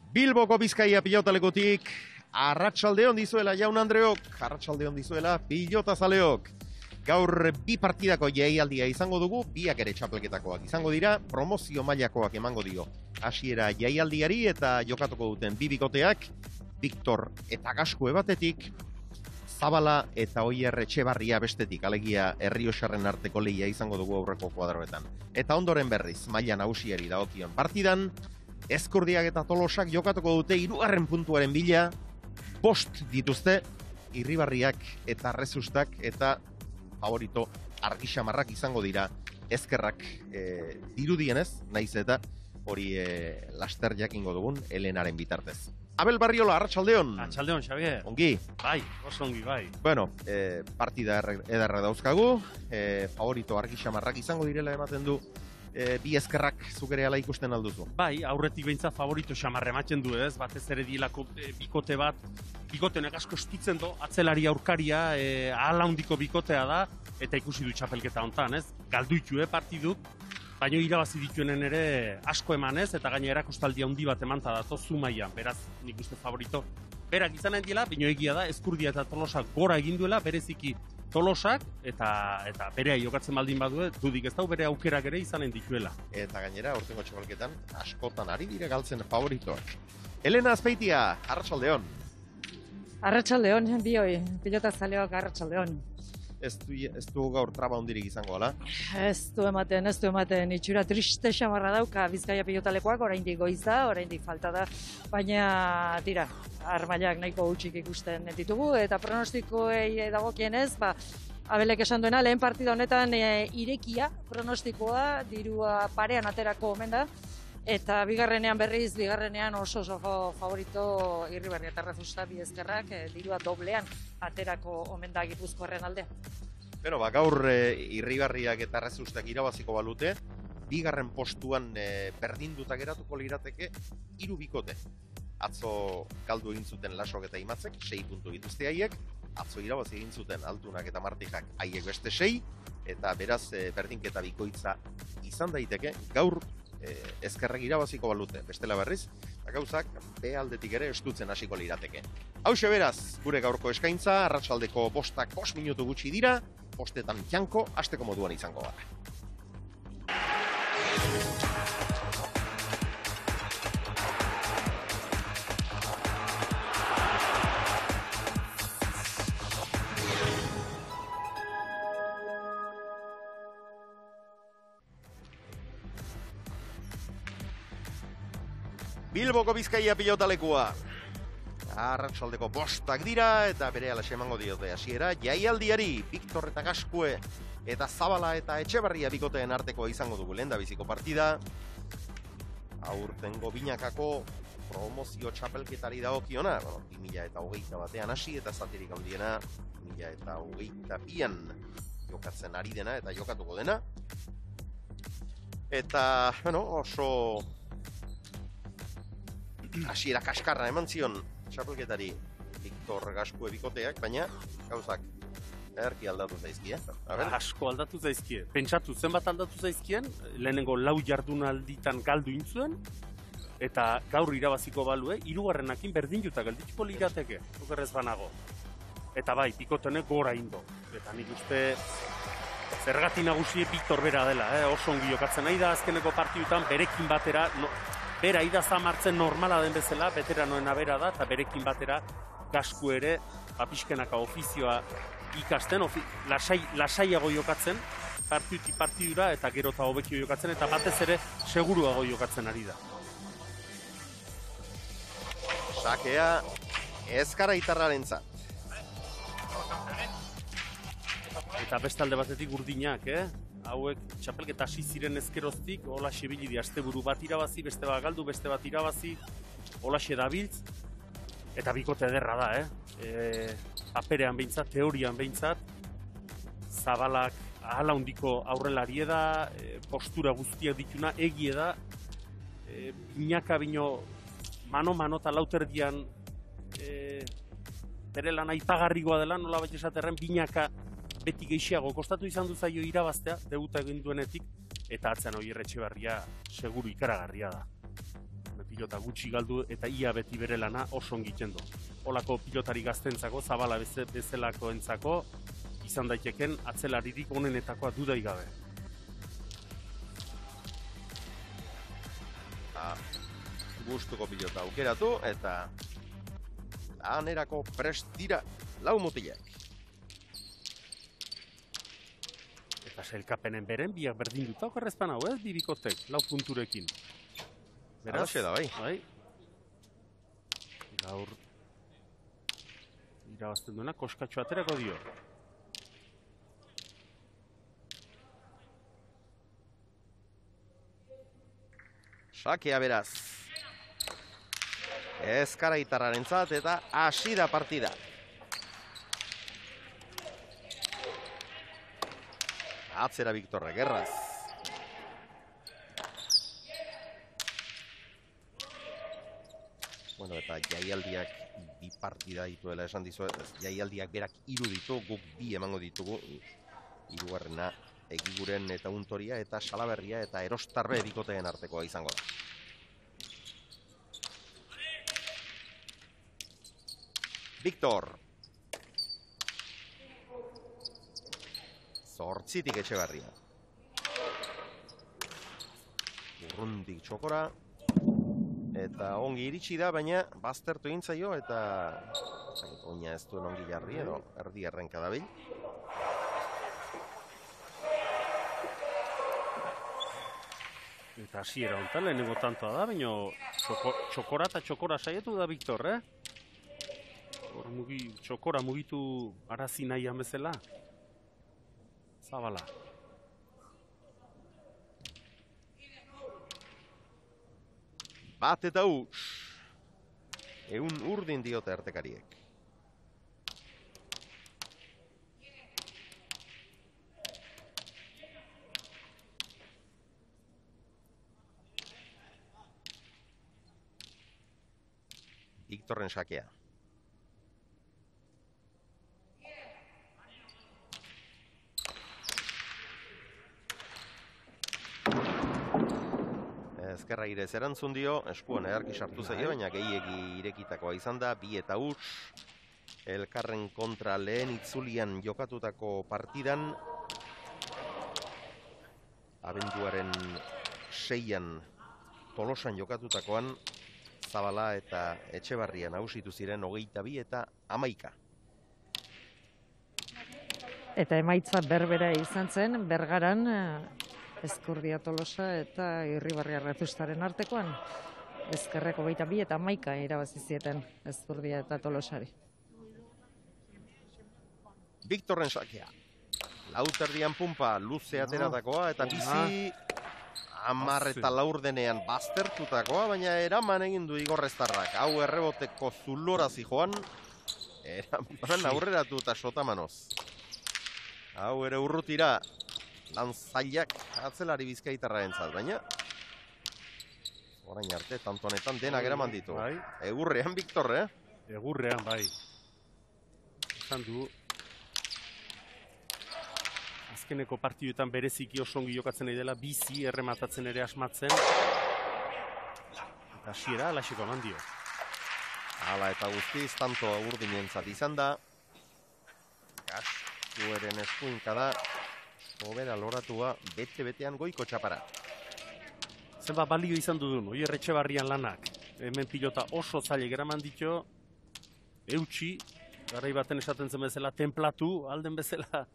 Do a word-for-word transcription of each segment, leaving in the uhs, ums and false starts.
Bilboko Bizkaia pilotalekutik, arratsaldeon dizuela jaun Andreok, arratsaldeon dizuela pilotazaleok. Gaur bi partidako jaialdia izango dugu, biak ere txapelketakoak izango dira, promozio mailakoak emango dio. Hasiera jaialdiari eta jokatuko duten bi bikoteak, Victor eta Gaskue batetik, Zabala eta Oier Etxebarria bestetik, alegia Errioxarren arteko lehia izango dugu aurreko kuadroetan. Eta ondoren berriz, maila nagusiari dagokion partidan, Ezkurdiak eta Tolosak jokatuko dute hirugarren puntuaren bila, bost dituzte, Irribarriak eta Rezustak eta favorito argixamarrak izango dira ezkerrak e, dirudienez, naiz eta hori e, laster jakingo dugun Elenaren bitartez. Abel Barriola, arratsaldeon. Arratsaldeon, Xavier. Ongi. Bai, oso ongi, bai. Bueno, e, partida ederra dauzkagu, e, favorito argixamarrak izango direla ematen du, e, bi ezkerrak zuk ere ala ikusten alduzu. Bai, aurretik behintzat favorito xamarra ematen du, ez? Batez ere dielako e, bikote bat, bikotenek asko estitzen do, atzelari aurkaria, e, ahala handiko bikotea da, eta ikusi du txapelketa hontan, ez? Galduitu, eh, partiduk, baina irabazi dituenen ere asko emanez, eta gaina erakustaldia handi bat emanta dato Zumaian, beraz, nik uste favorito. Berak izanen diela, baina egia da, Ezkurdia eta Tolosak gora egin duela, bereziki Tolosak, eta eta berea jokatzen baldin badue, dudik ez dau bere aukerak ere izanen dituela. Eta gainera, aurtengo txapelketan, askotan ari dire galtzen favoritoak. Elena Azpeitia, arratsaldeon. Arratsaldeon, bioi, pilotazaleok arratsaldeon. Ez du, ez du gaur traba hondirik izango, ala? Ez du ematen, ez du ematen, itxura triste xamarra dauka Bizkaia pilotalekoak, oraindik goiza, oraindik falta da, baina tira, armailak nahiko hutsik ikusten ditugu, eta pronostikoei dagokienez, ba, Abelek esan duena, lehen partida honetan e, irekia pronostikoa, dirua parean aterako omen da, eta bigarrenean berriz, bigarrenean oso oso favorito Irribarria eta Rezusta bi ezkerrak, e, dirua doblean aterako omen da Gipuzkoarren aldean. Beno, ba, gaur e, Irribarriak eta Rezustak irabaziko balute, bigarren postuan e, berdinduta geratuko lirateke hiru bikote. Atzo galdu egin zuten Lasok eta Imatzek, sei puntu dituzte haiek, atzo irabazi egin zuten Altunak eta Martijak haiek beste sei, eta beraz e, berdinketa bikoitza izan daiteke, gaur e, ezkerrek irabaziko balute, bestela berriz, eta gauzak be aldetik ere estutzen hasiko lirateke. Hauxe beraz, gure gaurko eskaintza, arratsaldeko bostak bost minutu gutxi dira, bostetan janko, hasteko moduan izango gara. Bilboko Bizkaia pilotalekua. Arratsaldeko bostak dira eta berehala emango diote hasiera jaialdiari. Victor eta Gaskue eta Zabala eta Etxebarria bikoteen arteko izango dugu lehendabiziko partida. Aurtengo binakako promozio txapelketari dagokiona, bueno, bi mila hogeita batean hasi eta zatirik handiena bi mila hogeita bian jokatzen ari dena eta jokatuko dena. Eta, bueno, oso hasiera kaskarra eman zion txapelketari Victor Gaskue bikoteak, baina gauzak erki aldatu zaizkie. Asko aldatu zaizkie. Pentsatu zenbat aldatu zaizkien, lehenengo lau jardunalditan galdu intzuen, eta gaur irabaziko balue, hirugarrenakin berdinduta geldituko lirateke, okerrez banago. Eta bai, bikotenek gora indo. Eta nik uste zergati nagusi Victor bera dela, eh? Oso ongi jokatzen nahi da azkeneko partidutan berekin batera, no, bera idaza martzen normala den bezala, veteranoena bera da, eta berekin batera Gasku ere, apiskenaka ofizioa ikasten, ofi, lasai, lasaiago jokatzen, partiduti partidura, eta gero eta hobekio jokatzen, eta batez ere seguruago jokatzen ari da. Sakea ezkara itarrarentzat. Eta bestalde batetik urdinak, eh? Hauek txapelketa hasi ziren ezkeroztik, holaxe bilidi asteburu bat irabazi, beste bat galdu, beste bat irabazi, holaxe dabiltz, eta bikote ederra da, eh? E, paperean behintzat, teorian behintzat, Zabalak ahala hundiko aurrelarie da, e, postura guztiak dituna, egie da, e, binaka bino mano-mano eta lauterdian e, bere lan aipagarrigoa dela, nola bat esaterren, binaka beti gehiago kostatu izan du zaio irabaztea, debuta egin duenetik, eta atzean Oier Etxebarria seguru ikaragarria da. pilota gutxi galdu eta ia beti bere lana oso egiten du. Olako pilotari gaztentzako, Zabala beze, bezalakoentzako, izan daiteken atzelaririk onenetakoa dudai gabe. Ah, gustuko pilota aukeratu eta lanerako prest dira lau mutilak. Eta sailkapenen beren biak berdin dut okerrezpan hau, ez? Bibikotek, lau punturekin. Beraz, Alaxe da, bai. bai. Gaur irabazten duena koskatxo aterako dio. Sakea beraz. Ezkaraitarrarentzat eta hasi da partida. Atzera Victorre, gerraz. Bueno, eta jaialdiak bi partida dituela esan dizuet. Jaialdiak berak hiru ditu, guk bi emango ditugu. Hirugarrena Egiguren eta Untoria eta Salaberria eta Erostarbe bikoteen artekoa izango da. Victor. Zortzitik Etxebarria. Urrundik Txokora. Eta ongi iritsi da, baina baztertu egin zaio eta oina ez duen ongi jarri edo erdi errenka dabil. Eta hasiera honetan lehenengo tantoa da, baina txoko, txokora eta txokora saietu da Victor, eh? Hor mugi, txokora mugitu arazi nahian bezala. Zabala. Bat eta huts. Egun urdin diote artekariek. Victorren sakea. Ezkerra irez erantzun dio, eskuan edarki sartu zaio, baina gehiegi irekitakoa izan da, bi eta huts. Elkarren kontra lehen itzulian jokatutako partidan. Abenduaren seian Tolosan jokatutakoan, Zabala eta Etxebarria nagusitu ziren hogeita bi eta hamaika. Eta emaitza berbera izan zen, Bergaran, Ezkurdia Tolosa eta Irribarria Rezustaren artekoan. Ezkerreko hogeita bi eta hamaika irabazi zieten Ezkurdia eta Tolosari. Victorren sakea. Lauterdian pumpa luze ateratakoa eta bizi hamar eta laurdenean baztertutakoa, baina eraman egin du Igorreztarrak. Hau erreboteko zulora zijoan, eraman aurreratu eta sotamanoz. Hau ere urrutira lan zailak atzelari Bizkaitarra entzat, baina orain arte, tanto honetan denak eraman ditu. Bai. Egurrean, Victor, eh? Egurrean, bai. Esan du, azkeneko partiduetan bereziki oso ongi jokatzen nahi dela, bizi errematatzen ere asmatzen. Eta hasiera alaxeko eman dio. Hala eta guztiz, tanto urdinentzat izan da. Gastueren eskuinka da, sobera loratua, bete-betean goiko txapara. Zenba balio izan dudun, Oier Etxebarrian lanak. Hemen pilota oso zailek eraman ditu, eutxi, garai baten esaten zen bezala, templatu, alden bezala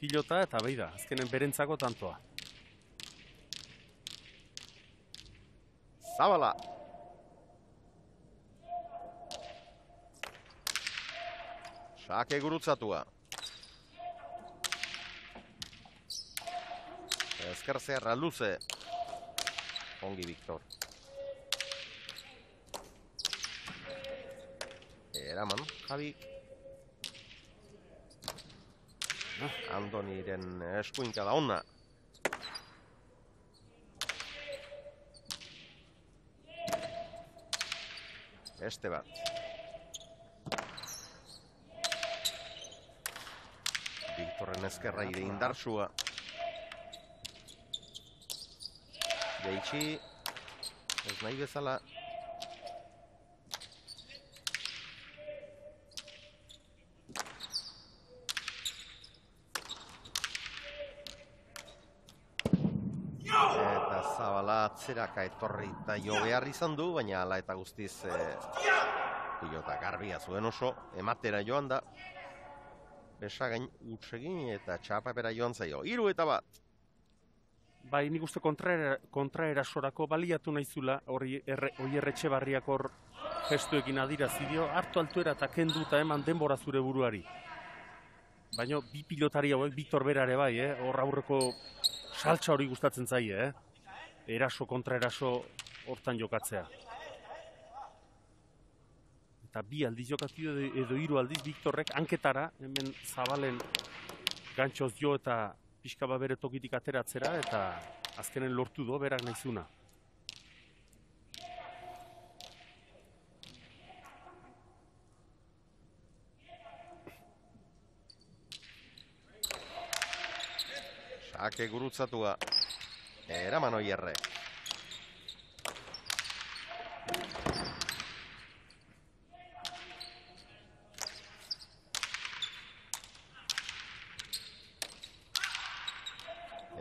pilota, eta behi da, azkenen berentzako tantoa. Zabala. Sake gurutzatua. Ezker zerra luze. Ongi, Victor. Eraman, Javi. Andoniren eskuinka da ona. Beste bat. Victorren ezkerra ire indarsua. Geitxi. Ez nahi bezala. Eta Zabala atzeraka etorri eta jo behar izan du, baina ala eta guztiz eh, pilota garbia zuen oso, ematera joan da. Besagain utsegin eta txapapera joan zaio. Hiru eta bat. Bai, nik uste kontraerasorako baliatu naizula, hori erretxe barriak hor gestuekin adirazi dio, hartu altuera eta kendu eta eman denbora zure buruari. Baina bi pilotari hauek, Victor Berare bai, eh? Hor aurreko saltza hori gustatzen zaie, eh? Eraso kontraeraso hortan jokatzea. Eta bi aldiz jokatu edo hiru aldiz Victorrek hanketara, hemen Zabalen gantxoz jo eta pixka bat bere tokitik ateratzera, eta azkenen lortu do berak naizuna. Sake gurutzatua. Eraman Oierre.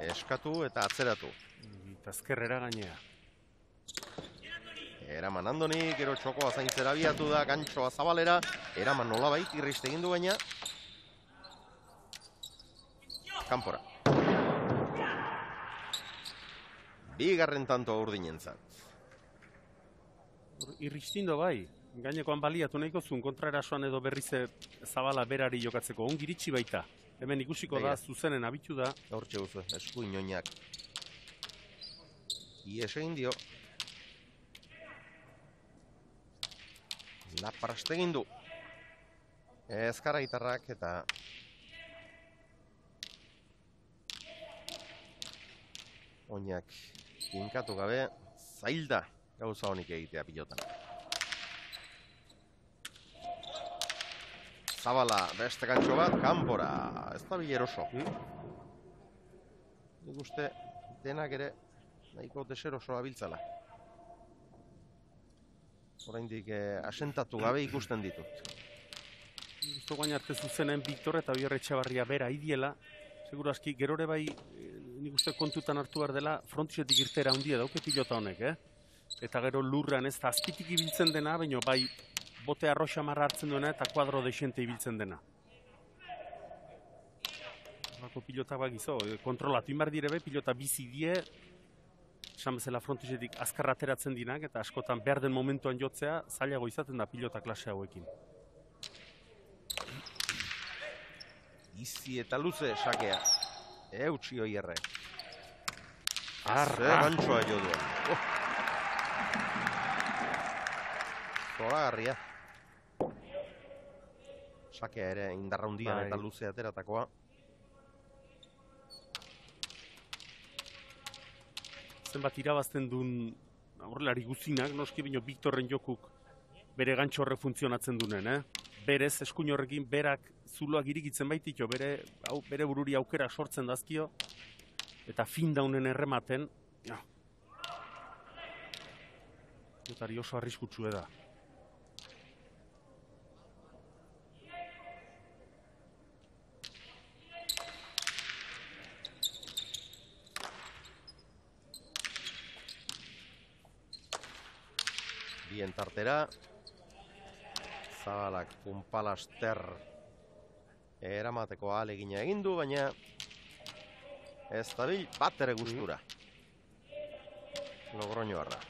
Eskatu eta atzeratu. Eta ezkerrera gainea. Eraman Andoni, gero txokoa zaintzera biatu da, gantxoa Zabalera. Eraman nolabait, irriste egin du baina. Kanpora. Bigarren tanto urdinentzat. Irristindo bai. Gainekoan baliatu nahiko zuen kontraerasoan edo berriz Zabala berari jokatzeko. Ongi iritsi baita. Hemen ikusiko da, zuzenen abitu da. Hortxe guzu, esku inoinak. Ies egin dio. Lapraste egin du. Ezkara gitarrak eta... Oinak kinkatu gabe, zailda gauza honik egitea pilotan. Zabala, beste gantxo bat, kanpora. Ez da bileroso. Nik uste denak ere nahiko deseroso abiltzala. Oraindik eh, asentatu gabe ikusten ditut. Gusto guain arte zuzenen Victor eta Oierre Etxebarria bera idiela. Seguro aski, gerore bai, nik uste kontutan hartu behar dela, frontisetik irtera handia dauke pilota honek, eh? Eta gero lurran ez da azpitik ibiltzen dena, baina bai, bote arroxa marra hartzen duena eta kuadro desente ibiltzen dena. Horako pilota bak izo, kontrolatu inbar direbe, pilota bizi die, esan bezala frontisetik azkarra ateratzen dinak, eta askotan behar den momentuan jotzea, zailago izaten da pilota klase hauekin. Izi eta luze sakea. Eutxi Oierre. Arra! Ze gantxoa jo duen. Oh. Zoragarria. Sakea ere indarra hundian eta luze ateratakoa. Zenbat irabazten duen aurrelari guzinak, noski bino Victorren jokuk bere gantxo horre funtzionatzen dunen, eh? Berez, eskuin horrekin, berak zuloak irikitzen baitiko, bere, au, bere bururi aukera sortzen dazkio, eta fin daunen errematen, ja. Pilotari oso arriskutsue da. Bien tartera. Zabalak punpalaster eramateko ahalegina egin du, baina ez dabil bat ere gustura. Logroñoarra.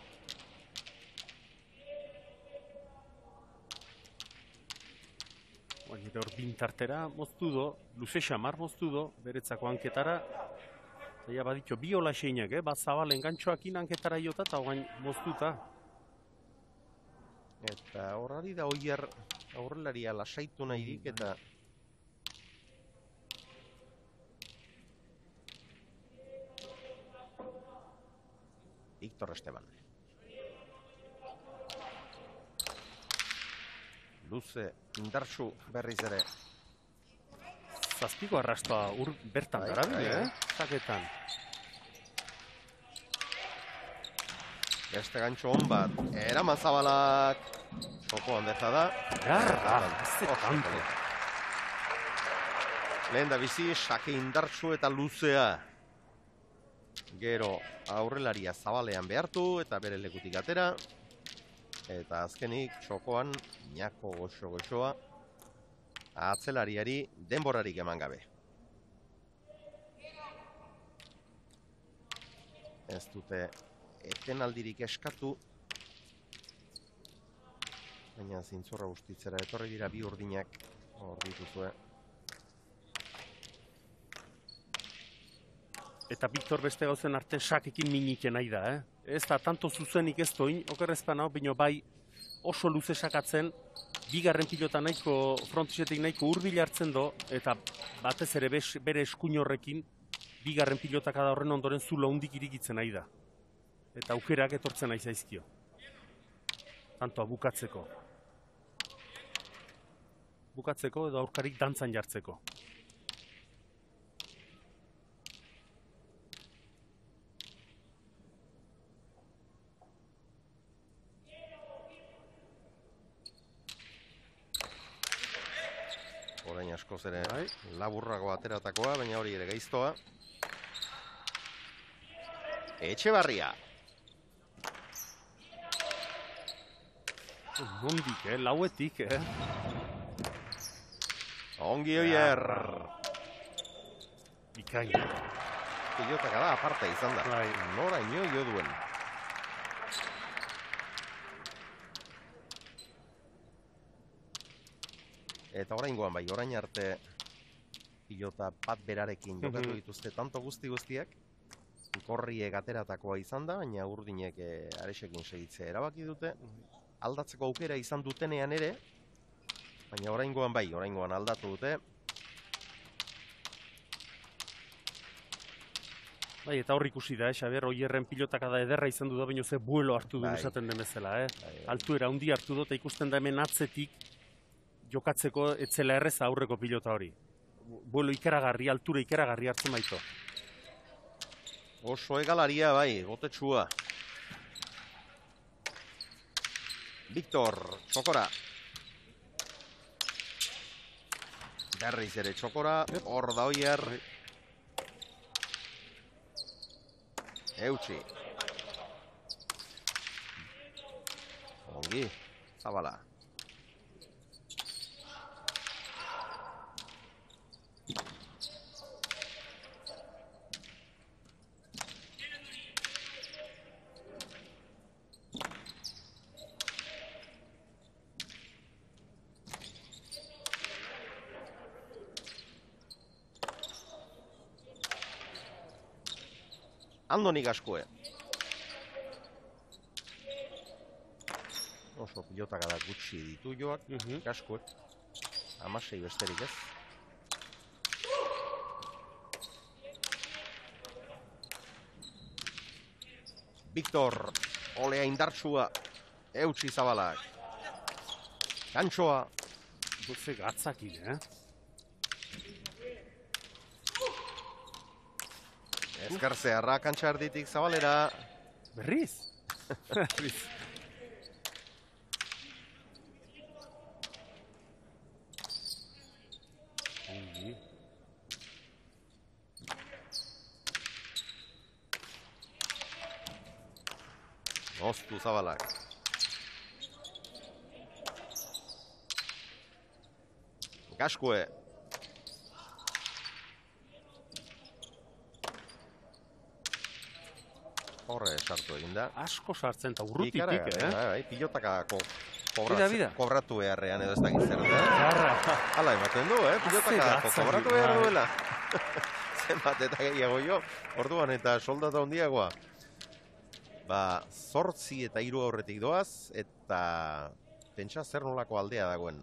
Baina hor bintartera moztu do, luze xamar moztu do, beretzako hanketara. Zaila baditxo, bi hola xeinak, eh? Bat Zabalen gantxoakin hanketara jota eta oain moztuta. Eta horrari da Oier aurrelaria lasaitu nahirik eta Victor Esteban. Luze indartsu berriz ere. Zazpiko arrastoa ur bertan Bai, garabile, bai, eh? Zaketan. Beste gantxo hon bat, eraman Zabalak, txokoan deza da. Garra, ez kanto. Lehen da bizi, sake indartsu eta luzea. Gero aurrelaria Zabalean behartu eta bere lekutik atera. Eta azkenik txokoan Ñako goxo-goxoa atzelariari denborarik eman gabe. Ez dute etenaldirik eskatu, baina zintzorra ustitzera etorri dira bi urdinak hor dituzue. Eta Victor beste gauzen artean sakekin miniken nahi da, eh? Ez da, tanto zuzenik ez doin, okerrezpan hau, baina bai oso luze sakatzen, bigarren pilota nahiko, frontisetik nahiko hurbil hartzen do, eta batez ere bere eskuin horrekin, bigarren pilotak da horren ondoren zula hundik irikitzen nahi da. Eta aukerak etortzen nahi zaizkio. Tantoa bukatzeko. Bukatzeko edo aurkarik dantzan jartzeko. Orain askoz ere laburrago ateratakoa, baina hori ere gaiztoa. Etxebarria. Nondik, eh? Lauetik, eh? Ongi oier. Bikain. Pilotaka da aparta izan da. Bai. Nora ino jo duen. Eta oraingoan bai, orain arte pilota bat berarekin jokatu dituzte tanto guzti guztiak. Korriek ateratakoa izan da, baina urdinek aresekin segitzea erabaki dute. Aldatzeko aukera izan dutenean ere, baina oraingoan bai, oraingoan aldatu dute. Bai, eta hor ikusi da, eh, Xabier, Oierren pilotaka da ederra izan du da, baina ze buelo hartu du Bai. esaten den bezala, eh? Bai, bai. Altuera handi hartu du, eta ikusten da hemen atzetik jokatzeko etzela erreza aurreko pilota hori. Buelo ikaragarri, altura ikaragarri hartzen baito. Oso egalaria bai, gotetsua. Victor, txokora. Berriz ere txokora, hor da Oier. Eutxi. Ongi, Zabala. Andoni Gaskue. Oso pilotaka da gutxi ditu joak, Gaskuek. Hamasei besterik ez. Victor, olea indartsua, eutxi Zabalak. Gantxoa. Guze gatzakin, eh? Ezkarzearra kantxarditik Zabalera. Berriz? Berriz. Ongi. Oztu Zabalak. Gaskue. Horre sartu egin da. Asko sartzen eta urrutitik, eh? Bai, pilotakako Bida, bida. kobratu beharrean edo ez dakit zer, eh? Garra. Hala ematen du, eh? Pilotakako kobratu behar duela. Zenbat eta gehiago jo, orduan eta soldata handiagoa. Ba, zortzi eta hiru aurretik doaz, eta pentsa zer nolako aldea dagoen.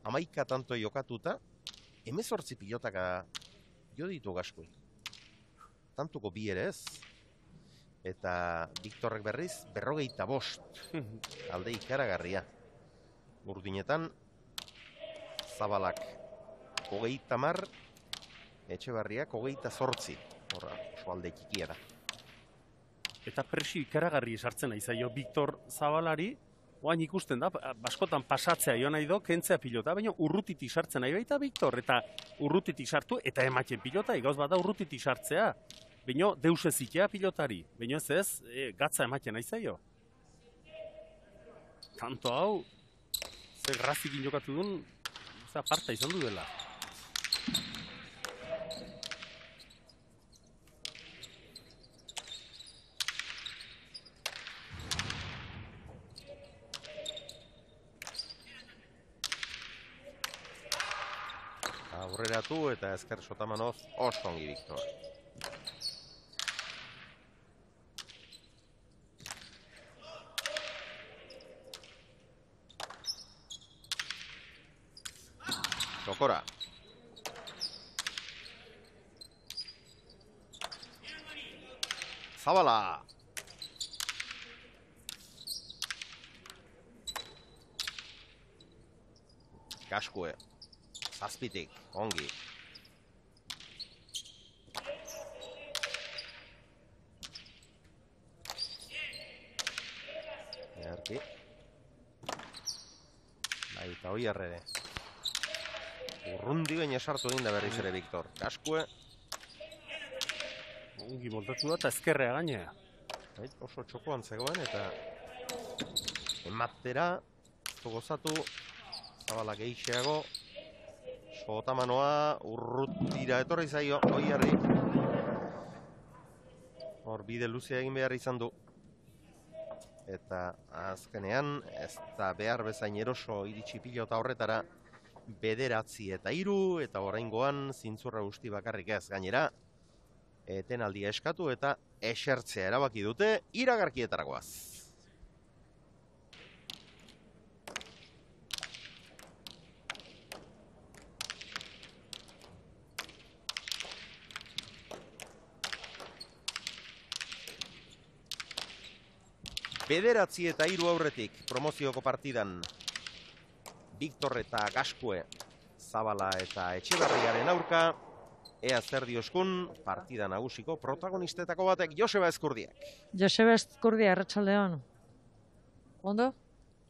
Hamaika tanto jokatuta, hemezortzi pilotaka jo ditu Gaskui. Tantuko bi ere ez. Eta Victorrek berriz, berrogeita bost. Alde ikaragarria. Urdinetan, Zabalak hogeita mar, Etxebarriak hogeita zortzi. Horra, oso alde txikia da. eta presio ikaragarri esartzen nahi zaio Victor Zabalari, oain ikusten da, askotan pasatzea jo nahi do, kentzea pilota, baina urrutitik sartzen nahi baita Victor, eta urrutitik sartu, eta ematen pilota, gauz bat da urrutitik sartzea. Baina deus ez itea pilotari, baina ez ez, e, gatza ematen nahi zaio. Tanto hau, zer grazikin jokatu duen, ez aparta izan du dela. Aurreratu eta ezker sotamanoz oso ongi Victor. Sokora. Zabala. Gaskue. Zazpitik, ongi. Erki. Baita hoi errere. Urrundi baina sartu egin da berriz ere Victor. Gaskue. Ongi moldatu da eta ezkerrea gainea. Oso txokoan zegoen eta ematera, gozatu, Zabala geixeago. Sotamanoa urrutira etorri zaio, Oierri. Hor bide luzea egin behar izan du. Eta azkenean, ez da behar bezain eroso iritsi pilota horretara, bederatzi eta hiru, eta oraingoan zintzurra guzti bakarrik ez gainera. Etenaldia eskatu eta esertzea erabaki dute, iragarkietaragoaz. Bederatzi eta hiru aurretik promozioko partidan Victor eta Gaskue, Zabala eta Etxebarriaren aurka, ea zer dioskun partida nagusiko protagonistetako batek Joseba Ezkurdiak. Joseba Ezkurdia, arratsaldeon. Ondo?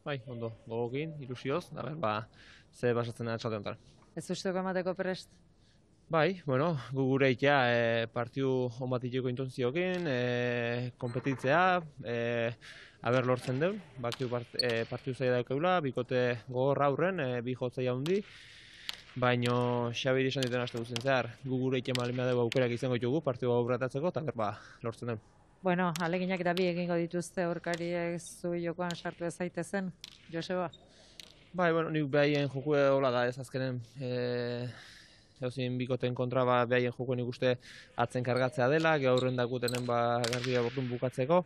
Bai, ondo, gogokin, ilusioz, da ber, ba, ze basatzen da txalde honetan. Ez usteko emateko prest? Bai, bueno, gu gure itea e, partiu hon bat iteko intontziokin, e, kompetitzea, e, aber lortzen deun, bakiu part, e, partiu zaila daukeula, bikote gogorra aurren, e, bi jotzaia hundi, baino Xabiri esan dituen aste guztien zehar, gu gure itea malimea dugu aukerak izango ditugu, partiu aurretatzeko, eta ber, ba, lortzen deun. Bueno, aleginak eta bi egingo dituzte aurkariek zu jokoan sartu ez zaitezen, Joseba? Bai, bueno, nik behaien jokue hola da ez azkenen, e, Zauzin bikoten kontra ba, behaien jokoen ikuste atzen kargatzea dela, gaurren dakutenen ba, garbia bortun bukatzeko.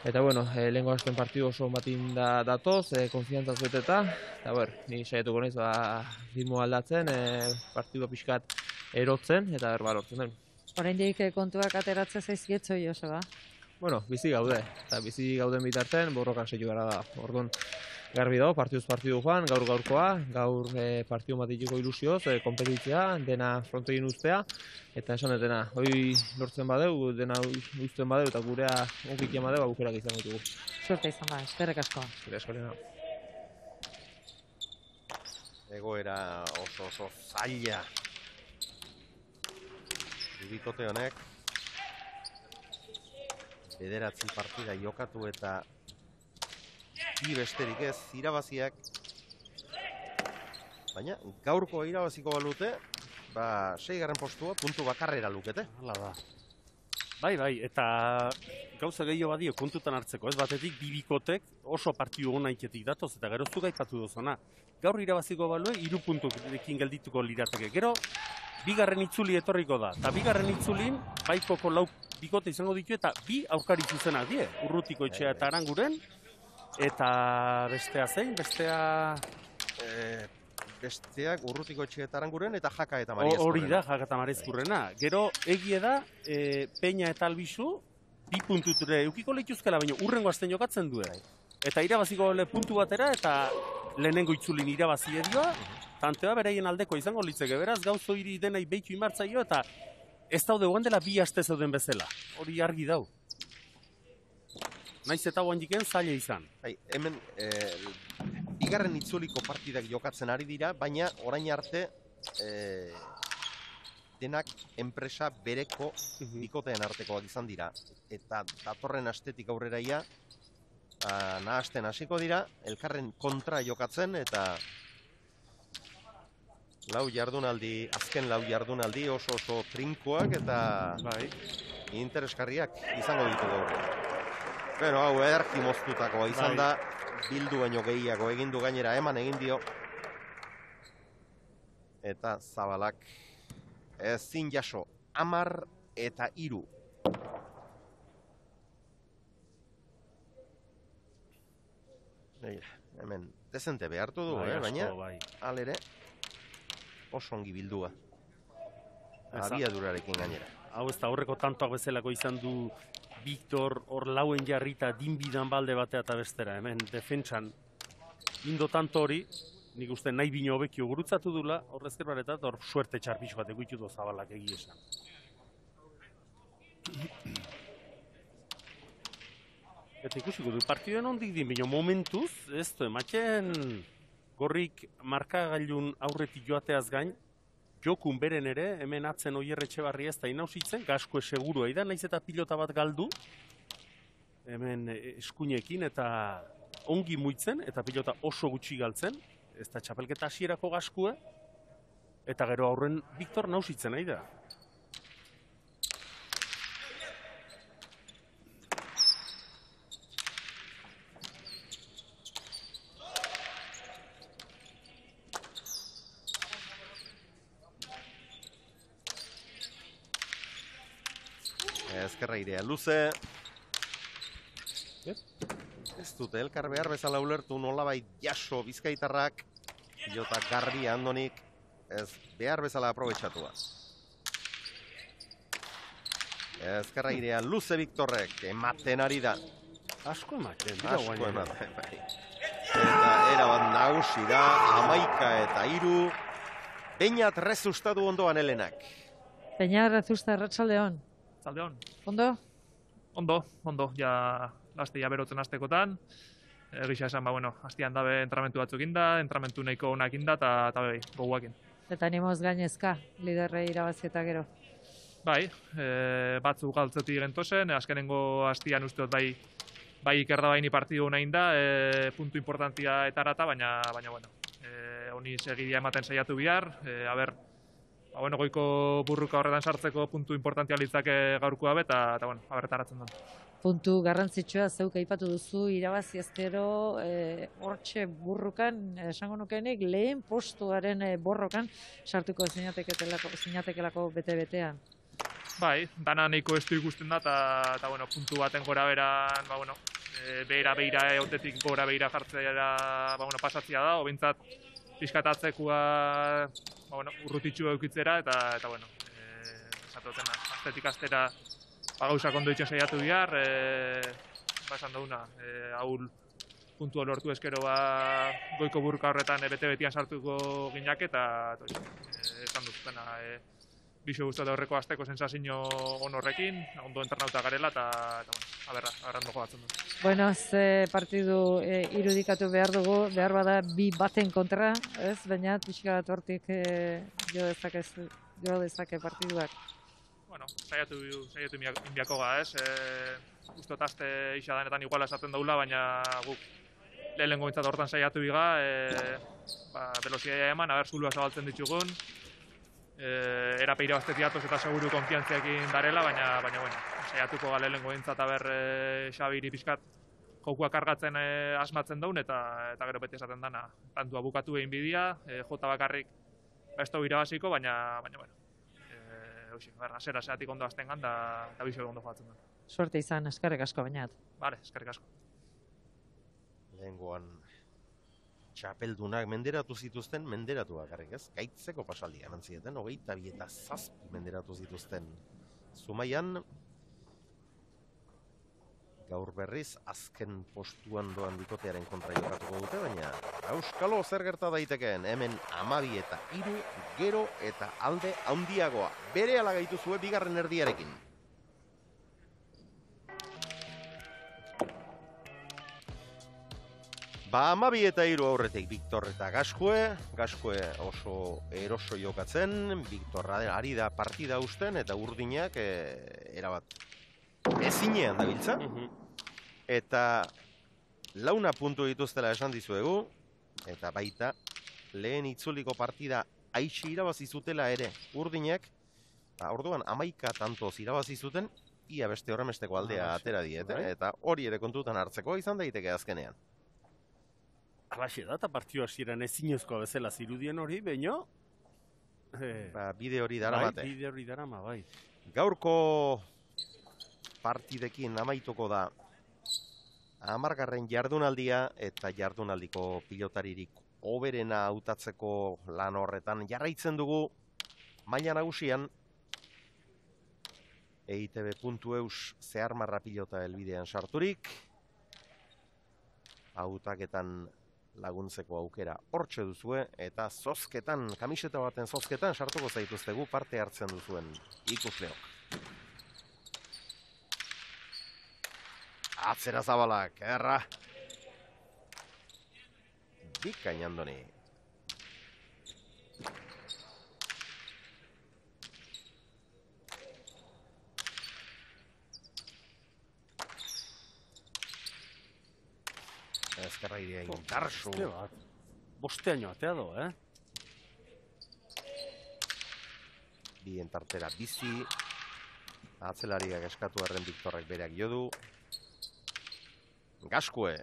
Eta bueno, e, lehenko hasten partidu oso batin da, datoz, e, konfiantzaz beteta. Eta ber, ni saietuko naiz ba, ritmo aldatzen, e, partidu pixkat erotzen, eta ber, ba, lortzen den. Oraindik kontuak ateratzen zaizkietzo, Joseba? Bueno, bizi gaude, eta bizi gauden bitarten borrokan seitu gara da. Orduan, garbi dago, partiduz partidu joan, gaur gaurkoa, gaur e, partidu matitiko ilusioz, e, kompetitzea, dena frontegin ustea, eta esan dena, hoi lortzen badeu, dena uzten badeu, eta gurea onkik emadeu, aukerak izango ditugu. Suerte izan da, eskerrik asko. Eskerrik asko, Lena. Egoera oso oso zaila. Bikote honek, bederatzi partida jokatu eta bi besterik ez irabaziak, baina gaurko irabaziko balute, ba, seigarren postua puntu bakarrera lukete. Hala da. Bai, bai, eta gauza gehiago badio kontutan hartzeko, ez batetik bi bikotek oso partidu hona iketik datoz, eta gero zuk aipatu duzuna. Gaur irabaziko balue, hiru puntuekin geldituko lirateke. Gero, bigarren itzuli etorriko da, eta bigarren itzulin, baikoko lau bikote izango ditu, eta bi aurkari zuzenak die, Urrutiko Etxea eta Aranguren, eta bestea zein, bestea... E, besteak Urrutiko Etxea eta Aranguren eta Jaka eta Mariazkurrena. Hori da, Jaka eta Mariazkurrena. Gero, egie da, e, Peña eta Albizu, bi puntuture eukiko lehituzkela, baina urrengo azten jokatzen duen. Eta irabaziko le puntu batera, eta lehenengo itzulin irabazi edioa, tantea beraien aldeko izango litzeke, beraz, gauzo hiri denai behitu inbartzaio, eta ez daude guen dela bi aste zeuden bezala. Hori argi dau. Naiz eta guan jiken zaila izan. Bai, hemen, e, bigarren itzuliko partidak jokatzen ari dira, baina orain arte e, denak enpresa bereko bikoteen artekoak izan dira. Eta datorren astetik aurreraia, nahasten hasiko dira, elkarren kontra jokatzen, eta lau jardunaldi, azken lau jardunaldi oso oso trinkoak eta Bai. interesgarriak izango ditu gaur. Pero hau ederki moztutakoa izan Bai. da, bildu baino gehiago egin du gainera, eman egin dio. Eta Zabalak ezin jaso, hamar eta hiru. Hemen, dezente behartu du, Bai, eh? asko, baina bai. alere oso ongi bildua. Eza- Abiadurarekin gainera. Hau ez da horreko tantoak bezalako izan du Victor hor lauen jarrita dinbidan balde batea eta bestera. Hemen defentsan indo tanto hori, nik uste nahi bino hobekio gurutzatu dula, horrezker baretat, hor suerte txarpixo bat eguitu du Zabalak egi esan. Eta ikusiko du partiduen ondik din, bino momentuz, ez du ematen gorrik markagailun aurretik joateaz gain, jokun beren ere, hemen atzen Oier Etxebarria ez da inausitzen, gaskue segurua da, naiz eta pilota bat galdu, hemen eskuinekin eta ongi muitzen, eta pilota oso gutxi galtzen, ez da txapelketa hasierako gaskue, eta gero aurren Victor nausitzen nahi da. Ezkerra irea luze. Ez dute elkar behar bezala ulertu nolabait jaso bizkaitarrak, pilota garria Andonik, ez behar bezala aprobetxatua. Ezkerra irea luze Victorrek, ematen ari da. Asko ematen, dira Asko guain. ematen, bai. Eta erabat nagusi da, hamaika eta hiru, Beñat rezustatu ondoan Helenak. Peña Rezusta, Arratsaldeon. Zaldeon. Ondo? Ondo, ondo, ja laste ja berotzen astekotan. Egisa esan, ba, bueno, hastian dabe entramentu batzuk inda, entramentu nahiko onak inda, eta eta bai, goguakin. Eta animoz gainezka, liderrei irabazi eta gero. Bai, e, batzuk galtzetik gentozen, azkenengo hastian usteot bai, bai ikerda baini partidu nahi da, e, puntu importantia eta arata, baina, baina, bueno, e, honi segidia ematen saiatu bihar, e, aber, ba, bueno, goiko burruka horretan sartzeko puntu importantia litzake gaurkoa be, eta, eta bueno, abertaratzen dut. Puntu garrantzitsua zeuk aipatu duzu irabazi ezkero e, hortxe burrukan, esango nukenik lehen postuaren e, borrokan sartuko zinatekelako, zinatekelako bete-betean. Bai, dana nahiko estu ikusten da, eta bueno, puntu baten gora beran, ba, bueno, e, behera behira eotetik gora behira jartzea ba, bueno, pasatzea da, obintzat pixkatatzekoa ba, bueno, urrutitxu eukitzera, eta, eta bueno, e, esatoten, astetik astera ba, gauzak ondo itxen saiatu bihar, e, ba, esan duguna, e, haul puntua lortu eskero ba, goiko burka horretan e, bete-betian sartuko ginak, eta, eta e, esan dut, dena, e, Bixo guztatu horreko azteko sensazio on horrekin, ondo entrenauta garela, eta, eta bueno, aberra, aberra ondo jogatzen du. Bueno, ze partidu e, irudikatu behar dugu, behar bada bi baten kontra, ez? Baina pixka bat hortik e, jo dezake, jo dezake partiduak. Bueno, saiatu, saiatu inbiako ga, ez? E, Uztot azte isadanetan iguala esaten daula, baina guk lehenengo bintzat hortan saiatu biga, e, ba, velozia eman, aber zulua zabaltzen ditugun, Eh, era peira bastetiatoz eta seguru konfiantziakin darela, baina, baina bueno, saiatuko gale lehenko bintzat aber e, Xabiri pixkat jokuak kargatzen e, asmatzen daun, eta eta gero beti esaten dana, tantua bukatu egin bidia, e, jota bakarrik besto irabaziko, baina, baina, bueno, e, hoxi, berra, zera zeatik ondo azten gan, da, da bizo ondo joatzen da. Suerte izan, eskerrik asko bainat. Bale, eskerrik asko. Lehengoan txapeldunak menderatu zituzten, menderatu bakarrik, ez? Gaitzeko pasaldia eman zieten, hogeita bi eta zazpi menderatu zituzten. Zumaian, gaur berriz, azken postuan doan bikotearen kontra jokatuko dute, baina auskalo zer gerta daitekeen, hemen amabi eta hiru, gero eta alde handiagoa. Bere ala gaituzue bigarren erdiarekin. Ba, amabi eta hiru aurretik Victor eta Gaskue. Gaskue oso eroso jokatzen, Victor ari da partida usten eta urdinak e, erabat ezinean dabiltza. Eta launa puntu dituztela esan dizuegu, eta baita lehen itzuliko partida aitsi irabazi zutela ere urdinak, ba, orduan hamaika tantoz irabazi zuten, ia beste horremesteko aldea atera diete, eta hori ere kontutan hartzeko izan daiteke azkenean. Alaxe da, eta partio hasieran ezinezkoa bezala zirudien hori, baino... Eh, ba, bide hori dara bai, bate. bide hori dara ma, bai. Gaurko partidekin amaituko da hamargarren jardunaldia eta jardunaldiko pilotaririk hoberena hautatzeko lan horretan jarraitzen dugu maila nagusian E I T B puntu eus zeharmarra pilota helbidean sarturik, hautaketan laguntzeko aukera hortxe duzue, eta zozketan, kamiseta baten zozketan sartuko zaituztegu parte hartzen duzuen ikusleok. Atzera zabalak, erra. Bikain Andoni. Ezkerra idea indarsu. Bosteaino atea do, eh? Bien tartera bizi. Atzelariak eskatu erren Victorrek bereak jodu. Gaskue.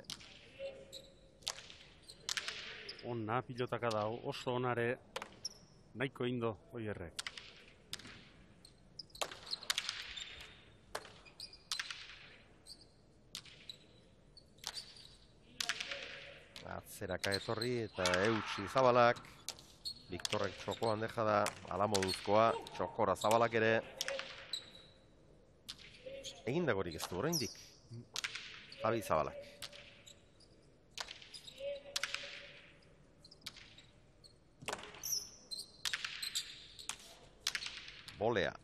Ona pilotaka da, oso onare nahiko indo, oierrek. Atzeraka etorri eta eutsi zabalak. Victorrek txokoan deja da, ala moduzkoa, txokora zabalak ere. Egindagorik ez du oraindik. Javi Zabalak. Bolea.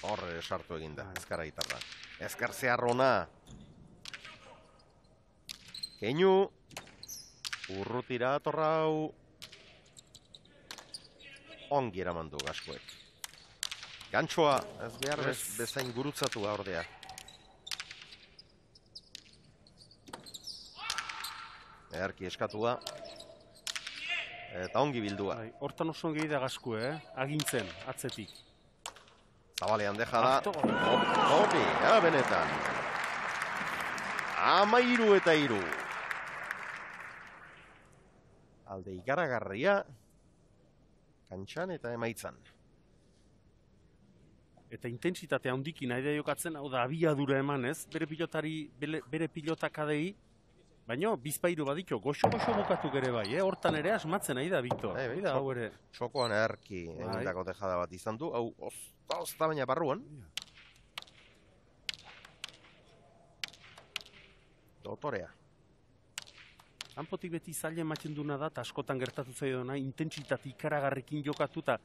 Horre sartu eginda, ezkara gitarra. Ezkar zeharrona. Keinu. Urrutira atorrau. Ongi eramandu Gaskuek. Gantxoa, ez behar bez, bezain gurutzatu ordea. Eharki eskatua. Eta ongi bildua. Hortan oso ongi da Gaskue, eh? Agintzen, atzetik. Zabalean deja da. Hori, ja, benetan. Amairu eta iru. Alde ikaragarria. Kantxan eta emaitzan. Eta intentsitate handikin nahi da jokatzen, hau da, abiadura eman ez, bere pilotari, bere, bere pilotakadei, baina bizpairu badito, goxo-goxo bukatu gere bai, eh? Hortan ere asmatzen nahi da, Victor. Hey, da, hau ere. Txokoan erki egindako tejada bat izan du, hau ozta baina barruan. Dotorea. Hanpotik beti zaila ematen duna da, eta askotan gertatu zaidona, intentsitate ikaragarrekin jokatu, eta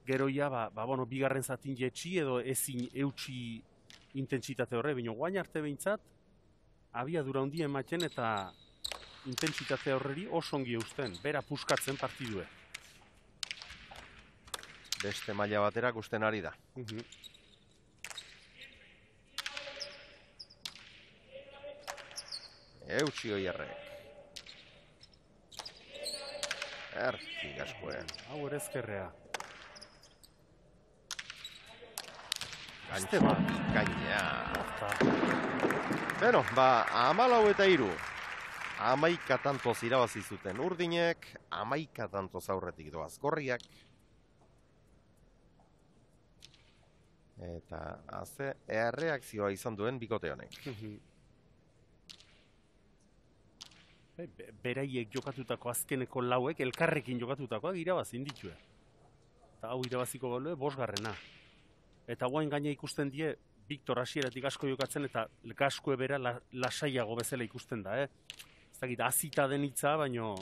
geroia, ba, ba, bueno, bigarren zatin jetxi edo ezin eutxi intentsitate horre, baina guain arte behintzat, abiadura handia ematen eta intentsitate horreri oso ongi eusten, bera puskatzen partidue. Beste maila batera gusten ari da. Uh -huh. Eutxi oierrek. Erki Gaskue. Hau ere ezkerrea. Gantxe bat, gaina. Beno, ba, amalau eta iru. Amaika tantoz irabazi zuten urdinek, amaika tantoz aurretik doaz gorriak. Eta, haze, erreakzioa izan duen bikote honek. Beraiek jokatutako azkeneko lauek, elkarrekin jokatutakoak irabazin ditue. Eta hau irabaziko balue, bosgarrena. Eta guain gaina ikusten die, Victor hasieratik asko jokatzen, eta Gaskue bera la, lasaiago bezala ikusten da, eh? Ez dakit, azita den hitza, baino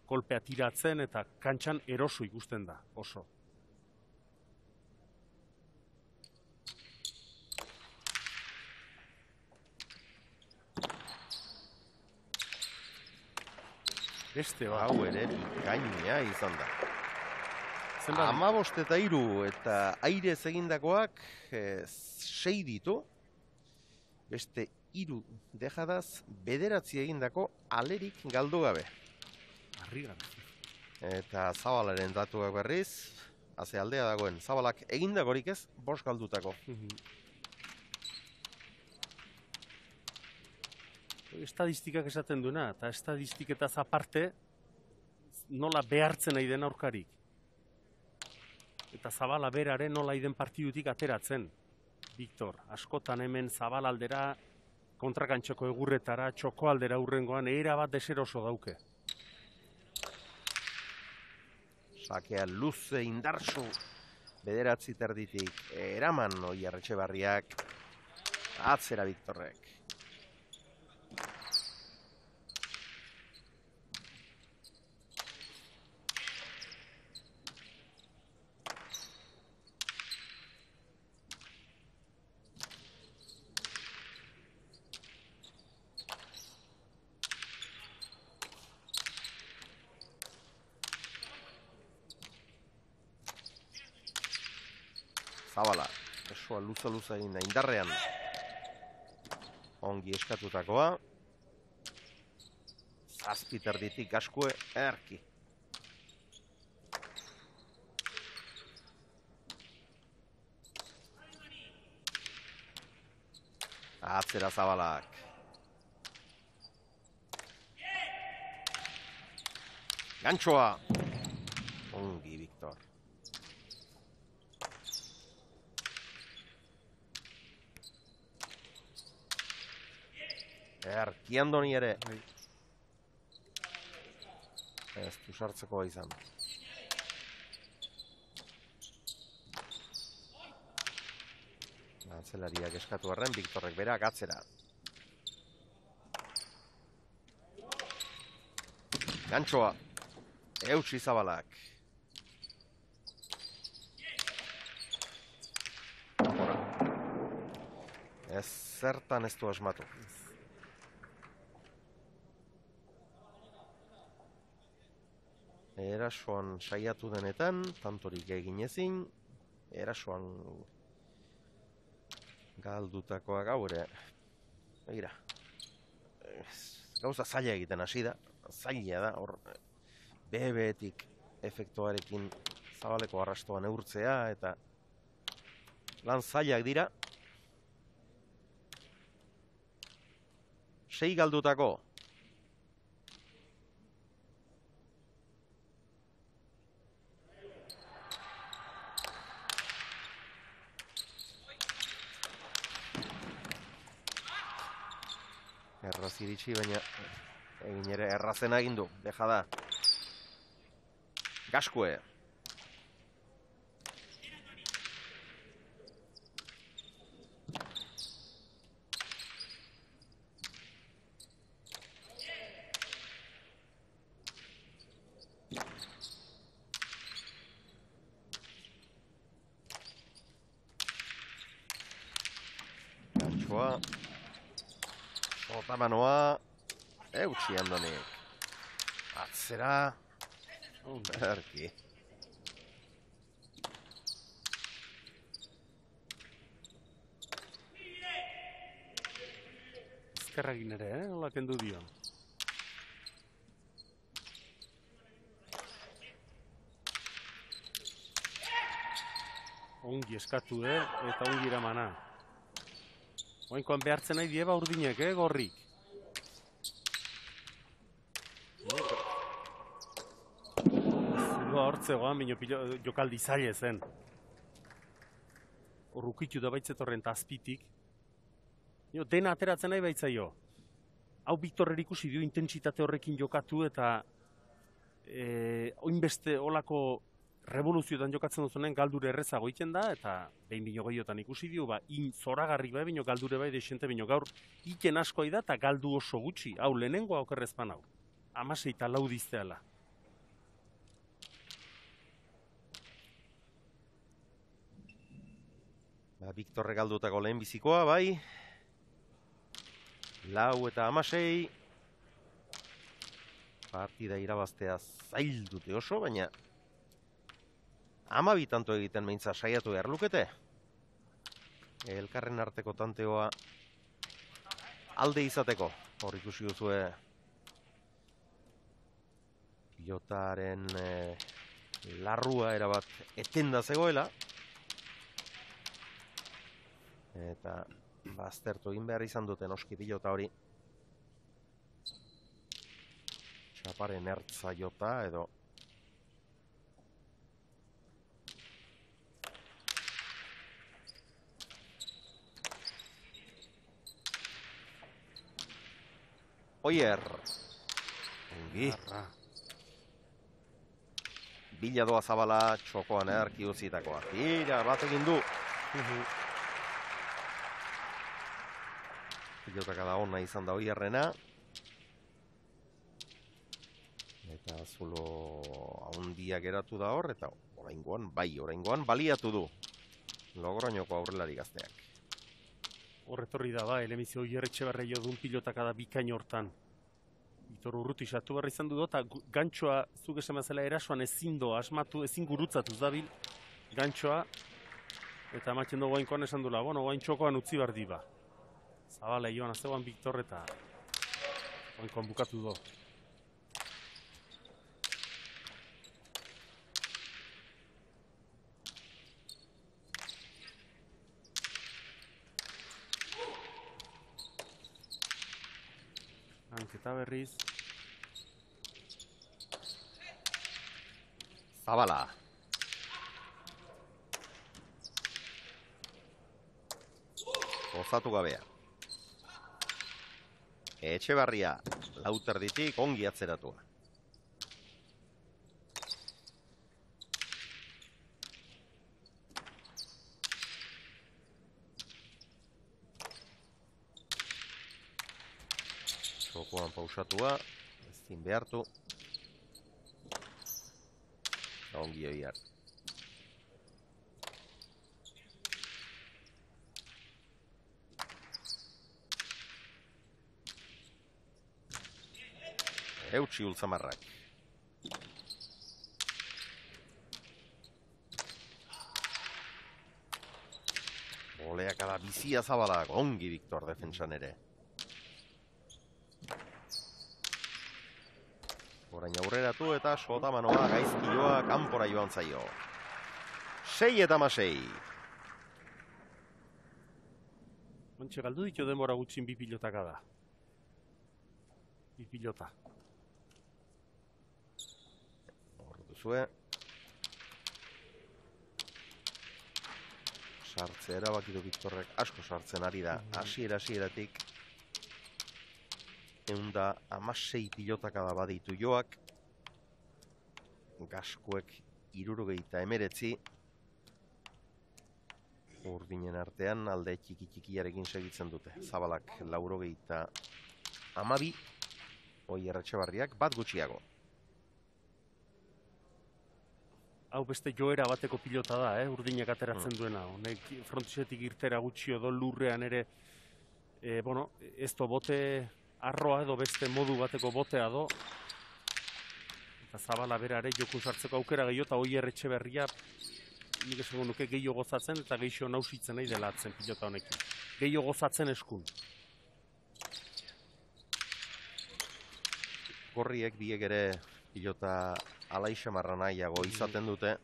kolpea tiratzen, eta kantxan eroso ikusten da, oso. Beste bat. Hau ere bikaina izan da. Zenbat? Hamabost eta hiru eta airez egindakoak eh, sei ditu. Beste hiru dejadaz bederatzi egindako alerik galdu gabe. Harrigarri. Eta Zabalaren datuak berriz, haze aldea dagoen, Zabalak egindakorik ez, bost galdutako. Estadistikak esaten duena, eta estadistiketaz aparte, nola behartzen nahi den aurkarik. Eta Zabala beraren nola iden partidutik ateratzen. Viktor, askotan hemen Zabal aldera, kontrakantxoko egurretara, txoko aldera hurrengoan, era bat deseroso dauke. Sakea luze indarsu bederatzi terditik eraman Oier Etxebarriak atzera Viktorrek. Zabala, esoa luza-luza egin da, indarrean. Ongi eskatutakoa. Zazpiterditik Gaskue erki. Atzera Zabalak. Gantxoa. Ongi, Viktor. Erki Andoni ere. Ez du sartzeko izan. Atzelariak eskatu arren, Viktorrek berak atzera. Gantxoa. Eutsi Zabalak. Ez zertan ez du asmatu. Erasoan saiatu denetan, tantorik egin ezin, erasoan galdutakoa gaur ere. Begira, gauza zaila egiten hasi da, zaila da, hor bebetik efektuarekin Zabaleko arrastoan neurtzea, eta lan zailak dira. Sei galdutako. Erraz iritsi, baina egin ere errazen egin du, deja da. Gaskue. Gantxoa. Otamanoa, eutsi Andonik. Atzera, erki. Ezkerragin ere, eh? Hola kendu dio. Ongi eskatu, eh? Eta ongi eramana. Oinkoan behartzen nahi dieba urdinek, eh, gorrik. Zua hortzegoan, bino jokaldi zaila zen. Horrukitu da baitzetorren tazpitik. Dena ateratzen nahi baitzaio. Hau Viktorrer ikusi dio intentsitate horrekin jokatu eta e, oinbeste olako revoluzioetan jokatzen duzunen galdure errezago egiten da, eta behin bino gehiotan ikusi dio, ba, in zoragarri bai, bino galdure bai, desente bino gaur, iten asko da eta galdu oso gutxi. Hau, lehenengoa okerrezpan hau. Amasei eta lau dizteala. Ba, Viktorre galdutako lehen bizikoa, bai. Lau eta amasei. Partida irabaztea zail dute oso, baina hamabi tanto egiten meintza saiatu behar lukete. Elkarren arteko tanteoa alde izateko. Hor ikusi duzue pilotaren eh, larrua erabat etenda zegoela. Eta baztertu egin behar izan duten oski pilota hori. Txaparen ertza jota edo Oier ongi Bila doa Zabala txokoan erki uzitakoa. Tira, bat egin du. Pilotaka da ona izan da Oierrena. Eta zulo haundia geratu da hor, eta oraingoan, bai, oraingoan baliatu du Logroñoko aurrelari gazteak. Horretorri da ba, elemizio Oier Etxebarria dun pilotaka da bikain hortan. Vitor Urruti sartu behar izan du eta gantxoa, zuk esan bezala erasoan ezin do, asmatu, ezin gurutzatuz dabil gantxoa, eta ematen dugu hainkoan esan dula, bueno, hain txokoan utzi behar diba. Zabala joan azegoan Victor eta hainkoan bukatu do. Hanketa berriz. Zabala. Gozatu gabea. Etxebarria, lauterditik ongi atzeratua. Txokoan pausatua, ezin behartu. Ongi Oier. Eutsi ultzamarrak. Oleakada bizia Zabalak, ongi Victor defentsan ere. Orain aurreratu eta sotamanoa gaizkioa kanpora joan zaio. Sei eta masei. Ontxe galdu ditu denbora gutxin bi pilotaka da. Bi pilota. Hor duzue. Sartze erabakitu Victorrek asko sartzen ari da. Hasiera hasieratik eunda amasei pilotaka da baditu joak. Gaskuek irurogeita emeretzi. Urdinen artean alde txiki txikiarekin segitzen dute. Zabalak laurogeita amabi. Oier Etxebarriak bat gutxiago. Hau beste joera bateko pilota da, eh? Urdinak ateratzen duena. Honek frontisetik irtera gutxi edo lurrean ere, e, bueno, ez do bote arroa edo beste modu bateko botea do. Eta Zabala berare joku sartzeko aukera gehiago eta Oier Etxebarria nik esango nuke gehiago gozatzen eta gehiago nausitzen nahi dela atzen pilota honekin. Gehiago gozatzen eskun. Gorriek biek ere pilota alaixamarra nahiago izaten dute.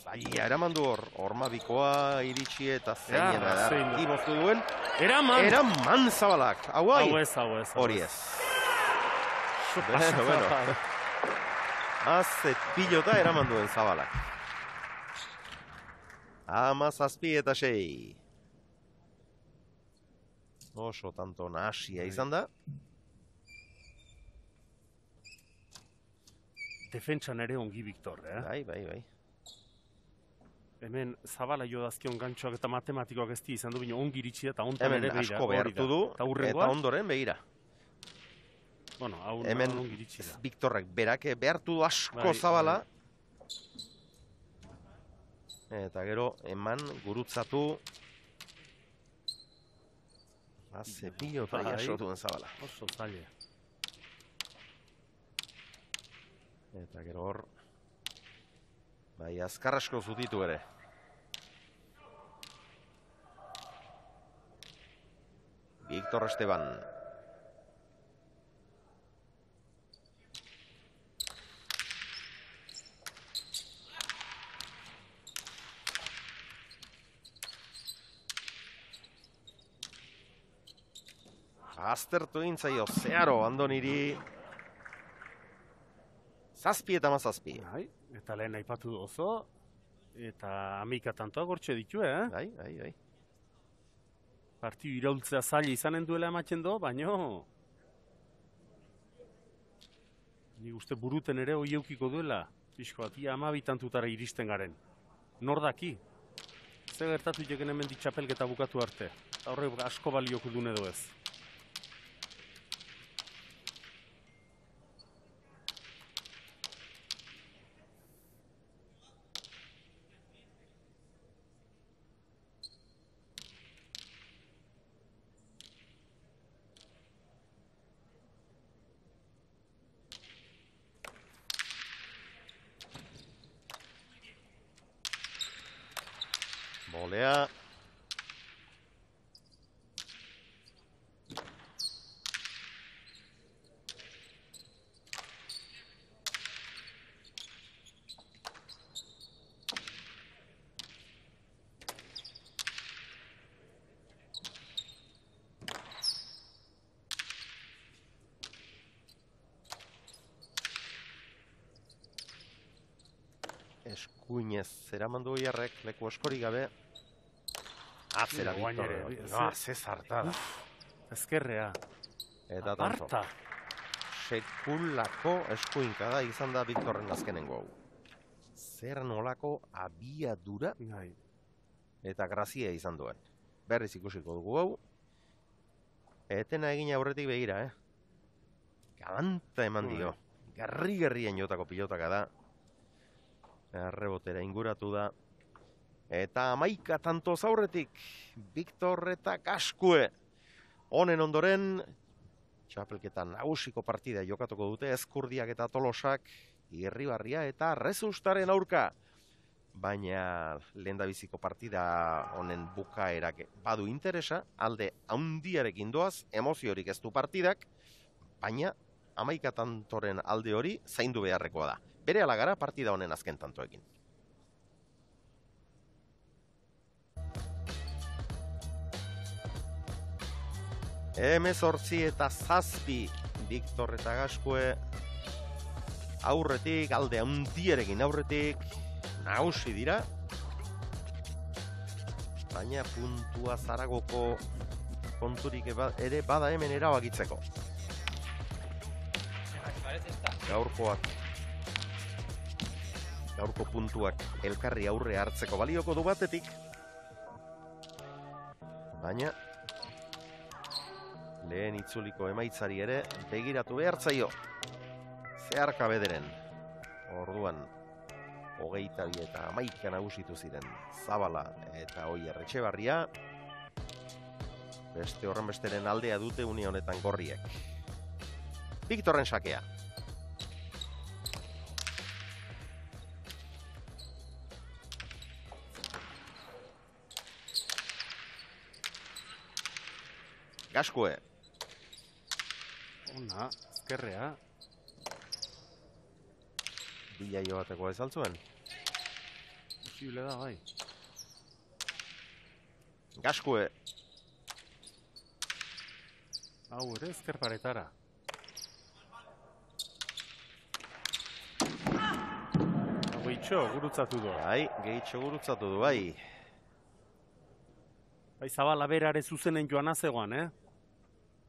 Zaila eraman du hor, hormabikoa iritsi eta zeinen edarki moztu duen. Eraman! Eraman Zabalak, hau hai? Hau ez, hau ez. Hori ez. Bueno, bueno. Azet pilota eraman duen Zabalak. Ama zazpi eta sei. Oso tanto nahasia izan da. Defentsan ere ongi Victor, eh? Bai, bai, bai. Hemen Zabala jo dazkion gantxoak eta matematikoak ez di izan du, bino ongi iritsi eta ontan Hemen ere begira. asko behartu du, eta ondoren begira. Bueno, hau hemen ongi iritsi da. Victorrek berak behartu du asko Bai, Zabala. Eta gero, eman, gurutzatu. Haze pilota Bai. jaso duen Zabala. Oso zaile. Eta gero hor, bai, azkar asko zutitu ere. Víctor Esteban. Aztertu egin zaio zeharo Andoniri. Zazpi eta mazazpi. Bai, eta lehen aipatu oso, eta amika tantoa gortxe ditu, eh? Bai, bai, bai. Partiu iraultzea zaila izanen duela ematen do, baino... Nik uste buruten ere hoi eukiko duela, pixko bat, ia amabitantutara iristen garen. Nor daki? Ze gertatu jeken hemen ditxapelketa bukatu arte. Horre asko balioko dune edo ez. Bolea. Eskuinez zeramandu oiarrek, leku askorik gabe. Atzera, Guain Victor. ere, Ah, ze zartada. Ezkerrea. Eta tanto. Aparta. Sekulako eskuinka da izan da Victorren azkenengo hau. Zer nolako abiadura Bai. eta grazia izan duen. Berriz ikusiko dugu hau. Etena egin aurretik begira, eh? Galanta eman dio. Garri-garrien jotako pilotaka da. Errebotera inguratu da. Eta amaika tanto zaurretik, Victor eta Kaskue. Honen ondoren, txapelketan nagusiko partida jokatuko dute Ezkurdiak eta Tolosak, Irribarria eta Rezustaren aurka. Baina lehendabiziko partida honen bukaerak badu interesa, alde handiarekin doaz, emoziorik ez du partidak, baina amaika tantoren alde hori zaindu beharrekoa da. Bere gara partida honen azken tantoekin. Hemezortzi eta zazpi Victor eta Kaskue aurretik, alde handierekin aurretik, nagusi dira. Baina puntua Zaragoko konturik ere bada hemen erabakitzeko. Gaurkoak, gaurko puntuak elkarri aurre hartzeko balioko du batetik. Baina lehen itzuliko emaitzari ere begiratu behartzaio. Zeharka bederen. Orduan, hogeita bi eta hamaika nagusitu ziren Zabala eta Oier Etxebarria. Beste horren besteren aldea dute une honetan gorriek. Victorren sakea. Kaskue. Ona, ezkerrea. Bila joateko ez altzuen. Posible da, bai. Kaskue. Hau ere, ezker paretara. Hau gehitxo, gurutzatu du. Bai, gehitxo gurutzatu du, bai. Bai, Zabala berare zuzenen joan azegoan, eh?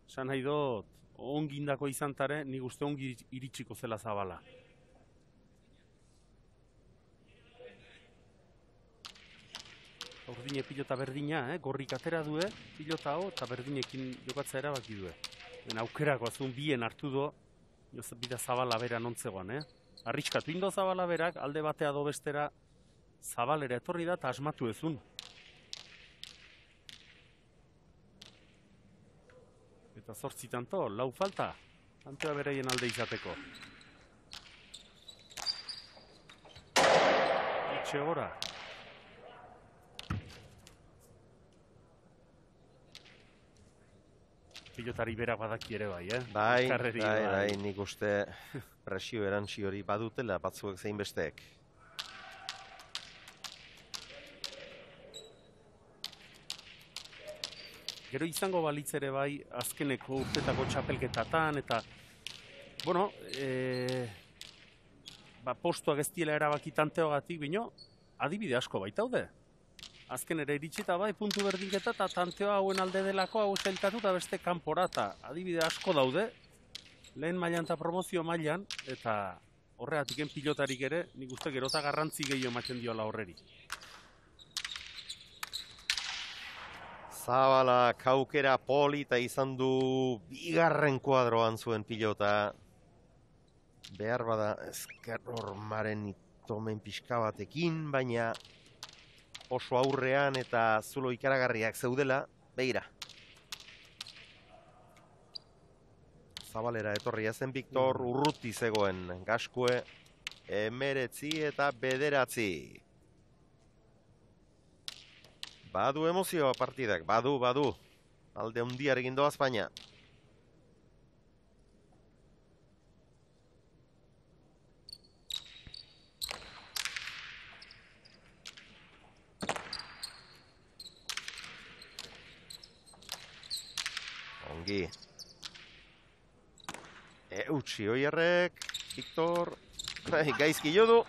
Esan nahi dut, ongindako izan tare, nik uste ongi iritsiko zela Zabala. Ordine pilota berdina, eh? Gorrik atera due, pilota hau, eta berdinekin jokatzea erabaki due. Ben aukerako azun bien hartu do, bida Zabala bera nontzegoan, eh? Arriskatu indo Zabala berak, alde batea do bestera, Zabalera etorri da eta asmatu ezun. Eta zortzi tanto, lau falta. Tantoa beraien alde izateko. Itxe gora. Pilotari berak badaki ere bai, eh? Bai, Elkarreri bai, bai, nik uste presio erantzi hori badutela batzuek zein besteek. Gero izango balitz ere bai, azkeneko urtetako txapelketatan, eta, bueno, e, ba, postuak ez diela erabaki tanteogatik, bino, adibide asko baitaude. Azken ere iritsita bai, puntu berdinketa eta tanteoa hauen alde delako hau zailkatu eta beste kanpora, eta adibide asko daude, lehen mailan eta promozio mailan, eta horreatiken pilotarik ere, nik uste gerota garrantzi gehiago ematen diola horreri. Zabala, kaukera polita izan du bigarren kuadroan zuen pilota. Behar bada ezker hormaren itomen pixka batekin, baina oso aurrean eta zulo ikaragarriak zeudela, begira. Zabalera etorria zen Viktor, urruti zegoen Gaskue, emeretzi eta bederatzi. Badu emozioa partidak, badu, badu. Alde hundiarekin doaz baina. Ongi. Eutsi oierrek, Viktor, gaizki jo du.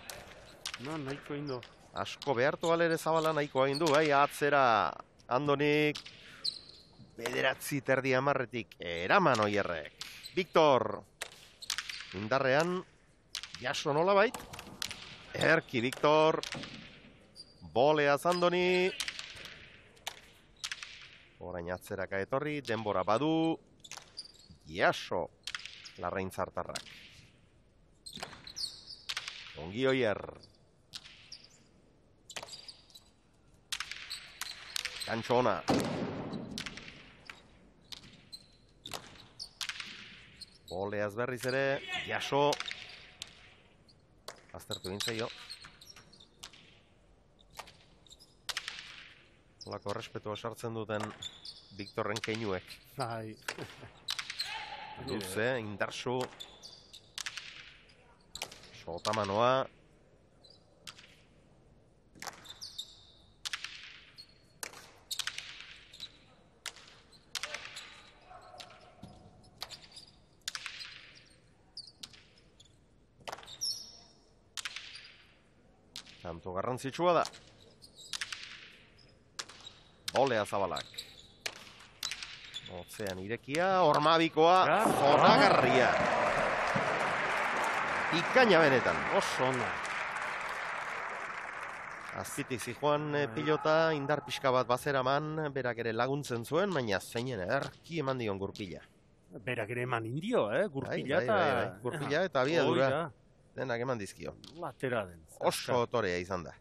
No, nahiko indo. Asko behartu alere Zabala nahiko egin du, bai, atzera Andonik bederatzi terdi amarretik eraman oierrek. Viktor, indarrean, jaso nola bait. Erki Viktor, boleaz Andoni. Orain atzeraka etorri, denbora badu, jaso larraintzartarrak. Ongi oier. Kantxona. Boleaz berriz ere, jaso. Aztertu gintzaio. Olako respetua sartzen duten Viktorren keinuek. Bai. Luze, indarsu. Sotamanoa. Tanto garrantzitsua da. Bolea Zabalak. Otzean irekia, Ormabikoa, zoragarria. Ikaina benetan. Oso ona. Azpitik zijoan pilota, indar pixka bat bazeraman, berak ere laguntzen zuen, baina zeinen ederki eman dion gurpila. Berak ere eman indio, eh? Gurpila Bai, eta... bai, bai, bai. Gurpila eta abiadura. Oida. Denak eman dizkio. Latera den. Oso otorea izan da.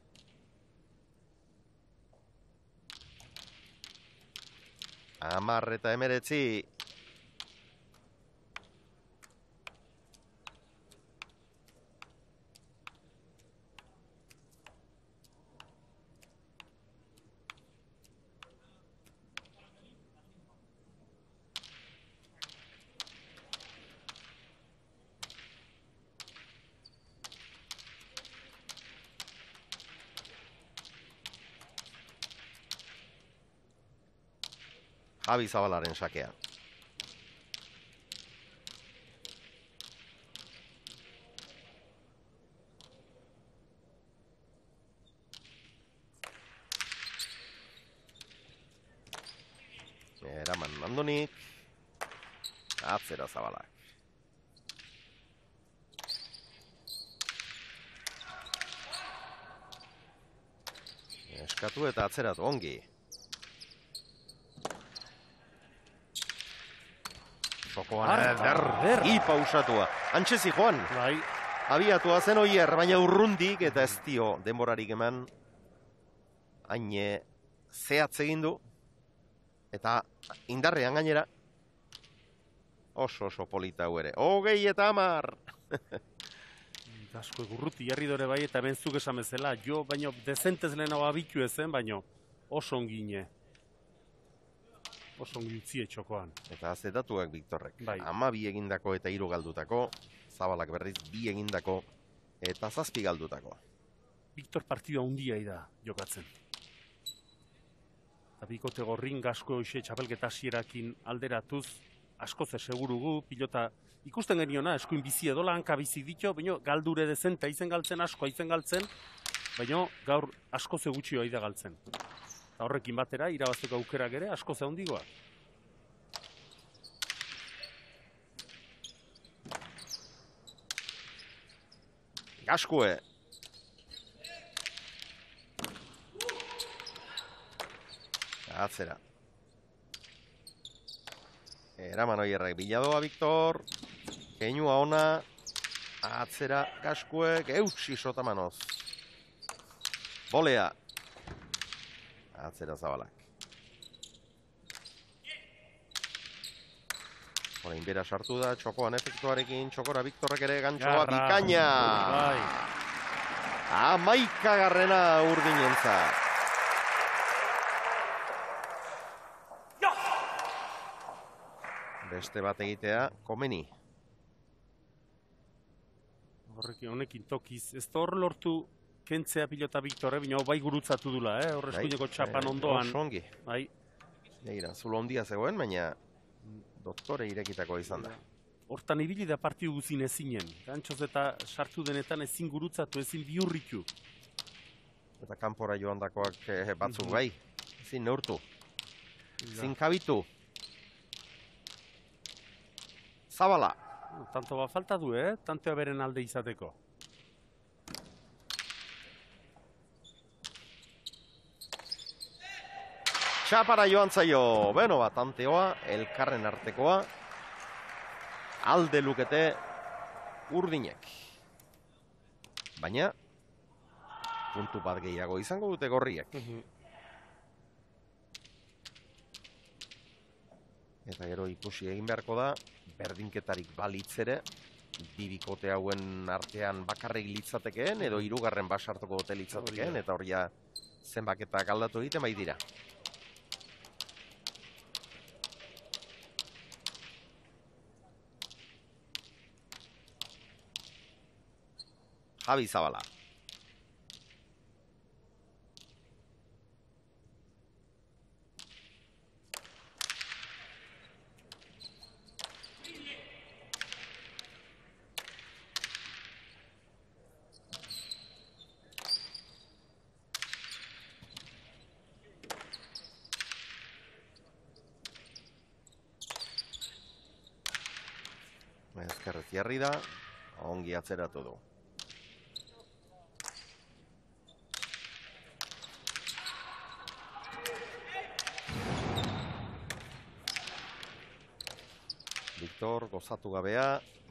Amar eta emeretzi. Javi Zabalaren sakea. Eraman Andonik. Atzera Zabalak. Eskatu eta atzeratu ongi. Jokoan eder, hi pausatua. Antxezi joan. Bai. Abiatua zen oier, baina urrundik eta ez dio denborarik eman. Haine zehatz egin du. Eta indarrean gainera. Oso oso polita hau ere. Hogei eta hamar! Asko egurruti jarri dore bai, eta benzuk esan bezala, jo, baino, dezentez lehenago abitu ezen, baino, oso ongine. Oso ongi utzie txokoan. Eta zetatuak Viktorrek. Bai. Ama bi egindako eta hiru galdutako, Zabalak berriz bi egindako eta zazpi galdutako. Viktor partidua hundia da jokatzen. Eta bikote gorrin gasko hoxe txapelketa hasierakin alderatuz, asko ze segurugu, pilota ikusten geniona, eskuin bizi edola, hanka bizi ditu, baina galdure dezenta izen galtzen, asko izen galtzen, baina gaur asko ze gutxi hori da galtzen. Eta horrekin batera, irabazteko aukerak ere, asko ze handigoa. Gaskue! Atzera. Eraman oierrek biladoa, Viktor. Keinua ona. Atzera, Gaskuek. Eutsi sotamanoz. Bolea. Atzera Zabalak. Horein bera sartu da, txokoan efektuarekin, txokora Viktorrek ere gantxoa bikaina. Bai. Hamaika garrena urdinentzat. Beste bat egitea, komeni. Horrekin, honekin tokiz, ez da hor lortu kentzea pilota Viktorre, bina bai gurutzatu dula, eh? Horre eskuineko txapan ondoan. Oso ongi. Bai. Negira, zulo ondia zegoen, baina doktore irekitako izan da. Hortan ibili da partidu guzin ezinen. Gantxoz eta sartu denetan ezin gurutzatu, ezin bihurritu. Eta kanpora joan dakoak eh, batzuk bai. Ezin neurtu. Ezin kabitu. Zabala. Tanto ba falta du, eh? Tantoa beren alde izateko. Txapara joan zaio. Beno bat, tanteoa, elkarren artekoa. Alde lukete urdinek. Baina, puntu bat gehiago izango dute gorriek. Eta gero ikusi egin beharko da, berdinketarik balitzere, bi bikote hauen artean bakarrik litzatekeen, edo hirugarren basartuko dute litzatekeen, eta hori ja zenbaketak aldatu egiten bai dira. Javi Zabala. Ezkerrez jarri da, ongi atzeratu du. Viktor gozatu gabea,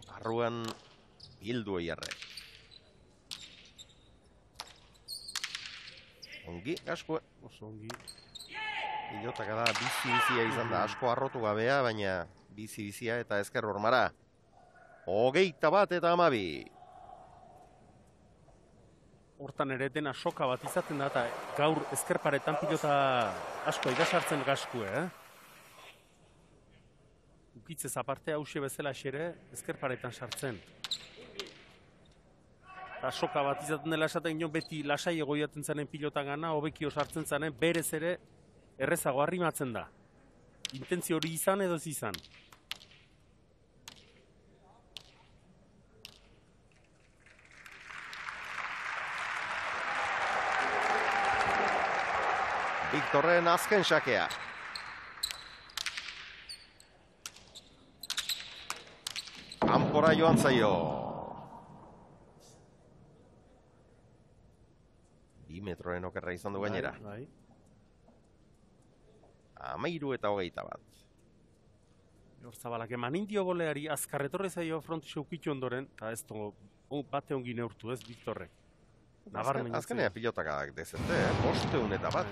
barruan bildu eierre. Ongi, Gaskue. Oso ongi. Pilotaka da, bizi-bizia izan da, asko arrotu gabea, baina bizi-bizia eta ezker hormara. Hogeita bat eta amabi. Hortan ere dena soka bat izaten da, eta gaur ezkerparetan pilota asko igasartzen Gaskue, eh? Ukitzez aparte hause bezala xere, ezkerparetan sartzen. Eta soka bat izaten dela esaten gino beti lasai egoiaten zanen pilota gana, hobekio sartzen zanen, berez ere errezago arrimatzen da. Intentzio hori izan edo ez izan. Viktorren azken sakea. Kanpora joan zaio. Bi metroen okerra izan du gainera. Bai, bai. Amairu eta hogeita bat. Hor Zabalak eman indio goleari azkarretorre zaio frontixe ukitu ondoren, eta ez dugu bate ongi neurtu ez Viktorrek. Azken, azkenea pilotakadak dezente, eh? Bosteun eta bat.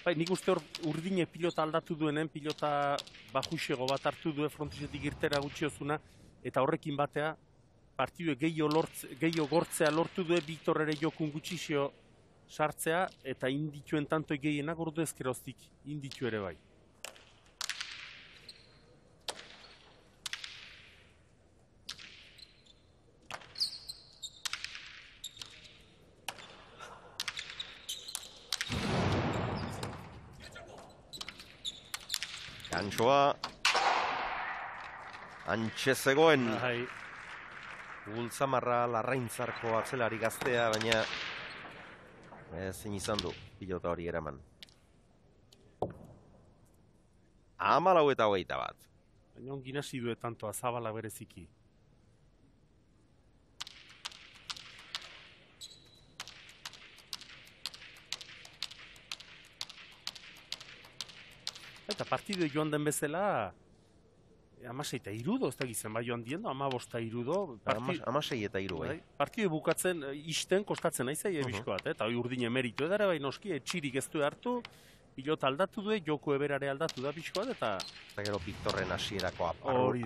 Bai, nik uste hor urdine pilota aldatu duenen, pilota bajuxego bat hartu duen frontisetik irtera gutxiozuna, eta horrekin batea, partidue gehiago gortzea lortu duen, Victor ere jokun gutxixio sartzea, eta indituen tantoi gehienak ordu ezkeroztik, inditu ere bai. Gantxoa antxe zegoen Bai. Ultzamarra larraintzarko atzelari gaztea, baina ezin izan du pilota hori eraman. Hamalau eta hogeita bat. Baina ongin hasi due tanto azabala bereziki. Eta partidu joan den bezala, amasei eta irudo, ez da gizien bai joan diendo, amabosta irudo. Amasei eta iru, bai. Partidu bukatzen, isten kostatzen naizai ebizko bat, eta hori urdine meritu edara, bai noski, etxirik ez du hartu, pilota aldatu du, joko eberare aldatu da pixko bat, eta... Eta gero Victorren hasierako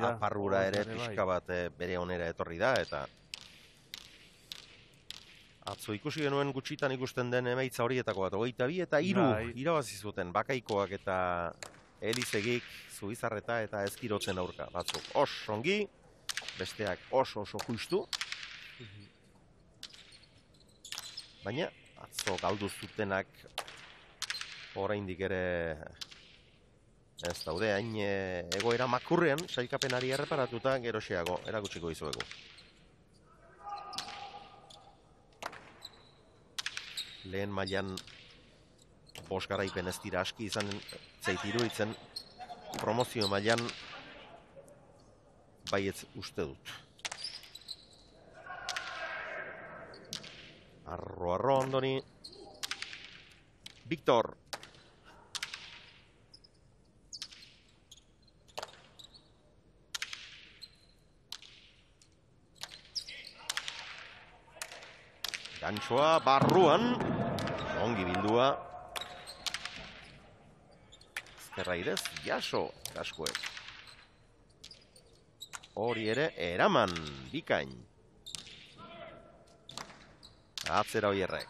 aparrura ere pixka bat bere onera etorri da, eta... Atzo ikusi genuen gutxitan ikusten den emaitza horietako bat, hogeita bi eta hiru irabazi zuten Bakaikoak eta Elizegik, Zubizarreta eta Ezkirotzen aurka. Batzuk oso ongi, besteak oso oso justu. Baina atzo galdu zutenak oraindik ere ez daude hain egoera makurrean, sailkapenari erreparatuta geroxeago erakutsiko dizuegu. Lehen mailan bost garaipen ez dira aski izan zeitiru itzen promozio mailan baietz uste dut. Arro, arro, ondoni. Victor. Gantxoa barruan. Ongi bildua. Ezkerraidez, jaso kaskuek. Hori ere, eraman, bikain. Atzera hoierrek.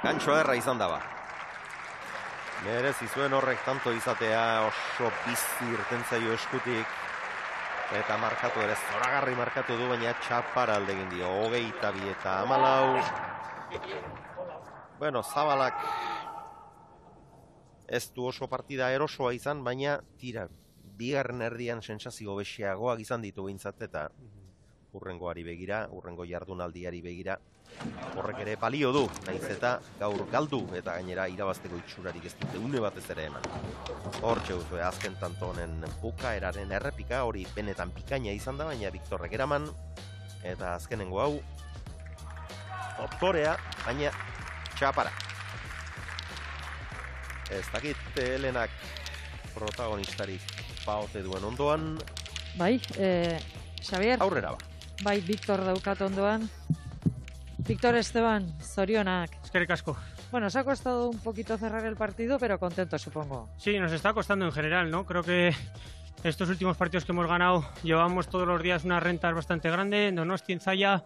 Gantxoa erra izan daba. Merez izuen horrek tanto izatea oso bizi irtentzaio eskutik. Eta markatu ere zoragarri markatu du, baina txapar aldegin dio. Hogeita bi eta hamalau. Bueno, Zabalak ez du oso partida erosoa izan, baina tira, bigarren erdian sentsazio bexiagoak izan ditu behintzat, eta urrengoari begira, urrengo jardunaldiari begira, horrek ere balio du, naiz eta gaur galdu, eta gainera irabazteko itxurarik ez dute une batez ere eman. Hor txeuzue, azken tanto honen bukaeraren errepika, hori benetan bikaina izan da, baina Victorrek eraman, eta azkenengo hau, doktorea, baina txapara. Ez dakit Helenak protagonistarik baote duen ondoan. Bai, eh, Xavier. Aurrera ba. Bai, Victor daukat ondoan. Victor Esteban, zorionak. Eskerrik asko. Bueno, os ha costado un poquito cerrar el partido, pero contento, supongo. Sí, nos está costando en general, ¿no? Creo que estos últimos partidos que hemos ganado llevamos todos los días unas rentas bastante grandes, Donosti, en Zaya,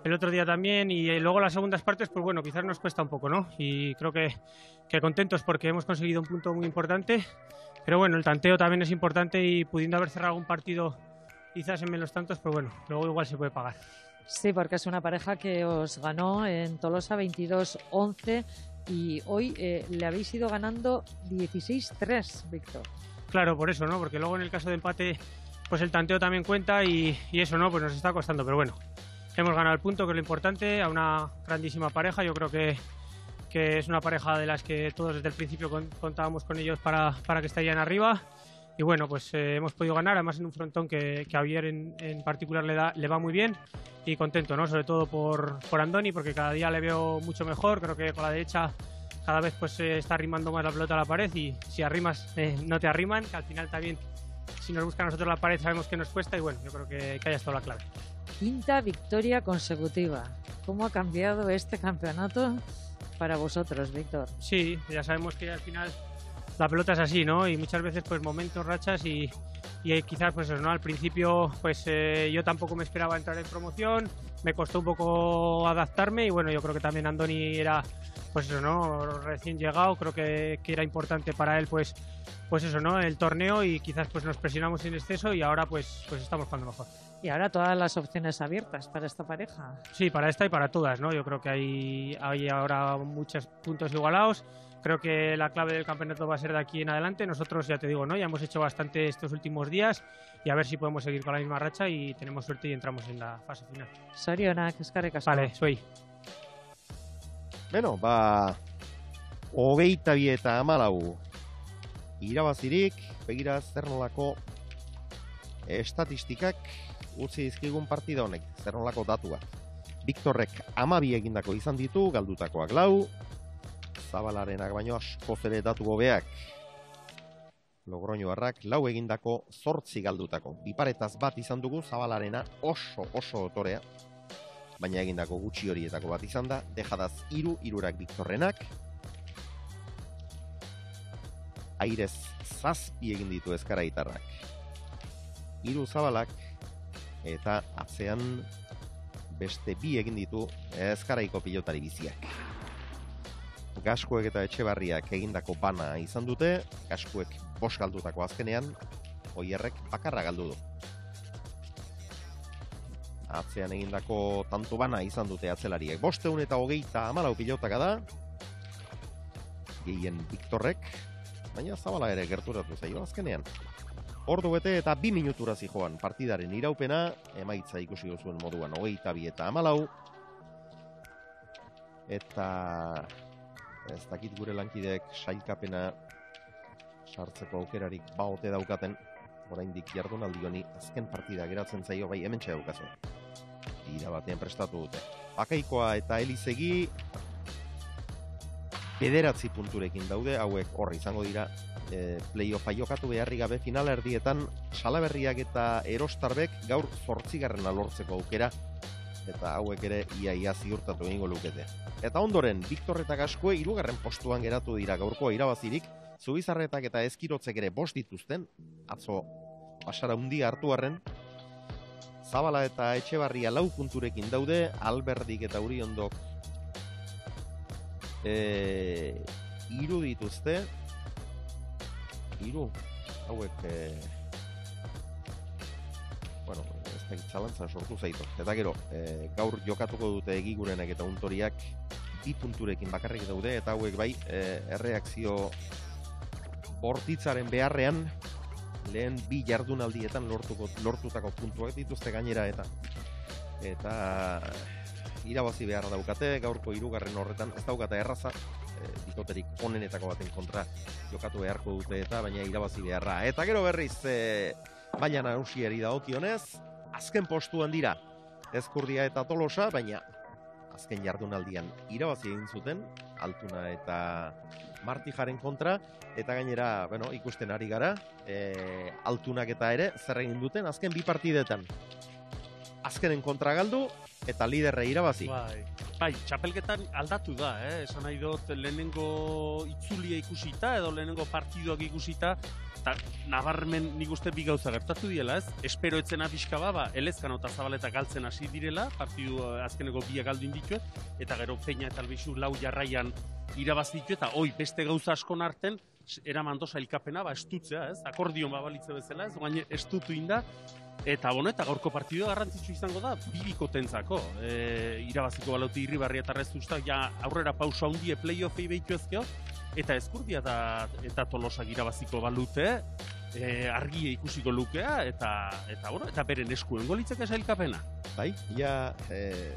el otro día también, y luego las segundas partes, pues bueno, quizás nos cuesta un poco, ¿no? Y creo que, que contentos porque hemos conseguido un punto muy importante, pero bueno, el tanteo también es importante y pudiendo haber cerrado un partido quizás en menos tantos, pues bueno, luego igual se puede pagar. Sí, porque es una pareja que os ganó en Tolosa veintidós once y hoy eh, le habéis ido ganando dieciséis tres, Víctor. Claro, por eso, ¿no? Porque luego en el caso de empate, pues el tanteo también cuenta y, y eso, ¿no? Pues nos está costando, pero bueno, hemos ganado el punto, que es lo importante, a una grandísima pareja. Yo creo que, que es una pareja de las que todos desde el principio con, contábamos con ellos para, para que estarían arriba. Y bueno, pues eh, hemos podido ganar, además en un frontón que, que a Javier en, en particular le, da, le va muy bien y contento, ¿no? Sobre todo por, por Andoni, porque cada día le veo mucho mejor. Creo que con la derecha cada vez pues eh, está arrimando más la pelota a la pared y si arrimas eh, no te arriman, que al final también si nos busca a nosotros la pared sabemos que nos cuesta y bueno, yo creo que, que haya estado la clave. Quinta victoria consecutiva. ¿Cómo ha cambiado este campeonato para vosotros, Víctor? Sí, ya sabemos que al final la pelota es así, ¿no? Y muchas veces pues momentos, rachas y, y quizás pues eso, ¿no? Al principio pues eh, yo tampoco me esperaba entrar en promoción, me costó un poco adaptarme y bueno, yo creo que también Andoni era pues eso, ¿no? Recién llegado, creo que, que era importante para él pues pues eso, ¿no? El torneo y quizás pues nos presionamos en exceso y ahora pues pues estamos jugando mejor. Y ahora todas las opciones abiertas para esta pareja. Sí, para esta y para todas, ¿no? Yo creo que hay, hay ahora muchos puntos igualados. Creo que la clave del campeonato va a ser de aquí en adelante. Nosotros, ya te digo, ¿no? Ya hemos hecho bastante estos últimos días y a ver si podemos seguir con la misma racha y tenemos suerte y entramos en la fase final. Zorionak, eskerrik asko. Vale, soy. Beno, ba, hogeita bi eta hamalau irabazirik, begira zer nolako estatistikak utzi dizkigun partida honek, zer nolako datuak. Viktorrek hamabi egindako izan ditu, galdutakoak lau, Zabalarenak baino askoz ere datu hobeak. Logroñoarrak lau egindako zortzi galdutako. Biparetaz bat izan dugu, Zabalarena oso oso otorea, baina egindako gutxi horietako bat izan da, dejadaz hiru, hirurak Viktorrenak. Airez zazpi egin ditu Ezkaraitarrak. Hiru Zabalak eta atzean beste bi egin ditu Ezkaraiko pilotari biziak. Gaskuek eta Etxebarriak egindako bana izan dute, Gaskuek bost galdutako azkenean, Oierrek bakarra galdu du. Atzean egindako tanto bana izan dute atzelariek. Bosteun eta hogeita hamalau pilotaka da, gehien Viktorrek, baina Zabala ere gerturatu zaio azkenean. Ordu bete eta bi minutura zijoan partidaren iraupena, emaitza ikusi duzuen moduan hogeita bi eta hamalau, eta ez dakit gure lankideek sailkapena sartzeko aukerarik baote daukaten, oraindik jardunaldi honi azken partida geratzen zaio, bai hementxe daukazu. Ira batean prestatu dute. Bakaikoa eta Elizegi bederatzi punturekin daude, hauek horri izango dira e, play-offa jokatu beharri gabe final erdietan Salaberriak eta Erostarbek gaur zortzigarrena lortzeko aukera, eta hauek ere ia-ia ziurtatu egingo lukete. Eta ondoren, Viktor eta Gaskue hirugarren postuan geratu dira gaurkoa irabazirik, Zubizarretak eta Ezkirotzek ere bost dituzten, atzo pasara hundia hartu arren, Zabala eta Etxebarria lau punturekin daude, Alberdik eta Uriondok e, iru dituzte, iru, hauek, e, bueno, ez da itzalantzan sortu zaitu. Eta gero, e, gaur jokatuko dute Egigurenek eta Untoriak bi punturekin bakarrik daude, eta hauek bai, e, erreakzio bortitzaren beharrean, lehen bi jardunaldietan lortuko, lortutako puntuak dituzte gainera, eta eta irabazi behar daukate, gaurko hirugarren horretan ez daukate erraza, e, bikoterik onenetako baten kontra jokatu beharko dute eta baina irabazi beharra. Eta gero berriz, e, baina nagusiari dagokionez, azken postuan dira Ezkurdia eta Tolosa, baina azken jardunaldian irabazi egin zuten, Altuna eta Martijaren kontra, eta gainera, bueno, ikusten ari gara, e, Altunak eta ere zer egin duten azken bi partidetan. Azkenen kontra galdu eta liderre irabazi. Bai, bai, txapelketan aldatu da, eh? Esan nahi dut lehenengo itzulia ikusita edo lehenengo partiduak ikusita, eta nabarmen nik uste bi gauza gertatu diela, ez? Espero etzena pixka ba, Elezkano eta Zabaleta galtzen hasi direla, partidu azkeneko biak galdu inditu, eta gero Peña eta Albizu lau jarraian irabazitu, eta hoi beste gauza askon arten, eraman dosa ilkapena, ba, estutzea, ez? Akordion babalitze bezala, ez? Baina estutu inda, eta bueno, eta gaurko partidu garrantzitsu izango da, bibiko tentzako. E, irabaziko balauti Irribarria eta Rezustak, ja aurrera pausa hundie play-offei behitu ezkeo, eta Ezkurdia eta, eta Tolosak irabaziko balute, e, argie ikusiko lukea, eta, eta, bueno, eta beren eskuen golitzeka sailkapena. Bai, ja, e,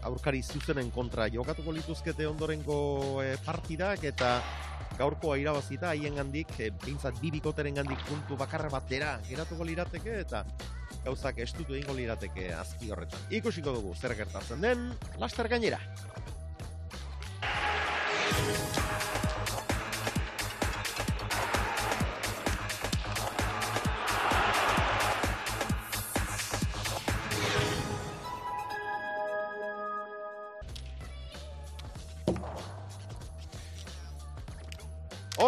aurkari zuzenen kontra jokatuko lituzkete ondorengo e, partidak, eta gaurkoa irabazita haien gandik, e, bintzat bi bikoteren gandik puntu bakarra batera geratuko lirateke, eta gauzak estutu egingo lirateke azpi horretan. Ikusiko dugu zer gertatzen den, laster gainera.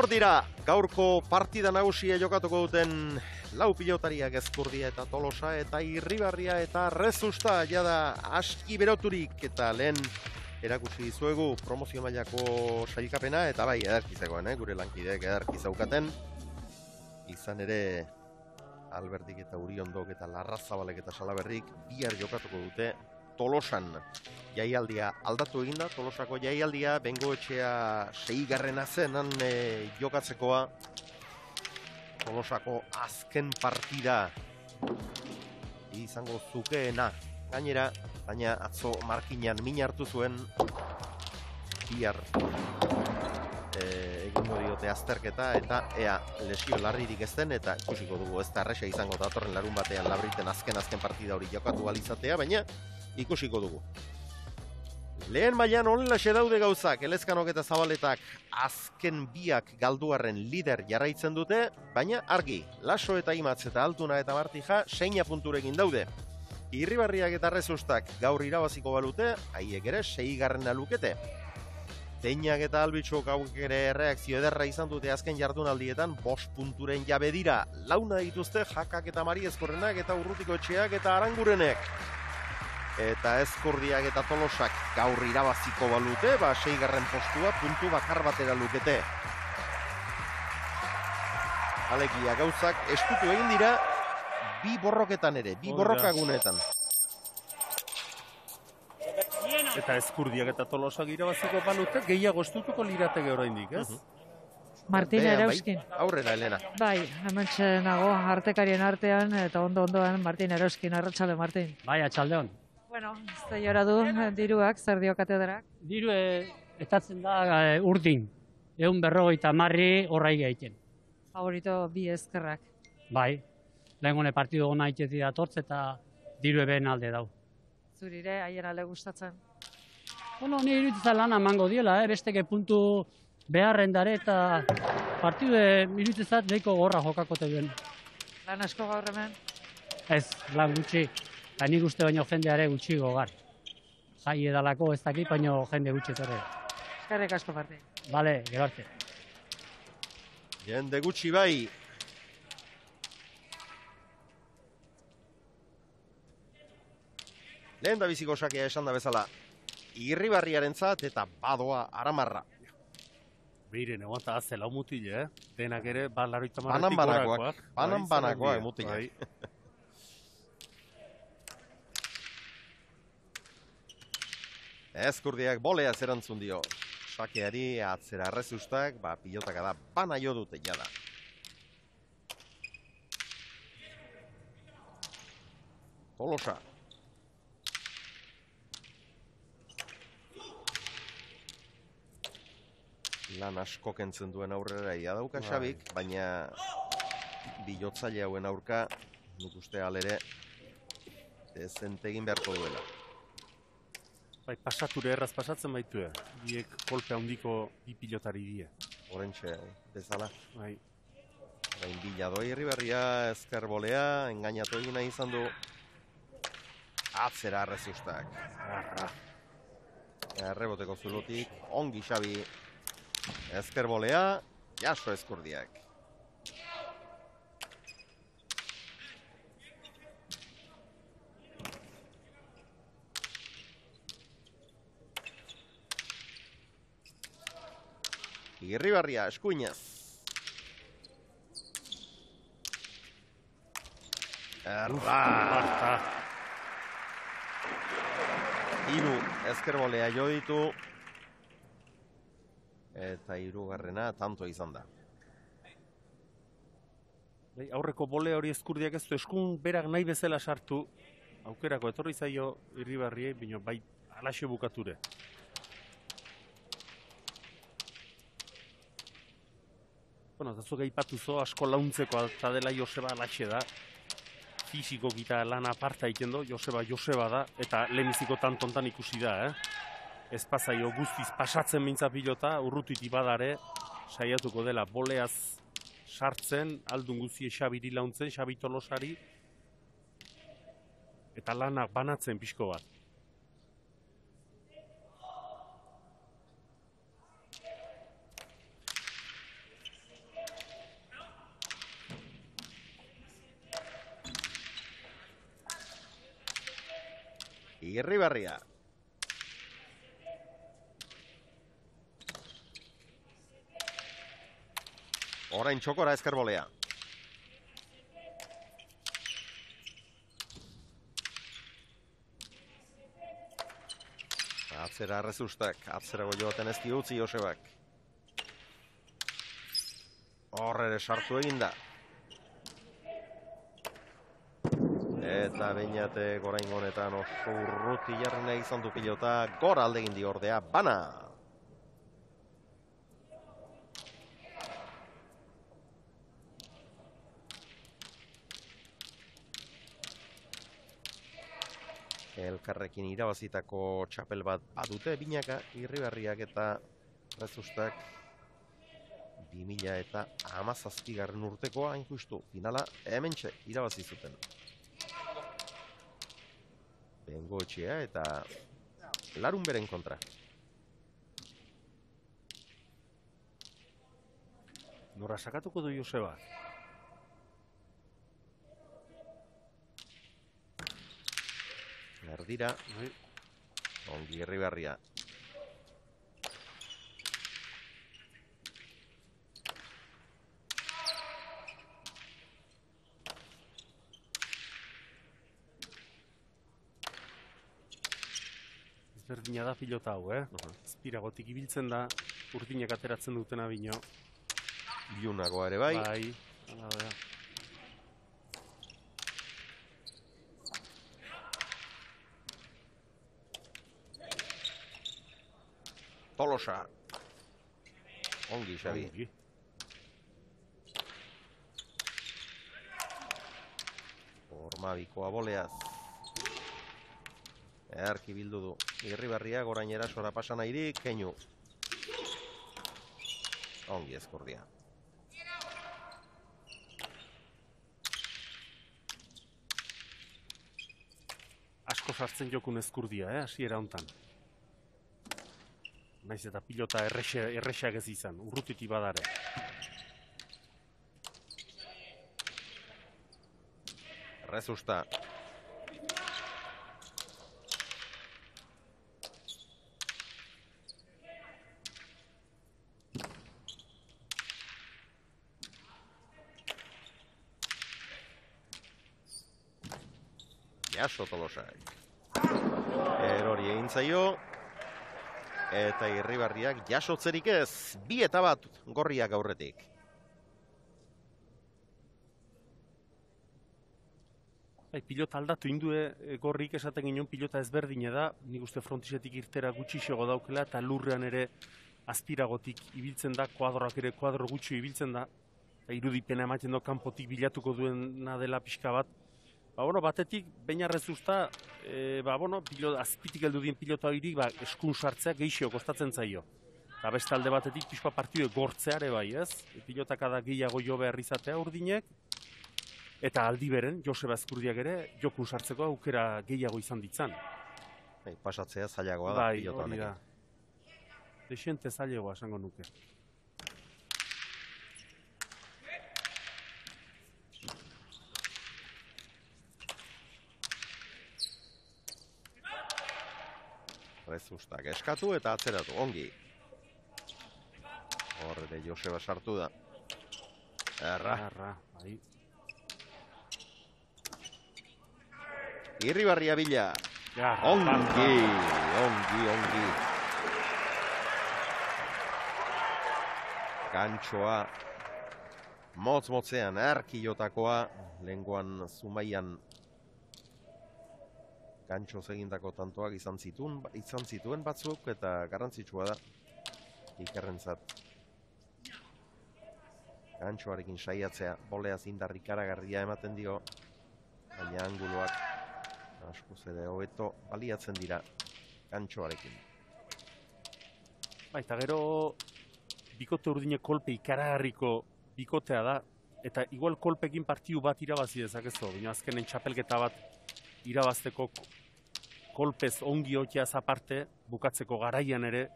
Hor dira, gaurko partida nagusia jokatuko duten lau pilotariak Ezkurdia eta Tolosa eta Irribarria eta Rezusta jada aski beroturik eta lehen erakusi dizuegu promozio mailako sailkapena eta bai ederkizegoen, eh? Gure lankideek ederki zaukaten. Izan ere Alberdik eta Uriondok eta Larrazabalek eta Salaberrik bihar jokatuko dute Tolosan. Jaialdia aldatu eginda, Tolosako jaialdia, Bengoetxea seigarrena zen han e, jokatzekoa. Tolosako azken partida izango zukeena. Gainera, baina atzo markinan min hartu zuen bihar e, egingo diote azterketa eta ea lesio larririk ez den eta ikusiko dugu ez da erresa izango datorren larun batean Labriten azken-azken partida hori jokatu alizatea, baina ikusiko dugu. Lehen mailan honelaxe daude gauzak, Elezkanok eta Zabaletak azken biak galduarren lider jarraitzen dute, baina argi, Laso eta Imatz eta Altuna eta Martija seina punturekin daude. Irribarriak eta Rezustak gaur irabaziko balute, haiek ere seigarrena lukete. Teinak eta Albitxok hauek ere reakzio ederra izan dute azken jardunaldietan, bost punturen jabe dira. Launa dituzte Jakak eta Mariezkorrenak eta Urrutiko Etxeak eta Arangurenek. Eta Ezkurdiak eta Tolosak gaur irabaziko balute, ba seigarren postua puntu bakar batera lukete. Alegia gauzak estutu egin dira bi borroketan ere, bi borrokagunetan. Eta Ezkurdiak eta Tolosak irabaziko balute, gehiago estutuko lirateke oraindik, ez? Martin Erauskin. Aurrera, Elena. Bai, hemen nago artekarien artean eta ondo-ondoan Martin Erauskin, arratsalde Martin. Bai, atxaldeon. Bueno, ez da jora du diruak, zer dio katedrak? Diru e, estatzen da e, urdin, egun berrogeita marri horrai gaiten. Favorito bi ezkerrak. Bai, lehen gone partidu gona itezi datortz eta diru eben alde dau. Zurire, haien alde gustatzen? Bueno, ni iruditza lan emango diela, eh? Besteke puntu beharren dare eta partidu iruditzat deiko gorra jokakote duen. Lan asko gaur hemen? Ez, lan gutxi. Eta nik uste baino jendeare gutxi gogar. Jai edalako ez dakit, baino jende gutxi torre. Eskerrik asko parte. Bale, gero arte. Jende gutxi bai. Lehen da biziko sakea esan da bezala. Irribarriarentzat eta badoa Aramarra. Behiren, egon eta azte lau mutile, eh? Denak ere, balaroita Banan marretik banakoak. gorakoak. Banan banakoak mutile. Ezkurdiak bolea zerantzun dio. Sakeari atzera Rezustak, ba, pilotaka da, bana jo dute jada. Tolosa. Lan asko kentzen duen aurrera ia dauka Xabik, baina bilotzaile hauen aurka, nik uste alere, dezentegin beharko duela. Bai, pasature erraz pasatzen baitu, biek kolpe handiko bi pilotari die. Horentxe, bezala. Bai. Bain bila doi Irribarria, ezker bolea, engainatu egina izan du. Atzera Rezustak. Arra. Erreboteko zulotik, ongi Xabi. Ezker bolea, jaso Ezkurdiak. Irribarria, eskuinaz. Erra! Hiru ezkerbolea jo ditu. Eta hirugarrena tanto izan da. Bai, aurreko bole hori Ezkurdiak ez du eskun berak nahi bezala sartu. Aukerako etorri zaio Irribarriei, baina bai alaxe bukature. Bueno, eta zuek aipatu zo, asko launtzeko eta dela Joseba alaxe da. Fisiko gita lan aparta egiten du, Joseba Joseba da, eta leheniziko tantontan ikusi da, eh? Ez pasaio guztiz pasatzen mintza pilota, urrutiti badare, saiatuko dela boleaz sartzen, aldun guztie Xabiri launtzen, Xabi Tolosari, eta lanak banatzen pixko bat. Irribarria. Orain txokora ezkerbolea. Atzera Rezustak, atzera joaten ez diutzi Josebak. Hor ere sartu eginda. Eta Beñatek orain honetan oso urruti jarri nahi izan du pilota, gora aldegin di ordea, bana! Elkarrekin irabazitako txapel bat badute binaka, Irribarriak eta Rezustak bi mila eta hamazazpigarren urtekoa hain justu finala hementxe irabazi zuten. Bengoetxea eta larun beren kontra. Nora sakatuko du Joseba? Erdira, ongi Irribarria. Ezberdina da pilota hau, eh? Azpiragotik ibiltzen da, urdinak ateratzen dutena bino. Ilunagoa ere bai. Bai, hala da. Tolosa. Ongi, Xabi. Ongi. Ormabikoa boleaz. Earki bildu du. Irribarria gorain erasora pasan airik, keinu. Ongi ezkurdia. Asko sartzen jokun ezkurdia, eh? Hasiera hontan. Naiz eta pilota erresak ez izan, urrutiti badare. Rezusta. Jaso Tolosak. Erori egin zaio. Eta Irribarriak jasotzerik ez, bi eta bat gorriak aurretik. Bai, pilota aldatu indue gorrik esaten ginen pilota ezberdine da, nik uste frontisetik irtera gutxixego daukela, eta lurrean ere azpiragotik ibiltzen da, kuadroak ere kuadro gutxi ibiltzen da, eta irudipena ematen do kanpotik bilatuko duena dela pixka bat. Ba, bueno, batetik, baina Rezuzta, e, ba, bueno, pilota, azpitik heldu dien pilota hori, ba, eskun sartzea gehixio kostatzen zaio. Eta beste alde batetik, pixka partidue gortzeare bai, ez? E, pilotak da gehiago jo behar izatea urdinek, eta aldi beren, Joseba Ezkurdiak ere, jokun sartzeko aukera gehiago izan ditzan. Bai, pasatzea zailagoa da Bai, pilota hori da. honekin. Dexente zailagoa esango nuke. Rezustak eskatu eta atzeratu, ongi. Horre Joseba sartu da. Erra. Erra, bai. Irribarria bila. Ja, Ongi, ongi, ongi. Gantxoa. Motz-motzean, erkilotakoa. Lenguan Zumaian gantxoz egindako tantoak izan zituen, izan zituen batzuk, eta garrantzitsua da Ikerrentzat. Gantxoarekin saiatzea, boleaz indar ikaragarria ematen dio, baina anguloak askoz ere hobeto baliatzen dira gantxoarekin. Baita gero, bikote urdine kolpe ikaragarriko bikotea da, eta igual kolpekin partiu bat irabazi dezakezu, baina azkenen txapelketa bat irabazteko kolpez ongi hotiaz aparte, bukatzeko garaian ere,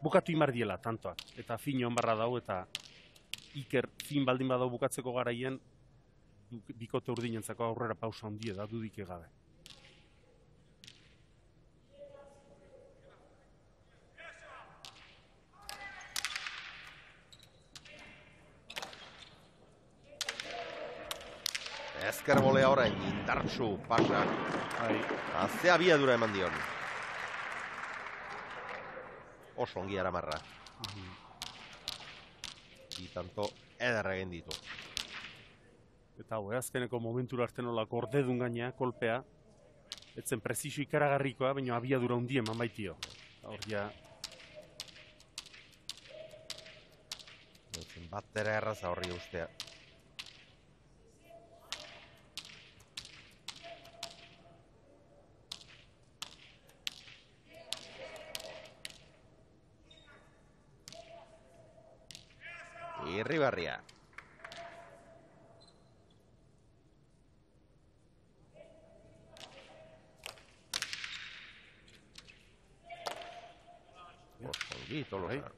bukatu imardiela tantoak. Eta fin hon barra dau, eta Iker fin baldin badau bukatzeko garaien, bikote urdinentzako aurrera pausa ondie da, dudik egabe. Ezker bolea orain, indartsu pasa. Bai. Azte abiadura eman dion. Oso ongi aramarra. Bi tanto ederra egin ditu. Eta hau, azkeneko momentura arte nola gordedun gaina, kolpea. Etzen prezisio ikaragarrikoa, baina abiadura hundi eman baitio. Hor ja... Etzen bat ere erraza horri ustea. Irribarria. Osongi, Tolosa.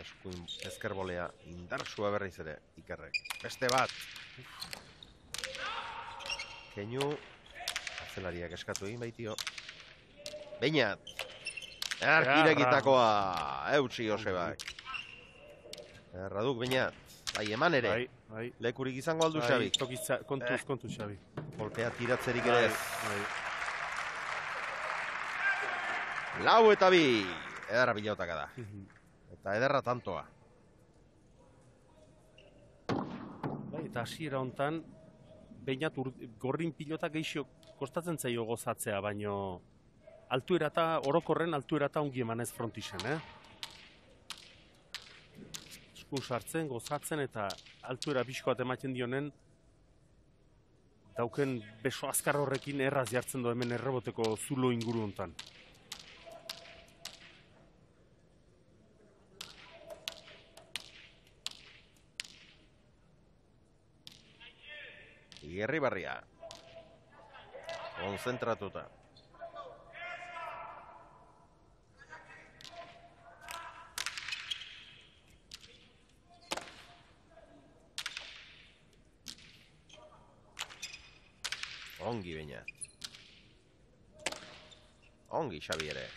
Eskuin ezkerbolea indartsua berriz ere, Ikerrek. Beste bat. Keinu, atzelariak eskatu egin baitio. Beinat. Arkirekitakoa, eutsi Josebak. Erraduk Beinat. Bai, eman ere. Bai, bai. Lekurik izango aldu Bai, Xabik. tokitza, kontuz, kontuz, Xabi. Kolpea tiratzerik Bai, ere ez. bai. Lau eta bi. Ederra pilautaka da. Eta ederra tantoa. Bai, eta hasiera hontan Beinat gorrin pilota geixo kostatzen zaio gozatzea, baino altuera eta orokorren altuera eta ongi emanez frontisen, eh? Eskun sartzen, gozatzen eta altuera bizkoat ematen dionen dauken beso azkar horrekin erraz jartzen du hemen erreboteko zulo inguru hontan. Irribarria. Konzentratuta. Ongi Beinat. Ongi Xabi ere.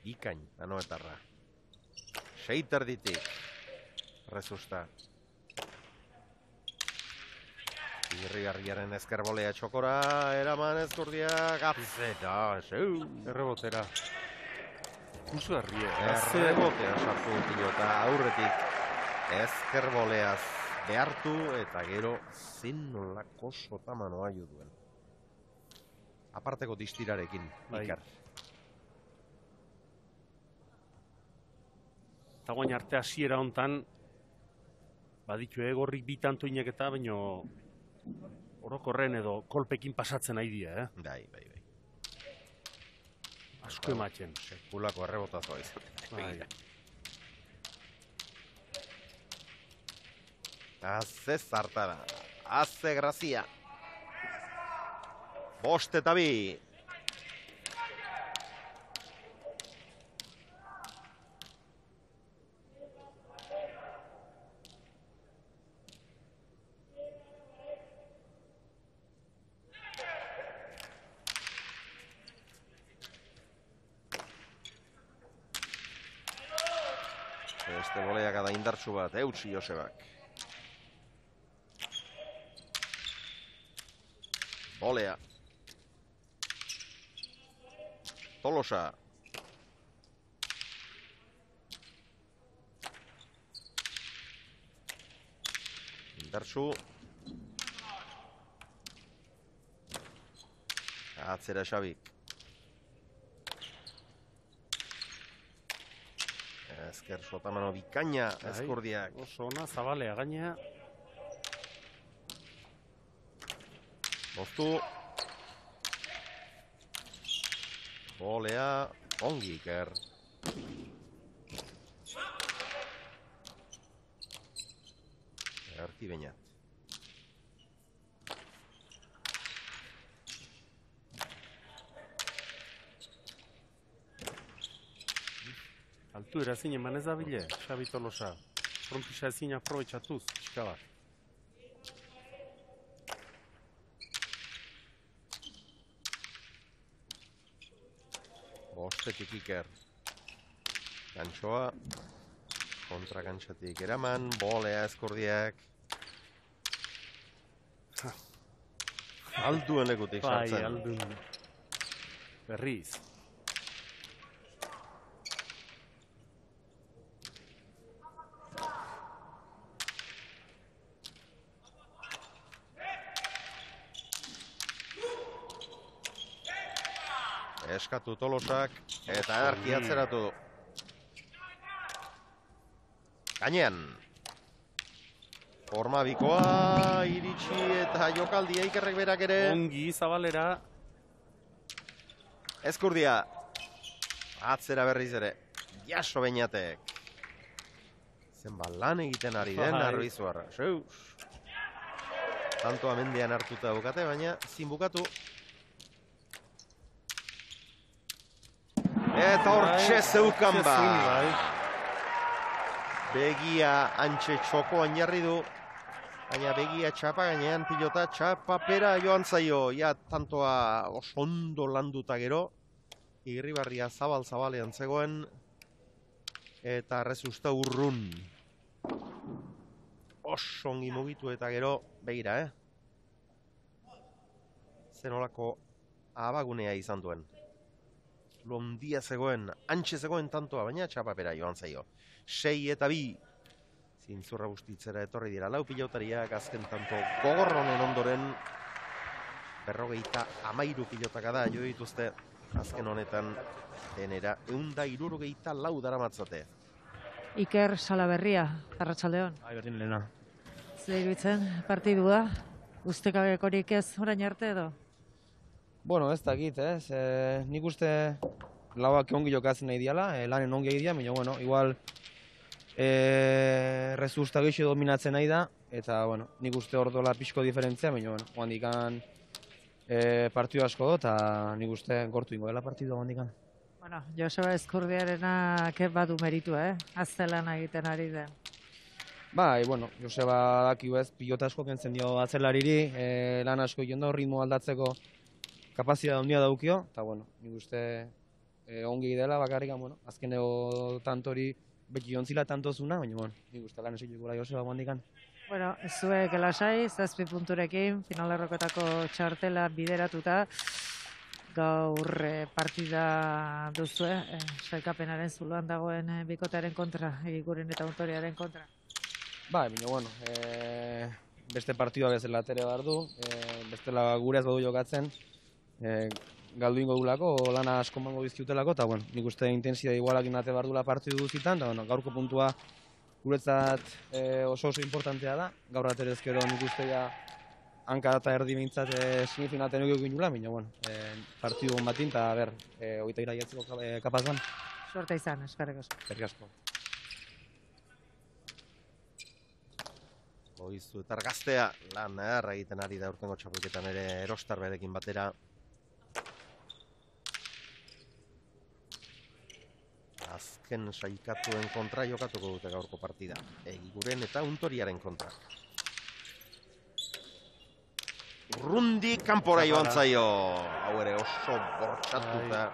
Ikain, anoetarra. Seiter ditik. Rezusta. Irrigarriaren ezkerbolea txokora, eraman ezkurdia, gazeta, zeu. Errebotera. Kusu herrie. Errebotea sartu pilota aurretik ezkerboleaz behartu eta gero zin nolako sotamanoa jo duen. Aparteko distirarekin, Bai. Ikar. Eta guain arte hasiera hontan baditu egorrik bi tantoinak eta baino orokorren edo kolpekin pasatzen nahi dira, eh? Bai, bai, bai. Asko ematen. Sekulako errebotazoa izan. Bai. Haze zartara, haze grazia. Bost eta bi. Beste boleak da indartsu bat, eutsi Josebak. Bolea. Tolosa. Indartsu. Atzera Xabik. Ezker sotamano bikaina ezkurdiak. Oso ona, zabalea gainea. Moztu. Bolea, ongi Iker. Erti Beinat. Altu erazin eman ez da bile, Xabi Tolosa. Frontisa ezin aprobetxatuz, txika bat. Bostetik Iker. Gantxoa. Kontra gantxatik eraman, bolea eskurdiak. Alduen lekutik Bai, sartzen. aldun. Berriz. Eskatu Tolosak, eta erki atzeratu du. Gainean. Forma bikoa, iritsi eta jokaldia Ikerrek berak ere. Ongi, Zabalera. Eskurdia. Atzera berriz ere. Jaso Beñatek. Zenbat lan egiten ari den Bai. Arbizuarra. Zeus. Tanto amendian hartuta bukate, baina zin bukatu. Eta hortxe zeukan ba. Bai. Begia antxe txokoan jarri du. Baina begia txapa gainean pilota txapa pera joan zaio. Ja tantoa oso ondo landuta gero. Irribarria zabal-zabalean zegoen. Eta rezusta urrun. Oso ongi mugitu eta gero begira, eh? Zenolako abagunea izan duen. Londia zegoen, antxe zegoen tantoa, baina txapapera joan zaio. Sei eta bi. Zintzurra bustitzera etorri dira lau pilotariak, azken tanto gogor honen ondoren. Berrogeita amairu pilotaka da, jo dituzte azken honetan denera. Eunda irurogeita lau daramatzate. Iker Salaberria, Arratsaldeon. Bai, berdin lehena. Zer iruditzen partidua? Ustekabekorik ez orain arte edo? Bueno, ez dakit, ez. E, nik uste lauak ongi jokatzen nahi diala, e, lanen ongi egitea, baina, bueno, igual e, rezusta gehiago dominatzen nahi da, eta, bueno, nik uste hor dola pixko diferentzia, baina, bueno, handikan e, partidu asko do, eta nik uste gortu ingo dela partidu handikan. Bueno, Joseba Eskurdiarenak badu meritu, eh? Aztelan egiten ari den. Bai, bueno, Joseba dakiu ez, pilota asko kentzen dio atzelariri, e, lan asko egin do, ritmo aldatzeko kapazitatea handia daukio, eta, bueno, nik uste e, ongi dela bakarrikan, bueno, azkeneko tantori beti jontzila tantozuna, baina, bueno, nik uste lan esik gura Joseba handikan. Bueno, zuek lasai, zazpi punturekin, finalerroketako txartela bideratuta, gaur eh, partida duzue, eh, sailkapenaren zuloan dagoen eh, bikotearen kontra, egiguren eta untoriaren kontra. Bai, baina, bueno, e, beste partidua bezala atere behar du, e, bestela gure ez badu jokatzen, e, galdu ingo dulako, lana asko mango bizkiutelako, eta, bueno, nik uste intensidade igualakin ate behar dula partidu duzitan, eta, bueno, gaurko puntua guretzat e, oso oso importantea da, gaur aterezkero nik uste ja hanka eta erdi behintzat e, semifinalten egin nula, baina, bueno, e, partidu hon batin, eta, ber, e, hogeita iraiatzeko e, kapazan. Suerta izan, eskerrik asko. Eskerrik asko. Oizu eta argaztea lan erra egiten ari da urtengo txapelketan ere Erostar berekin batera. Azken saikatuen kontra jokatuko dute gaurko partida. Egiguren eta untoriaren kontra. Urrundi kanpora joan zaio. Hau ere oso bortxatuta.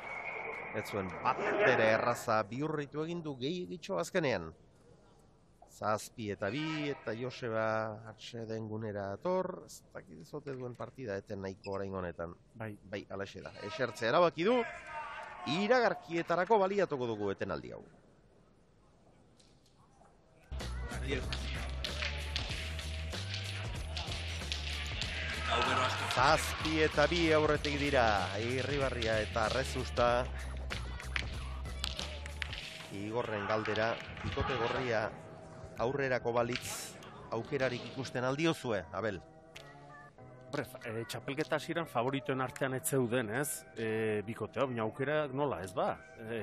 Ez zuen bat bere erraza bihurritu egin du gehiagitxo azkenean. Zazpi eta bi, eta Joseba atxeden gunera ator, ez dakit zote duen partida, eten nahiko orain honetan. Bai. Bai, alaxe da. Esertzea erabaki du, iragarkietarako baliatuko dugu eten aldi hau. Zazpi eta bi aurretik dira, Irribarria eta Rezusta. Igorren galdera, bikote gorria aurrerako balitz aukerarik ikusten aldiozue, Abel? Hombre, e, txapelketa hasieran favoritoen artean ez zeuden, ez? E, bikotea, baina aukera nola, ez ba? E,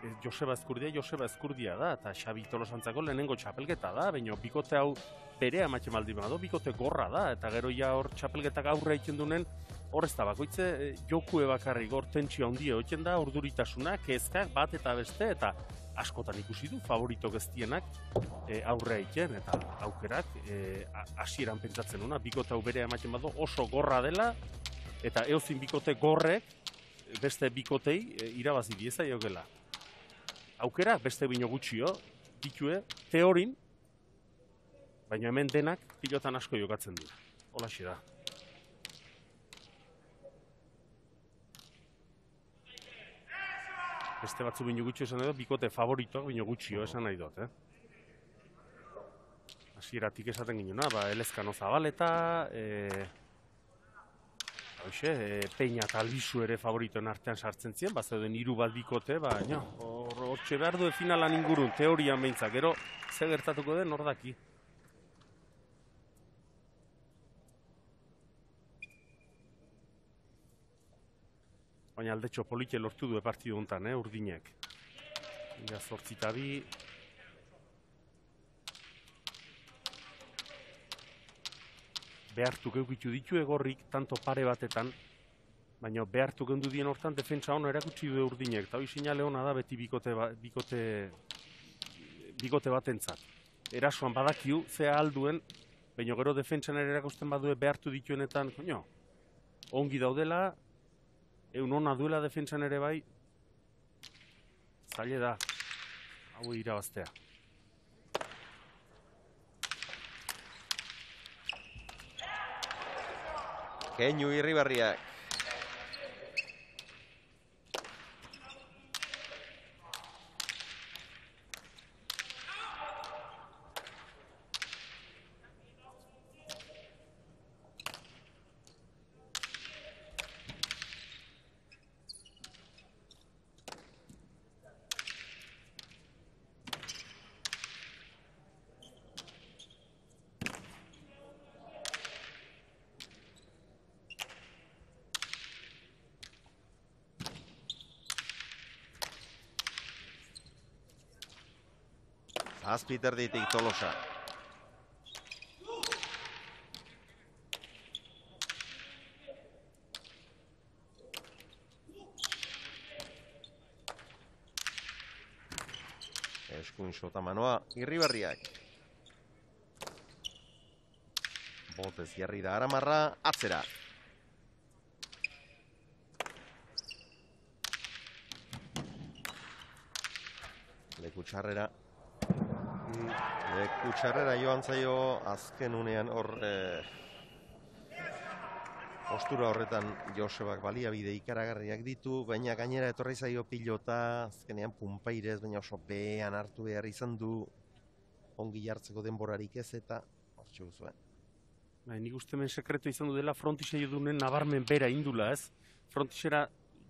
e, Joseba Eskurdia, Joseba Eskurdia da, eta Xabi Tolosantzako lehenengo txapelketa da, baina bikote hau berea ematen baldin badu, bikote gorra da, eta gero ja hor txapelketak aurre egiten dunen, hor ez da bakoitze, e, jokue bakarrik hor tentsio handia egiten da, urduritasuna, kezkak bat eta beste, eta askotan ikusi du, favoritok ez dienak e, aurrea egiten eta aukerak hasieran e, pentsatzen una, bikote hau berea ematen badu oso gorra dela eta eozin bikote gorrek beste bikotei e, irabazi dieza jogela. Aukera beste bino gutxio ditue teorin, baina hemen denak pilotan asko jokatzen du. Holaxe da. Beste batzu bino gutxio esan nahi dut, bikote favoritoak bino gutxio esan nahi dut, eh? Hasieratik esaten ginuna, ba, Elezkano Zabaleta, e, hoxe, e, Peña eta Albizu ere favoritoen artean sartzen ziren, ba, zeuden hiru bat bikote, ba, no, hortxe behar du finalan ingurun, teorian behintzak, gero, ze gertatuko den, hor daki. Baina aldetxo polite lortu du partidu honetan, eh, urdinek. Ia zortzita bi. Behartu geukitu ditu egorrik, tanto pare batetan, baina behartu gendu dien hortan defentsa hona erakutsi du urdinek. Eta hori sinale hona da beti bikote, bikote, bikote batentzat. Erasoan badakiu, zea alduen, baina gero defentsan ere erakusten badue behartu dituenetan, koño, ongi daudela, egun hona duela defentsan ere bai, zaile da, hau irabaztea. Keinu Irribarriak. Azpiter ditik Tolosa. Eskuin sota manoa, Irribarriak. Botez jarri da Aramarra, atzera. Leku txarrera. Leku txarrera joan zaio azken unean hor eh, postura horretan Josebak baliabide ikaragarriak ditu, baina gainera etorri zaio pilota, azkenean punpairez, baina oso behan hartu behar izan du ongi jartzeko denborarik ez eta hortxe guzuen. Ba, nik uste hemen sekretu izan du dela frontise jodunen nabarmen bera indula, ez? Frontisera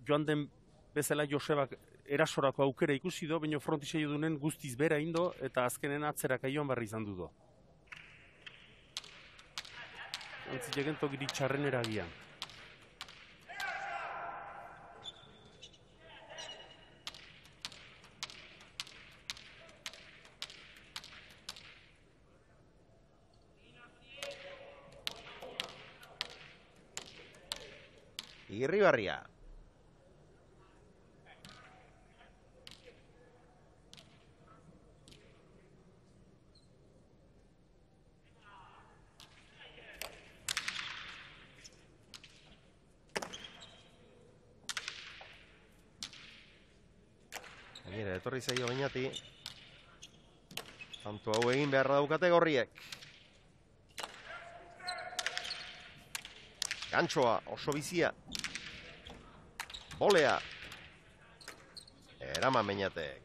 joan den bezala Josebak erasorako aukera ikusi do, baina frontise jodunen guztiz bera indo eta azkenen atzerak aioan barri izan du do. Antzilegen tokiri txarren eragian. Irribarria. Gainera, etorri zaio bainati. Tanto hau egin beharra daukate gorriek. Gantxoa, oso bizia. Bolea. Eraman meinatek.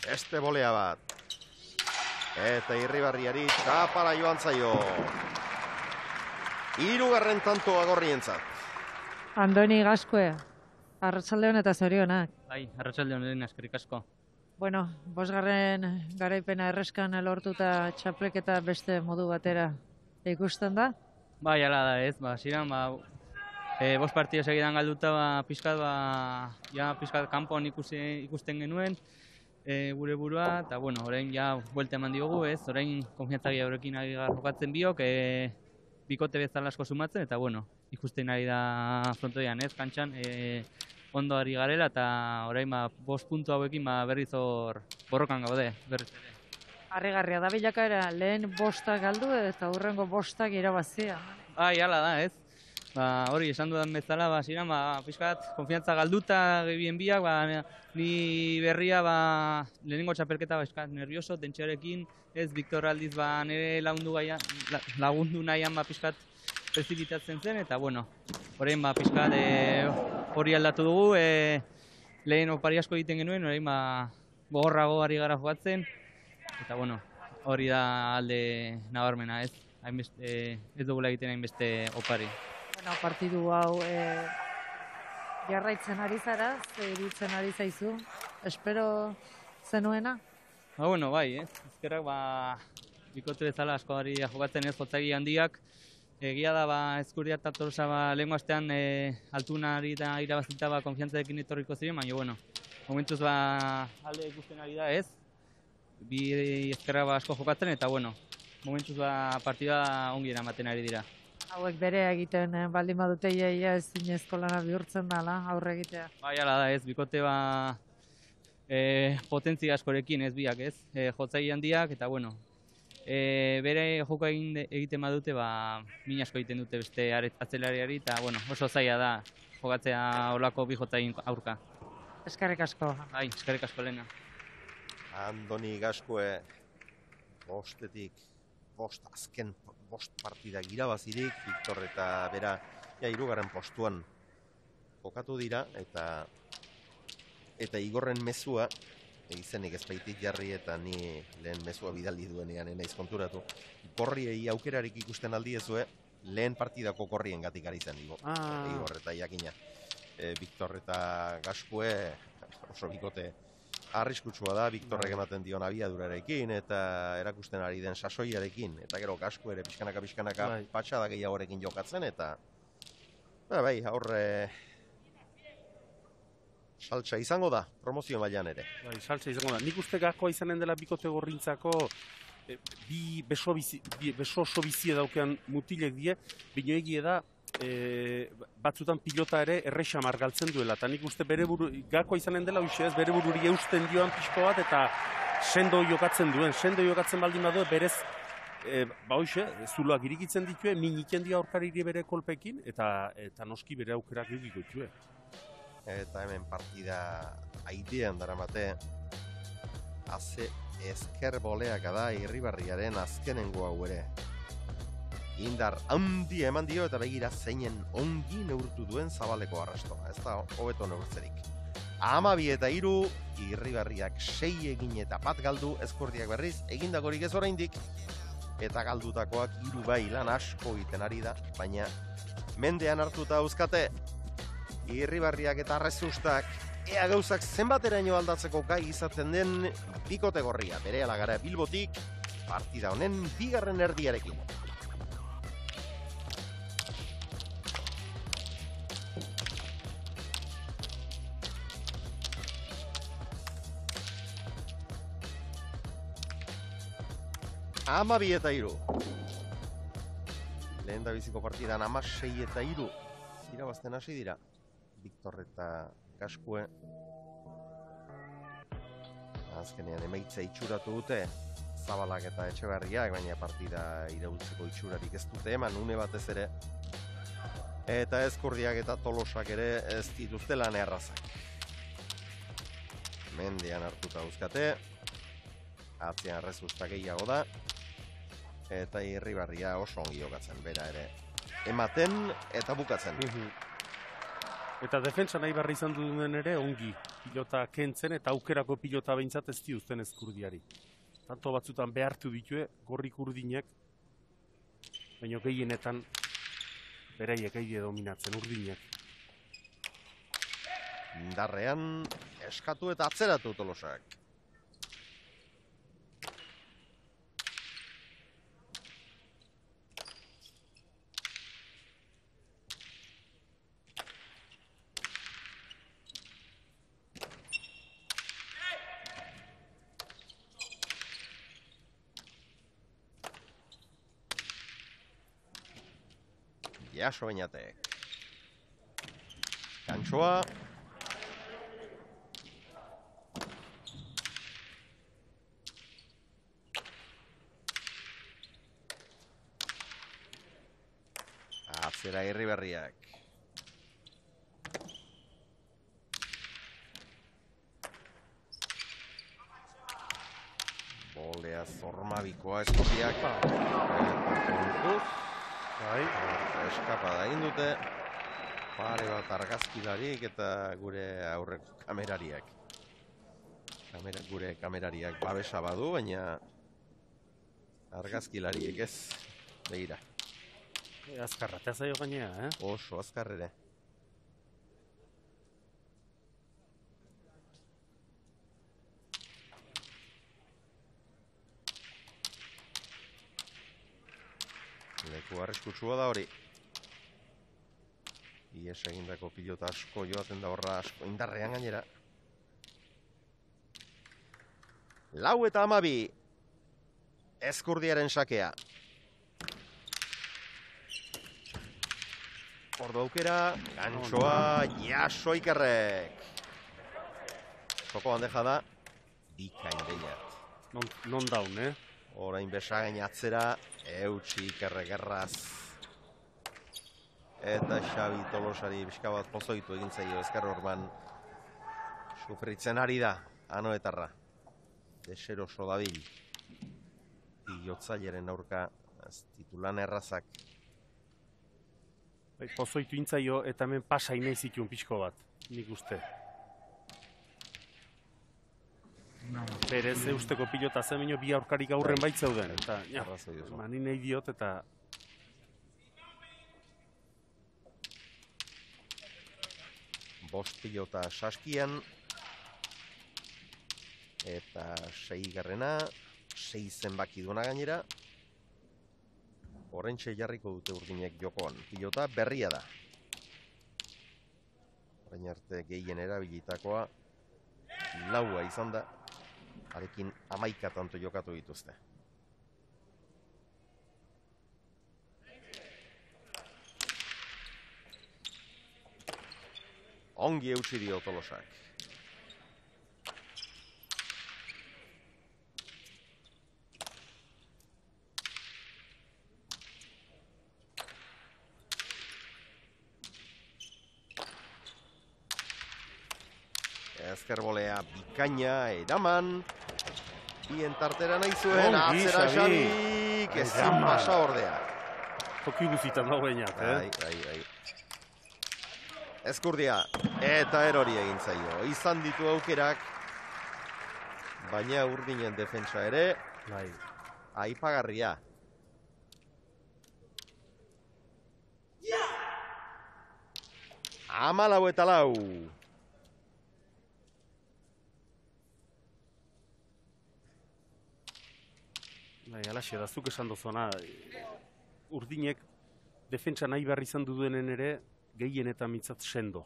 Beste bolea bat. Eta Irribarriari txapara joan zaio. Hirugarren tantoa gorrientzat. Andoni Gaskoe, arratsaldeon eta zorionak. Bai, arratsaldeon lehen eskerrik asko. Bueno, bosgarren garaipena erreskan lortuta txapleketa beste modu batera ikusten da? Bai, ala da ez, ba, ziren, ba, e, bost partido segidan galduta, ba, pizkat, ba, ja, pizkat kanpoan ikusi, ikusten genuen, e, gure burua, eta, bueno, orain ja, buelta eman diogu, ez, orain konfiantzagia horrekin ari jokatzen biok, e, bikote bezala asko sumatzen, eta, bueno, ikusten ari da frontoian, ez, kantxan, e, ondo ari garela, eta orain ba, bost puntu hauekin ba, berriz hor borrokan gaude, berriz ere. Harrigarria da bilakaera, lehen bostak galdu eta hurrengo bostak irabazia. Ai, hala da, ez? Ba, hori, esan dudan bezala, ba, ziren, ba, pixkat, konfiantza galduta gebien biak, ba, ni berria, ba, lehenengo txapelketa, ba, pixkat, nervioso, tentxearekin, ez, Victor aldiz, ba, nire lagundu, gaia, lagundu nahian, ba, pixkat, prezipitatzen zen, eta, bueno, orain, ba, pixkat, e, hori aldatu dugu, e, lehen opari asko egiten genuen, orain, ba, gogorrago ari gara jokatzen, eta, bueno, hori da alde nabarmena, ez? Hainbeste, ez dugula egiten hainbeste opari. Bueno, partidu hau e, jarraitzen ari zara, ze iruditzen ari zaizu, espero zenuena? Ba, bueno, bai, ez? Ezkerrak, ba, bikote bezala asko ari jokatzen ez jotzagi handiak. Egia da, ba, Ezkurdia eta Tolosa, ba, lehenko astean e, altunari eta irabazita, ba, konfiantzarekin etorriko ziren, baina, bueno, momentuz, ba, alde ikusten ari da, ez? Bi ezkerrak, ba, asko jokatzen, eta, bueno, momentuz, ba, partida ongi eramaten ari dira. Hauek bere egiten eh, baldin badute iaia ez zinezko lana bihurtzen dela, aurre egitea. Bai, hala da, ez, bikote, ba, e, potentzia askorekin, ez biak, ez? E, jotzai handiak, eta, bueno, e, bere joko egin egiten badute, ba, min asko egiten dute beste atzelariari, eta, bueno, oso zaila da jokatzea olako bi jotzain aurka. Eskerrik asko. Bai, eskerrik asko Lena. Andoni Gaskue, bostetik, bost azken, bost partidak irabazirik, Victor eta bera, ja, hirugarren postuan jokatu dira, eta eta Igorren mezua, izenik ez baitik jarri eta ni lehen mezua bidali duenean naiz konturatu. Korriei aukerarik ikusten aldiezue, lehen partidako korrien gatik ari zen, Igor, Ah. Igor eta jakina. E, Victor eta Gaskue, oso bikote arriskutsua da, Victorrek ematen dion abiadurarekin eta erakusten ari den sasoiarekin, eta gero Gaskue ere pixkanaka pixkanaka Bai. patxada gehiagorekin jokatzen, eta ba, bai, aurre saltsa izango da, promozio mailan ere. Bai, saltza izango da. Nik uste gakoa izanen dela bikote gorrintzako e, bi beso, bizi, bi beso oso bizie daukean mutilek die, bino egie da e, batzutan pilota ere errexamar galtzen duela, eta nik uste bere buru, gakoa izanen dela hoxe ez, bere bururi eusten dioan pixko bat, eta sendo jokatzen duen, sendo jokatzen baldin badu berez, e, ba hoxe, zuloak irikitzen ditue, min iten dio aurkariri bere kolpekin, eta eta noski bere aukerak egiko ditue. Eta hemen partida aidean daramate, haze ezker boleaka da Irribarriaren azkenengo hau ere. Indar handi eman dio eta begira zeinen ongi neurtu duen Zabaleko arrastoa, ez da hobeto neurtzerik. Hamabi eta hiru, Irribarriak sei egin eta bat galdu, Ezkurdiak berriz egindakorik ez oraindik, eta galdutakoak hiru bai lan asko egiten ari da, baina mendean hartuta euskate, Irribarriak eta Arrezustak ea gauzak zenbateraino aldatzeko gai izaten den bikote gorria, berehala gara Bilbotik, partida honen bigarren erdiarekin. Hamabi eta hiru. Lehen da biziko partidan hamasei eta hiru. Irabazten hasi dira. Victor eta Gaskue. Azkenean emaitza itxuratu dute. Zabalak eta Etxeberriak, baina partida iraultzeko itxurarik ez dute eman, une batez ere. Eta Ezkurdiak eta Tolosak ere ez dituzte lan errazak. Mendean hartuta uzkate. Atzean Arrezusta gehiago da. Eta Irribarria oso ongi jokatzen, bera ere. Ematen eta bukatzen. Eta defentsa nahi barri izan duen ere ongi pilota kentzen eta aukerako pilota behintzat ez diuzten Ezkurdiari. Tanto batzutan behartu ditue, gorrik urdinek, baina gehienetan beraiek egie dominatzen urdinek. Indarrean eskatu eta atzeratu Tolosak. Jaso Beñatek. Kantsoa, Atxera Irribarriak. Bolea zormabikoa eskopiak. Bai. Eskapada egin dute. Pare bat argazkilarik eta gure aurreko kamerariak. Kamera, gure kamerariak babesa badu, baina argazkilariek ez. Begira. Azkarra, te zaio gainea, eh? Oso azkar ere. Leku arriskutsua da hori. Ies egindako pilota asko joaten da horra asko indarrean gainera. Lau eta amabi. Ezkurdiaren sakea. Ordo aukera, gantxoa, jaso Ikerrek. Soko bandeja da, bikain behiat. Non, non daun, eh? Orain besagain atzera, eutxi Ikerrek erraz. Eta Xabi Tolosari pixka bat pozoitu egin zaio ezker orban. Sufritzen ari da, anoetarra. Deseroso dabil. Pilotzaileren aurka, ez titulan errazak. Bai, pozoitu intzaio eta hemen pasa inaiz ikun pixko bat, nik uste. Berez, eusteko pilota zemeno bi aurkarik aurren baitzeuden. Eta, ja, mani nahi diot eta... Bost pilota saskian. Eta sei garrena, sei zenbaki duena gainera. Horrentxe jarriko dute urdinek jokoan. Pilota berria da. Orain arte gehien erabilitakoa laua izan da. Harekin hamaika tanto jokatu dituzte. Ongi eutsi dio Tolosak. Ezkerbolea bikaina eraman. Bien tartera nahi zuen, atzera Xabik, ezin pasa ordea. Toki guzitan dago bainat, eh? Ai, ai, ai. Ezkurdia, eta erori egin zaio. Izan ditu aukerak, baina urdinen defentsa ere, bai. Aipagarria. Amalau eta lau. Bai, alaxe, da zuk esan dozona, urdinek defentsa nahi behar izan dudenen ere gehien eta mitzat sendo.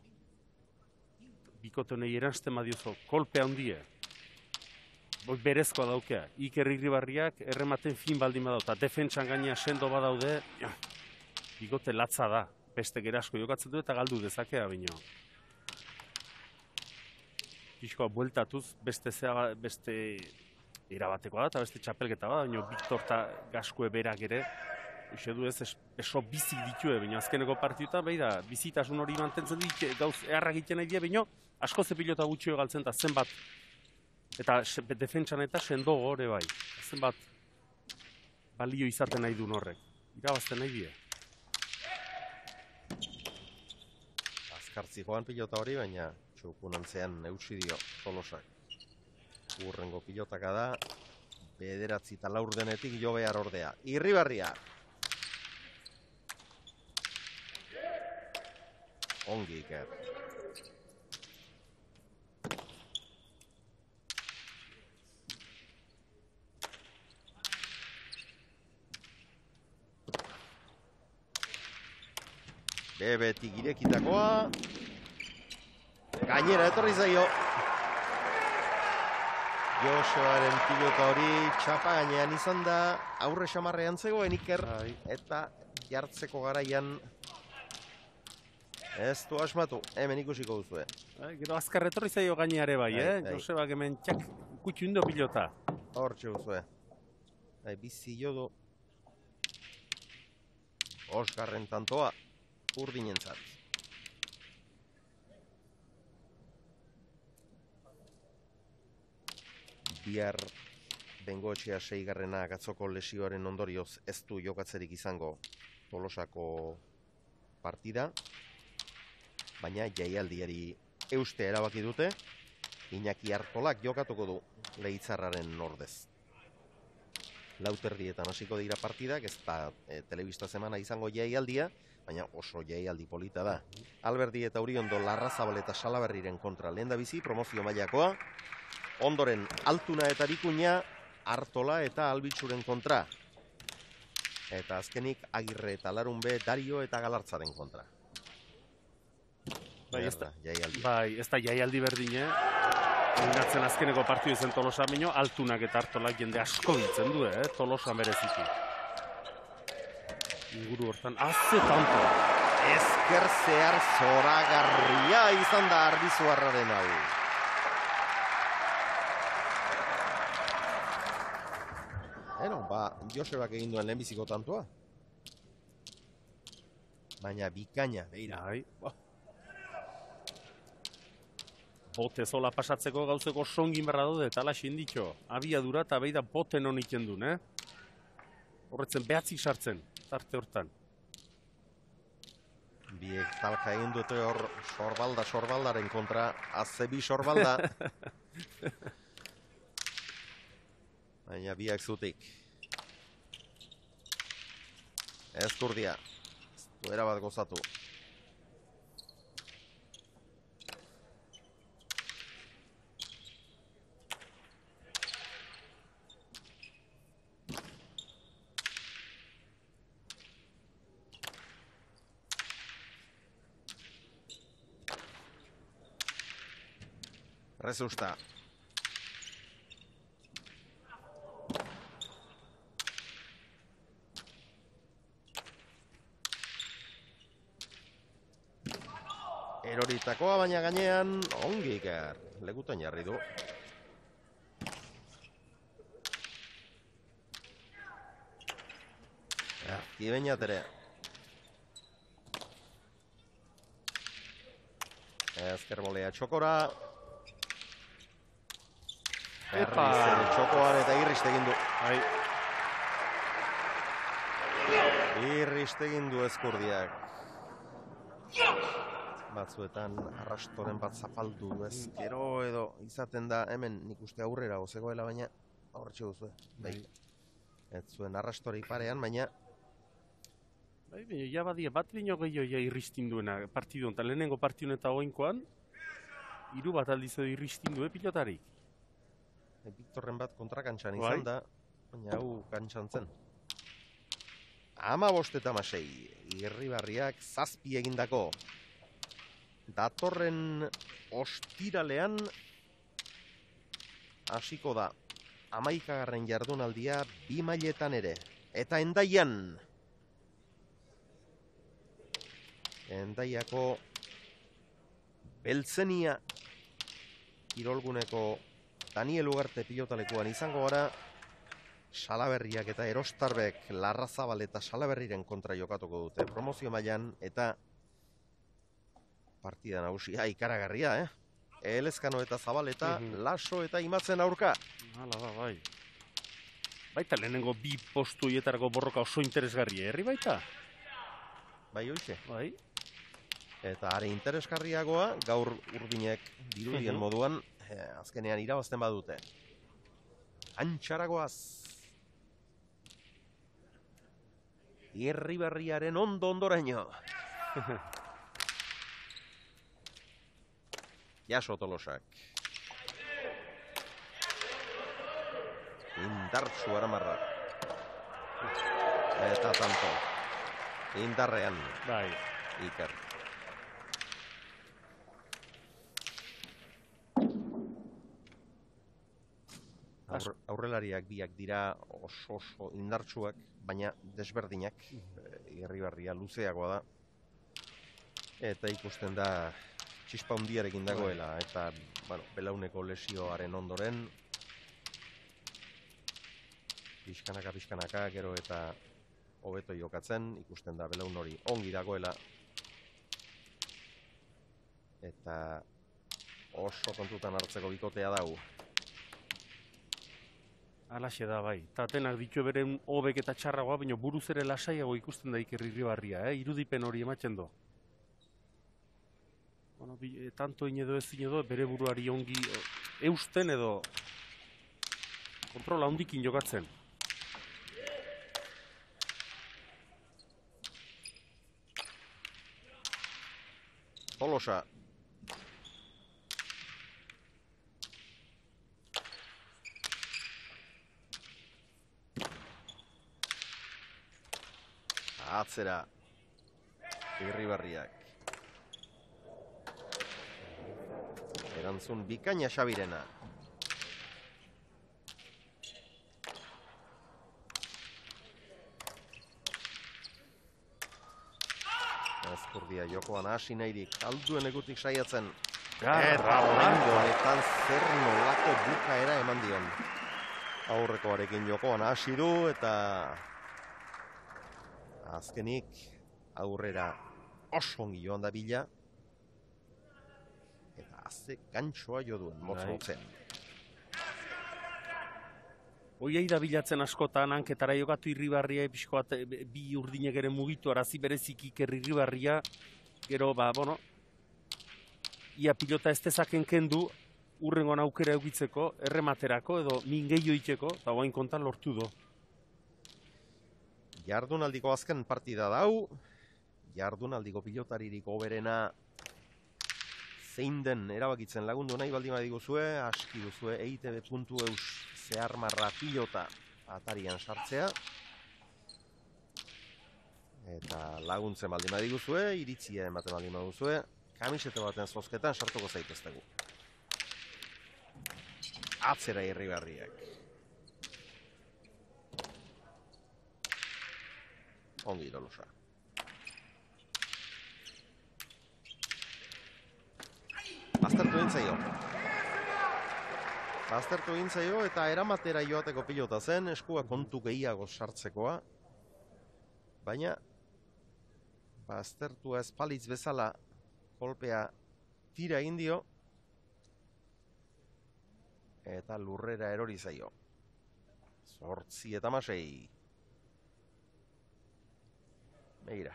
Bikotenei eranzten badiozo, kolpe handie. Boi berezkoa daukea. Iker Irribarriak errematen fin baldin badau, eta defentsan gaina sendo badaude, ja, bikote latza da. Beste gerasko jokatzen du eta galdu dezakea bino. Pixkoa bueltatuz, beste zea, beste... erabatekoa da, eta beste txapelketa da, baina Victor eta Gaskue berak ere, uste du ez, eso bizik ditue, baina azkeneko partiuta, behi da, bizitasun hori mantentzen dit, gauz eharra egiten nahi dira, baina asko ze pilota gutxio galtzen, eta zenbat, eta defentsan eta sendo gore bai, zenbat balio izaten nahi duen horrek, irabazten nahi dira. Azkartzi joan pilota hori, baina txukunantzean eutsi dio Tolosak. Urrengo pilotaka da, bederatzi eta laur denetik jo behar ordea. Irribarria. Ongi Iker. Bebetik irekitakoa. Gainera etorri zaio. Josearen pilota hori txapa gainean izan da, aurre xamarrean zegoen Iker, eta jartzeko garaian ez du asmatu, hemen ikusiko duzue. Gero azkar etorri zaio gaineare bai, eh? Josebak hemen txak kutxu indo pilota. Hor txeguzue. Bizi jodo. Osgarren tantoa. urdinentzat. Bihar Bengoetxea seigarrena gatzoko lesioaren ondorioz ez du jokatzerik izango Tolosako partida, baina jaialdiari euste erabaki dute, Iñaki Artolak jokatuko du Leitzarraren ordez. Lauterdietan hasiko dira partidak, ez da e, telebista semana izango jaialdia, baina oso jaialdi polita da. Alberdi eta Uriondo Larrazabal eta Salaberriren kontra lehendabizi, promozio mailakoa, ondoren Altuna eta Bikuña, Artola eta Albitzuren kontra. Eta azkenik Agirre eta Larunbe, Dario eta Galartzaren kontra. Bai, ez da jaialdi. Bai, ez da jaialdi berdine. Gatzen azkeneko partidu zen Tolosa baino, Altunak eta Artolak jende asko biltzen du, eh? Tolosa mereziki. Inguru hortan, azze tanto. Ezker zehar zoragarria izan da Arbizuarraren hau. Eno, ba, Josebak egin duen lehenbiziko tantoa. Baina bikaina, beira. Bai. Bote zola pasatzeko gauzeko songin berra daude, eta ala xinditxo. Abiadura eta beida boten honiken duen, eh? Horretzen behatzik sartzen, tarte hortan. Biek talka egin dute hor sorbalda, sorbaldaren kontra, azebi sorbalda. Baina biak zutik. Ezkurdia. Duera bat gozatu. Rezusta. Eroritakoa baina gainean ongi iker. Lekutan jarri du. Kibeñat ere. Ezker bolea txokora. Berriz txokoan eta irriste egin du. Irriste egin du Ezkurdiak. Batzuetan arrastoren bat zapaldu ez. Gero edo izaten da hemen nik uste aurrera ozegoela, baina aurretxe duzue. Bai. Ez zuen arrastorik parean, baina Bai, ja badia bat baino gehiago ja irristin duena partidu, eta lehenengo partidun eta oinkoan, hiru bat aldiz edo irristin du, pilotarik. Victorren bat kontrakantxan izan da, baina hau kantxan zen. Ama bost eta masei, Irribarriak zazpi egindako. Datorren ostiralean hasiko da hamaikagarren jardunaldia bi mailetan ere. Eta Hendaian. Hendaiako Beltzenia kirolguneko Daniel Ugarte pilotalekuan izango gara. Salaberriak eta Erostarbek Larrazabal eta Salaberriren kontra jokatuko dute. Promozio mailan eta partida nagusia ikaragarria, eh? Elezkano eta Zabaleta, Laso eta Imatzen aurka. Hala da, bai. Baita lehenengo bi postu hietarako borroka oso interesgarria, herri baita? Bai, hoize. Bai. Eta are interesgarriagoa, gaur Urdinek dirudien moduan, eh, azkenean irabazten badute. Antxaragoaz. Irribarriaren ondo ondoraino. Jaso Tolosak. Indartsu aramarra. Eta tanto. Indarrean. Bai. Iker. Aur, aurrelariak biak dira oso oso indartsuak, baina desberdinak. Irribarria luzeagoa da. Eta ikusten da txispa hundiarekin dagoela, eta bueno, belauneko lesioaren ondoren pixkanaka, pixkanaka, gero eta hobeto jokatzen, ikusten da belaun hori ongi dagoela, Eta oso kontutan hartzeko bikotea dau. Alaxe da bai, eta atenak ditu beren hobek eta txarragoa, baina buruz ere lasaiago ikusten da Iker Irribarria, eh? Irudipen hori ematen do. Bueno, bi, e, tanto inedo ez inedo, bere buruari ongi e, eusten edo kontrola hondikin jokatzen. Tolosa. Atzera. Irribarriak. Erantzun bikaina Xabirena. Azkurdia jokoan hasi nahirik, alduen egutik saiatzen. Eta oraingo honetan zer nolako bukaera eman dion. Aurrekoarekin jokoan hasi du eta azkenik aurrera oso ongi joan da bila. Eta azte gantxoa jo duen, motz-motzean. Oiei da bilatzen askotan, hanketara jokatu Irribarria, pixkoat bi urdinek ere mugitu, arazi berezik Iker Irribarria, gero, ba, bueno, ia pilota ez dezaken kendu, urrengoan aukera eukitzeko, errematerako, edo mingeio iteko, eta guain kontan lortu do. Jardunaldiko azken partida dau, jardunaldiko pilotaririk hoberena zein den erabakitzen lagundu nahi baldin badiguzue, aski duzue E I T B puntu eus zehar marra pilota atarian sartzea. Eta laguntzen baldin badiguzue, iritzia ematen baldin baduzue, kamisete baten zozketan sartuko zaiteztegu. Atzera Irribarriak. Ongi Tolosa. Aztertu egin zaio. Aztertu egin zaio eta eramatera joateko pilota zen, eskua kontu gehiago sartzekoa. Baina, aztertua espalitz bezala kolpea tira egin dio. Eta lurrera erori zaio. Zortzi eta masei. Begira.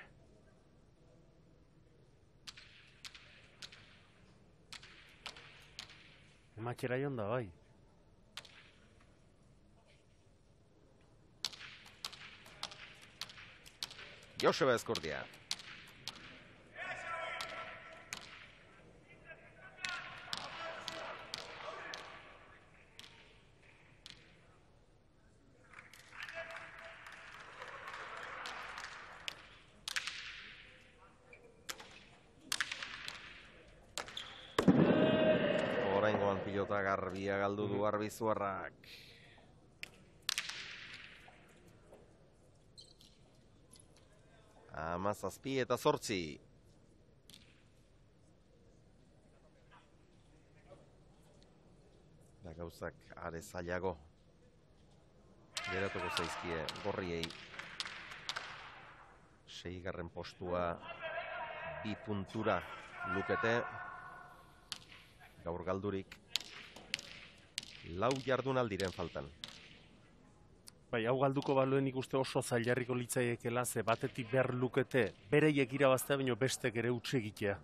Ematxera joan da, bai. Joseba Ezkurdia. Pilota garbia galdu du Arbizuarrak. Hamazazpi eta zortzi. Da gauzak are zailago. Geratuko zaizkie gorriei. Seigarren postua bi puntura lukete. Gaur galdurik. Lau jardunaldiren faltan. Bai, hau galduko baluen ikuste oso zailarriko litzaiekela, ze batetik behar lukete, bereiek irabaztea, baino bestek ere utxe egitea.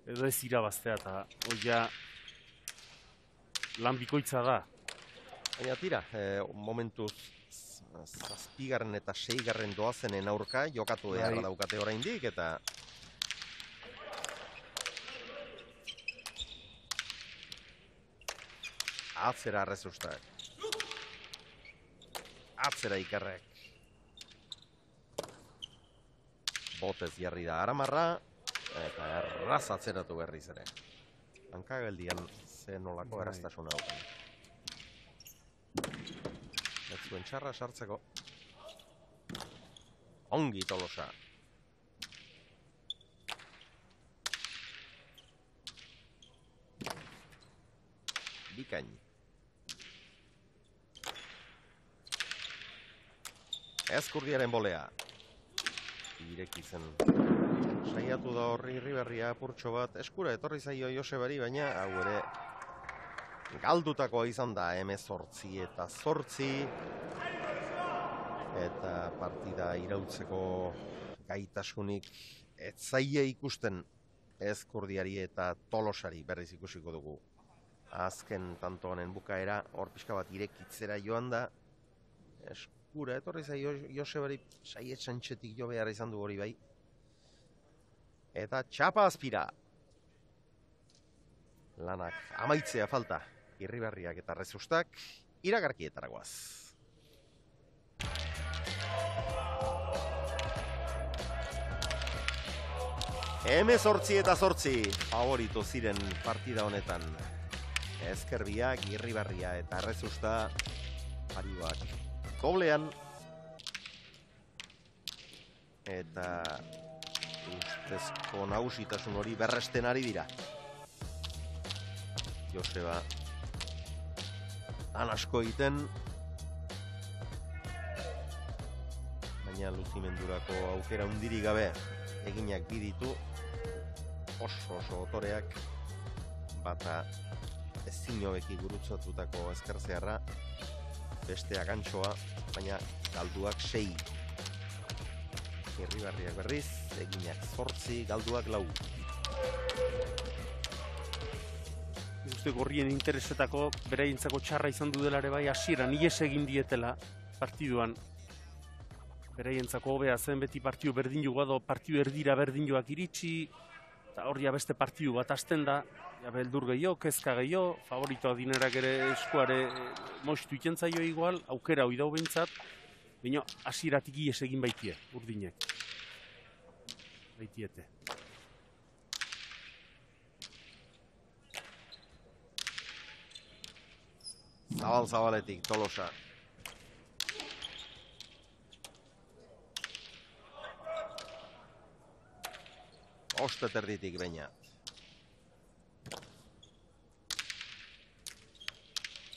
Edo ez irabaztea, eta oia lan bikoitza da. Baina tira, eh, momentuz zazpigarren eta seigarren doazenen aurka, jokatu behar daukate oraindik, eta atzera arrezustak. Atzera Ikerrek. Botez jarri da Aramarra, eta erraz atzeratu berriz ere. Hankageldian ze nolako erraztasuna daukan. Ez zuen txarra sartzeko. Ongi Tolosa. Bikain. Ezkurdiaren bolea. Ireki zen Saiatu da horri Irribarria apurtxo bat, eskura etorri zaio Josebari, baina hau ere galdutakoa izan da, hemezortzi eta zortzi, eta partida irautzeko gaitasunik ez zaie ikusten Ezkurdiari eta Tolosari berriz ikusiko dugu. Azken tanto honen bukaera, hor pixka bat irekitzera joan da, eskura etorri zaio Josebari saie txantxetik jo behar izan du hori bai. Eta txapa azpira. Lanak amaitzea falta. Irribarriak eta Rezustak iragarkietara goaz. Hemezortzi eta zortzi favorito ziren partida honetan. Ezkerbiak, Irribarria eta Rezusta paribak doblean. Eta ustezko nagusitasun hori berresten ari dira. Joseba han asko egiten, baina luzimendurako aukera hundirik gabe eginak biditu, oso oso otoreak, bata ezin hobeki gurutzatutako ezkerzearra, bestea gantxoa, baina galduak sei. Irribarriak berriz, eginak zortzi, galduak lau. Uste gorrien interesetako beraientzako txarra izan du dela ere bai hasieran ihes egin dietela partiduan. Beraientzako hobea zen beti partidu berdin joa partidu erdira berdin joak iritsi, eta hor ja beste partidu bat hasten da, ja beldur gehiago, kezka gehiago, favoritoa dinerak ere eskuare moistu ikentzaio igual, aukera hoi dau behintzat, baina hasieratik ihes egin baitie, urdinek. Baitiete. Zabal-zabaletik, Tolosa. Osteterditik baina.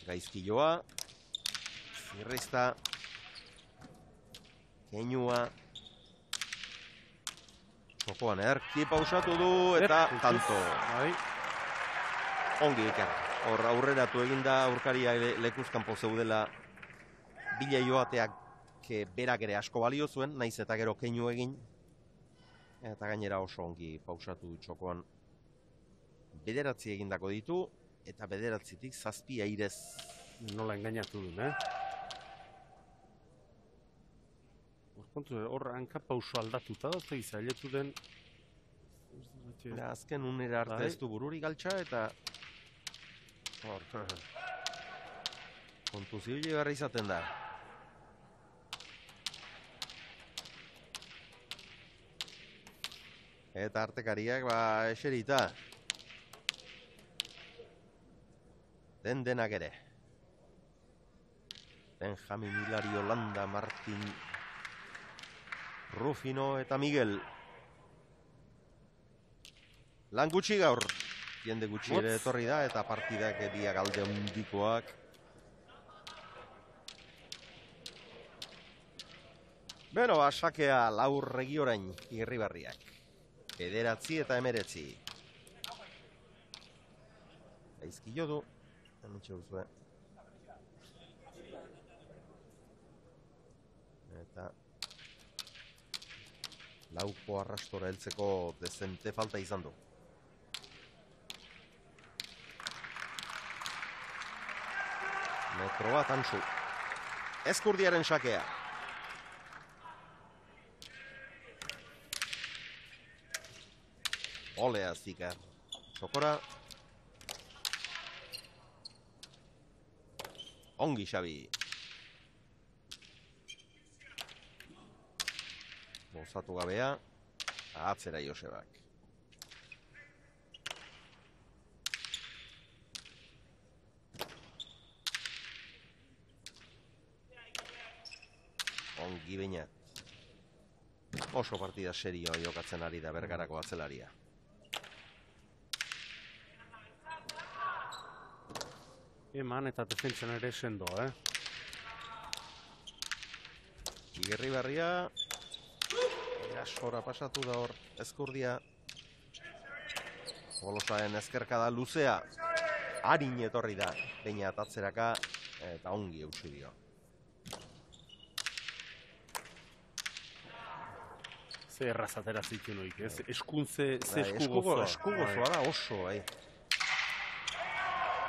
Gaizkiloa. Zirrizta. Keinua. Jokoan erki pausatu du eta tanto. Ongi iker. Hor aurreratu eginda aurkaria lekuzkanpo zeudela bila joateak berak ere asko balio zuen, naiz eta gero keinu egin. Eta gainera oso ongi pausatu txokoan. Bederatzi egindako ditu, eta bederatzitik zazpi airez. Nola engainatu duen, eh? Hor hanka pauso aldatuta da, eta izailetu den... Azken unera arte ez du bururi galtxa, eta... kontuzio garra izaten da. Eta artekariak ba eserita. Den denak ere. Benjamin, Hilario, Landa, Martin, Rufino eta Miguel. Lan gutxi gaur. Jende gutxi ere etorri da eta partidak biak alde handikoak. Beno, asakea laur regi orain Irribarriak. Bederatzi eta emeretzi. Gaizkilo du. Hementxe duzue. Eta lauko arrastora heltzeko dezente falta izan du. Metro bat antzu. Ezkurdiaren sakea. Olea zikar. Txokora. Ongi Xabi. Bozatu gabea. Atzera Josebak. Ongi bainat. Oso partida serioa jokatzen ari da Bergarako atzelaria. Eman eta defentsan ere sendo, eh? Irribarria. Itxasora pasatu da hor, Ezkurdia. Tolosaen ezkerkada luzea. Harin etorri da, Peña atatzeraka, eta ongi eutsi dio. Ze errazatera zitu noik, ez? Eskuntze, ze Bai, esku esku gozoa. esku gozoa da oso, bai.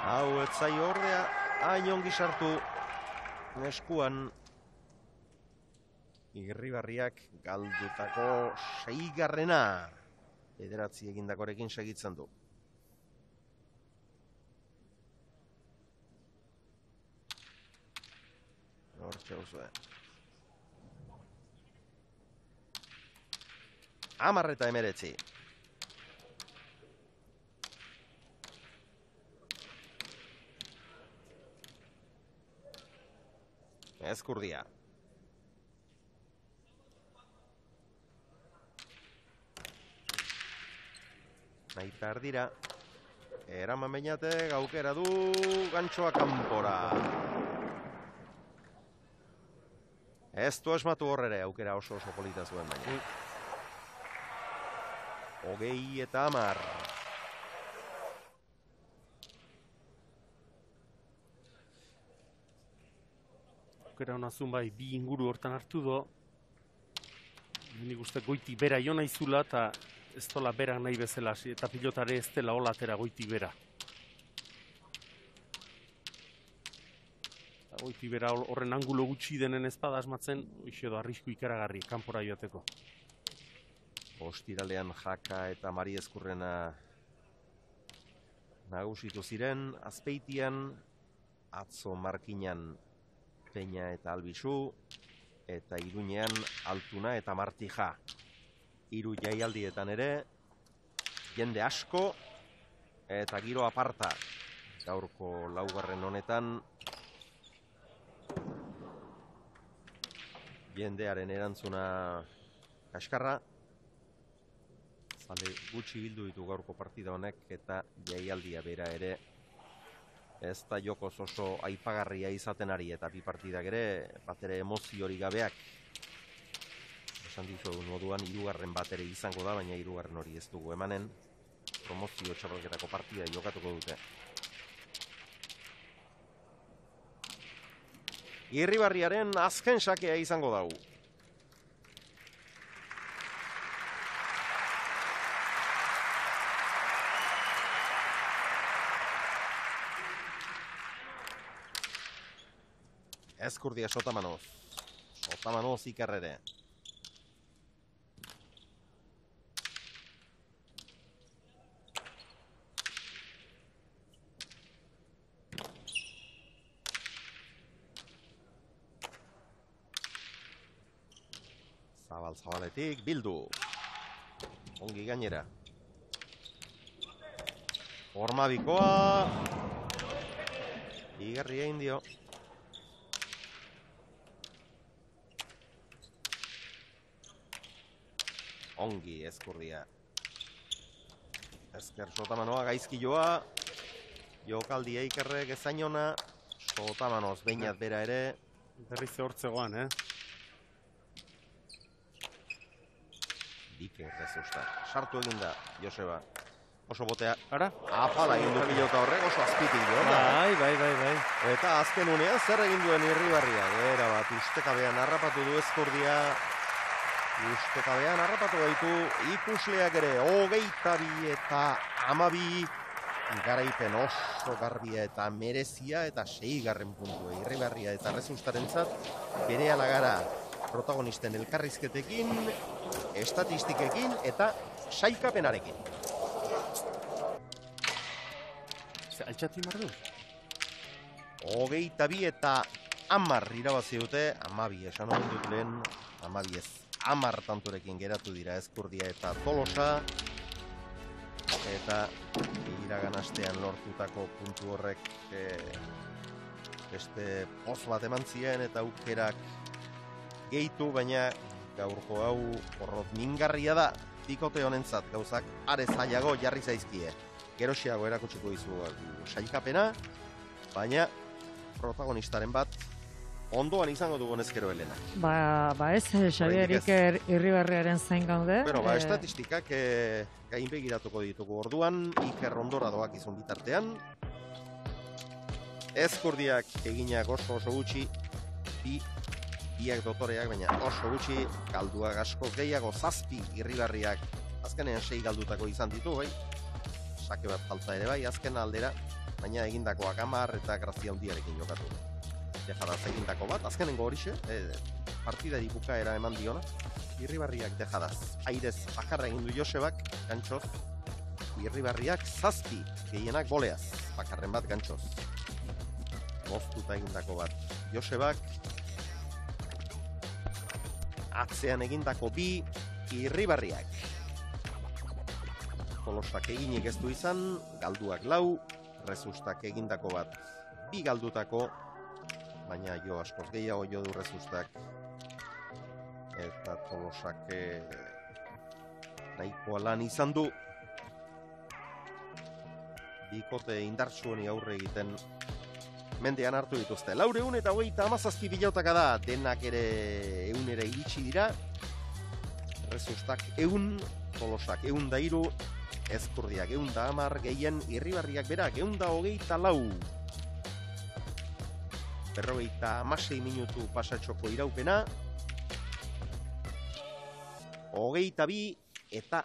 Hau, ez zaio ordea, hain ongi sartu eskuan. Irribarriak galdutako seigarrena. Bederatzi egindakorekin segitzen du. Hortxe uzue. Hamar eta emeretzi. Ezkurdia. Nahi perdira. Eraman bainatek aukera du gantxoa kanpora. Ez du esmatu horrere aukera oso oso polita zuen baina. Hogei eta hamar. Aukera honazun bai, bi inguru hortan hartu do. Nik uste goiti bera jo naizula eta ez dola bera nahi bezala, eta pilotare ez dela holatera goiti bera. Goiti bera horren angulo gutxi denen ezpada asmatzen, hoxe edo arrisku ikaragarri, kanpora joateko. Ostiralean Jaka eta Mari Ezkurrena nagusitu ziren, Azpeitian, atzo Markinan Peña eta Albizu, eta Iruñean Altuna eta Martija. Hiru jaialdietan ere, jende asko eta giro aparta. Gaurko laugarren honetan, jendearen erantzuna kaskarra. Zale gutxi bildu ditu gaurko partida honek eta jaialdia bera ere ez da jokoz oso aipagarria izaten ari eta bi partidak ere bat ere emoziori gabeak. Esan dizu moduan hirugarren bat ere izango da, baina hirugarren hori ez dugu emanen. Promozio txapelketako partida jokatuko dute. Irribarriaren azken sakea izango dau. Ezkurdia Sotamanoz. Sotamanoz ikarrere. Zabal-zabaletik bildu. Ongi gainera. Hormabikoa. Igarria indio. Ongi Ezkurdia. Ezker Sotamanoa gaizki joa. Jokaldia ikerrek ezainona. Sotamanoz beinat bera ere. Berriz hortzegoan, eh? Dike errezusta. Sartu eginda, Joseba. Oso botea. Ara? Apala egin du pilota horrek, oso azpitik jo. Bai, bai, bai, bai. Eta azken unean zer egin duen Irribarria. Era bat, ustekabean harrapatu du Ezkurdia. Ustekabean harrapatu gaitu ikusleak ere. Hogeita bi eta amabi. Garaipen oso garbia eta merezia eta seigarren puntua. Irribarria eta Errezustarentzat bere alagara protagonisten elkarrizketekin, estatistikekin eta sailkapenarekin. Altxatu imar du? Hogeita bi eta hamar irabazi dute, amabi esan hori dut lehen, amabi ez, hamar tanturekin geratu dira Ezkurdia eta Tolosa, eta iragan astean lortutako puntu horrek e, beste poz bat eman zien eta aukerak gehitu, baina gaurko hau porrot mingarria da, bikote honentzat gauzak are zailago jarri zaizkie. Gerosiago erakutsiko dizu sailkapena, baina protagonistaren bat ondoan izango dugu ezkero Elena. Ba, ba ez, Xabier Iker Irribarriaren zain gaude. Bueno, ba, eh, estatistikak e, gainbegiratuko ditugu orduan, Iker ondora doak izun bitartean. Ezkurdiak eginak oso oso gutxi, bi, biak dotoreak, baina oso gutxi, galduak asko gehiago, zazpi Irribarriak, azkenean sei galdutako izan ditu, bai? Sake bat falta ere bai, azken aldera, baina egindakoak hamar eta grazia handiarekin jokatu. Dejadaz egindako bat, azkenengo horixe, e, partidari bukaera eman diona, Irribarriak dejadaz. Airez bakarra egin du Josebak, gantxoz, Irribarriak zazpi, gehienak goleaz, bakarren bat gantxoz. Moztuta egindako bat Josebak, atzean egindako bi Irribarriak. Tolosak eginik ez du izan, galduak lau, Rezustak egindako bat bi galdutako, baina jo askoz gehiago jo du Rezustak. Eta Tolosak eh, nahikoa lan izan du. Bikote indartsueni aurre egiten mendean hartu dituzte. Laureun eta hogeita hamazazpi bilautaka da, denak ere eunera iritsi dira. Rezustak eun, Tolosak eun da iru, Ezkurdiak eun da hamar, gehien Irribarriak berak eun da hogeita lau. Berrogeita hamasei minutu pasatxoko iraupena. Hogeita bi eta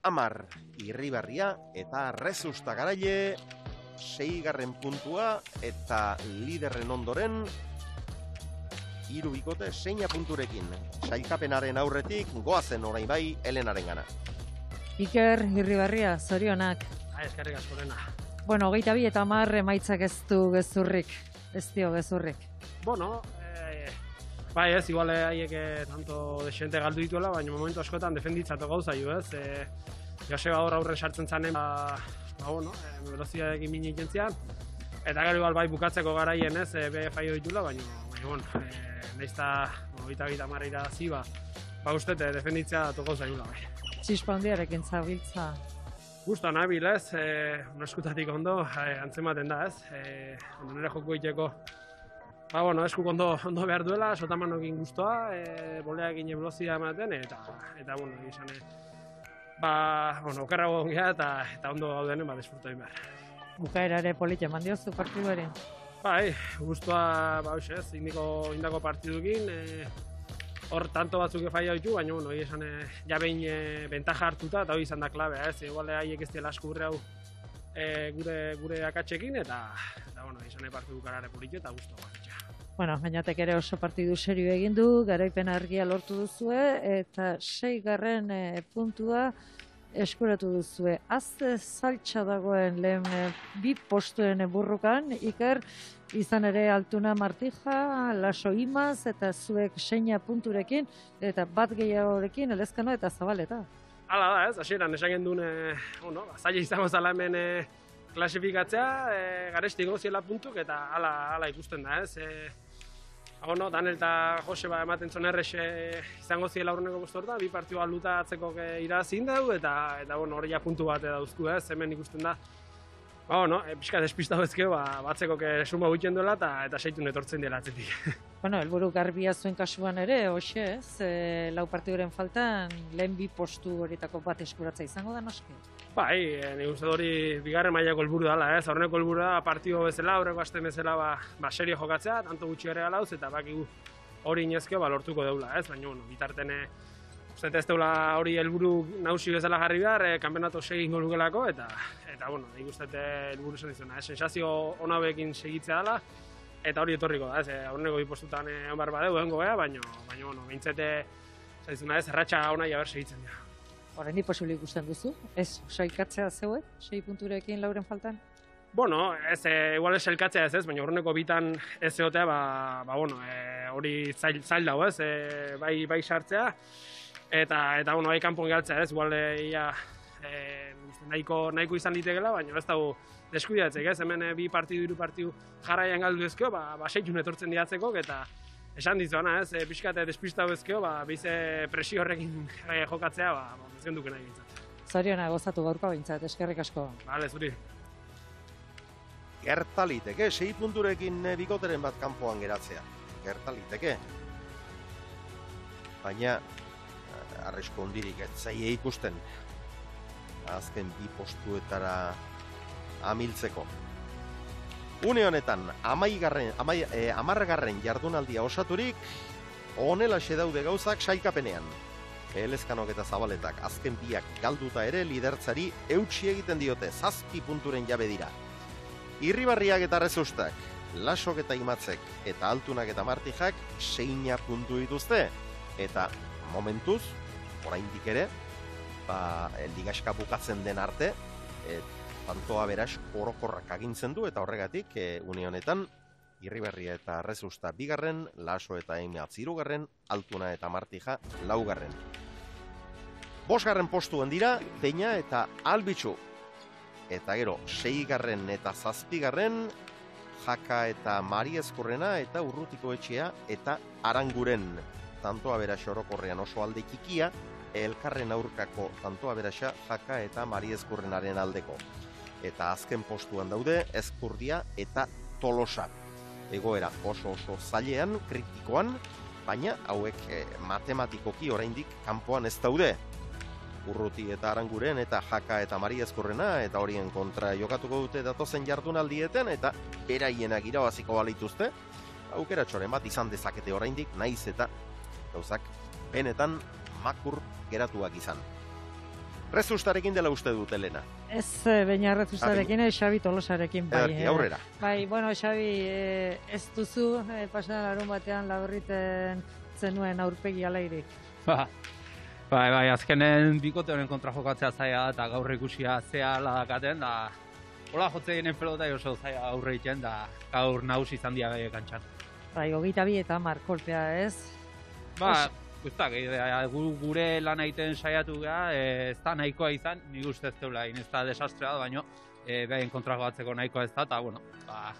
hamar Irribarria eta Rezusta garaile. Seigarren puntua eta liderren ondoren hiru bikote seina punturekin. Sailkapenaren aurretik goazen orain bai Elenaren gana. Iker Irribarria, zorionak. Ah, eskerrik asko Elena. Bueno, hogeita bi eta hamar emaitzak ez du gezurrik, ez dio gezurrik. Bueno, eh, bai ez, igual haiek eh, tanto desente galdu dituela, baina momentu askotan defenditzatu gauza jo, ez? Eh, Joseba hor aurren sartzen zanen, ba, ba bueno, eh, veloziadekin mini jentzian, eta gero igual bai bukatzeko garaien ez, eh, be faio ditula, baina, baina, bueno, eh, nahizta, hogeita bi eta hamar irabazi, ba, ba uste, eh, defenditzea datu gauza jula, bai. Txispa handiarekin zabiltza. Gusto nabil ez, eh, eskutatik ondo, eh, antzematen da ez, eh, ondo nire joko egiteko, ba, bueno, eskuk ondo, ondo behar duela, sotamanokin guztua, eh, boleakin eblozia ematen, eta, eta, bueno, izan, eh, ba, bueno, okerrago ongea eta, eta ondo gaudenen, ba, desfruto egin behar. Bukaera ere polita eman diozu partiduari. Bai, guztua, ba, hoxe ez, indiko, indako partidukin, eh, hor tanto batzuk faia ditu, baina, bueno, esan, eh, ja behin eh, bentaja hartuta, eta hori izan da klabea, ez, igual haiek ez dela asko gure hau eh, gure, gure akatsekin, eta, eta bueno, izan partidu karare politi eta guztua batitxa. Bueno, gainatek ere oso partidu serio egin du, garaipen argia lortu duzue, eta seigarren e, puntua eskuratu duzue. Azte saltsa dagoen lehen e, bi postuen burrukan, Iker, izan ere Altuna Martija, Laso Imaz, eta zuek seina punturekin, eta bat gehiagorekin, Elezkano eta Zabaleta. Hala da, ez, hasieran esan gendun, e, bueno, zaila izango zala hemen e, klasifikatzea, e, garesti goziela puntuk, eta hala, hala ikusten da, ez. E, Bueno, Daniel eta Joseba ematen zon errexe izango ziela aurreneko postorta, bi partidu aluta atzeko irazin dugu, eta, eta bueno, hori ja puntu bat dauzku, ez, hemen ikusten da. Ba, bueno, e, pixka despistau ezkeo, ba, batzeko suma gutxen duela, eta, eta seitun etortzen dela atzetik. Bueno, helburu garbia zuen kasuan ere, hoxe, ez, e, lau partiduren faltan, lehen bi postu horietako bat eskuratza izango da noski? Bai, e, nik uste hori bigarren mailako helburu dela, ez, aurreneko helburu da partido bezala, aurreko aste bezala, ba, ba serio jokatzea, tanto gutxi ere galauz, eta bakigu hori inezkeo, ba, lortuko deula, ez, baina, bueno, bitarten, uste ez deula hori helburu nausi bezala jarri behar, e, kanpeonato segin golukelako, eta, eta, bueno, nik uste helburu zen izuna, ez, sensazio onabekin segitzea dela, eta hori etorriko da, ez, e, aurreneko bi postutan egon behar badeu, egongo beha, baina, baina, bueno, bintzete, zaizuna ez, erratxa ona jaber segitzen dira. Horren di posible ikusten duzu, ez, sailkatzea zeuet, sei punturekin lauren faltan? Bueno, ez, e, igual ez sailkatzea ez ez, baina aurreneko bitan ez egotea, ba, ba bueno, e, hori zail, zail dago ez, e, bai, bai sartzea, eta, eta, bueno, bai kanpon galtzea ez, igual, e, ia, e, nahiko, nahiko izan ditegela, baina ez dago deskuidatzek ez, hemen e, bi partidu, hiru partidu jarraian galdu ezkeo, ba, ba seitun etortzen diatzeko, eta esan dizuana ez, e, pixkate despistau ezkeo, ba, bize presio horrekin e, jokatzea, ba, ba ez genduke nahi bintzat. Zoriona gozatu gaurko bintzat, eskerrik asko. Bale, zuri. Gertaliteke, sei punturekin bikoteren bat kanpoan geratzea. gerta liteke. Baina, arrisku hondirik ez zaie ikusten. Azken bi postuetara amiltzeko. Une honetan, amaigarren, amai, eh, amargarren jardunaldia osaturik, honelaxe daude gauzak sailkapenean. Elezkanok eta Zabaletak azken biak galduta ere lidertzari eutsi egiten diote, zazpi punturen jabe dira. Irribarriak eta Resustak, Lasok eta Imatzek eta Altunak eta Martijak seina puntu dituzte. Eta momentuz, oraindik ere, ba, ligaska bukatzen den arte, e, tantoa beraz orokorrak agintzen du, eta horregatik, e, une honetan, Irribarria eta Resusta bigarren, Laso eta Imatz hirugarren, Altuna eta Martija laugarren. Bosgarren postuen dira, Peña eta Albitxu. Eta gero, seigarren eta zazpigarren, Jaka eta Mari Ezkurrena eta Urrutiko Etxea eta Aranguren. Tantoa berasa orokorrean oso alde txikia, elkarren aurkako tantoa berasa Jaka eta Mari Ezkurrenaren aldeko. Eta azken postuan daude Ezkurdia eta Tolosa. Egoera oso oso zailean, kritikoan, baina hauek eh, matematikoki oraindik kanpoan ez daude. Urruti eta Aranguren eta Jaka eta Mari Ezkurrena eta horien kontra jokatuko dute datozen jardunaldieten eta beraienak irabaziko balituzte. Aukera txoren bat izan dezakete oraindik, naiz eta gauzak benetan makur geratuak izan. Rezustarekin dela uste dut, Elena. Ez, baina Rezustarekin, eh, Xabi Tolosarekin. Bai, Ederki, aurrera. Bai, bueno, Xabi, eh, ez duzu, eh, pasan larun batean laburriten zenuen aurpegi alairik. Ba, bai, bai, azkenen bikote honen kontra jokatzea zaila eta gaur ikusia zea ladakaten, da hola jotze ginen pelota oso zaila aurre iten, da gaur nagusi izan dia gai kantxan. Bai, hogeita bi eta hamar kolpea, ez? Ba, guztak, gure lan egiten saiatu gara, ez da nahikoa izan, nik uste ez teula, ez da desastrea, baina behaien kontra jokatzeko nahikoa ez da, eta, bueno, ba,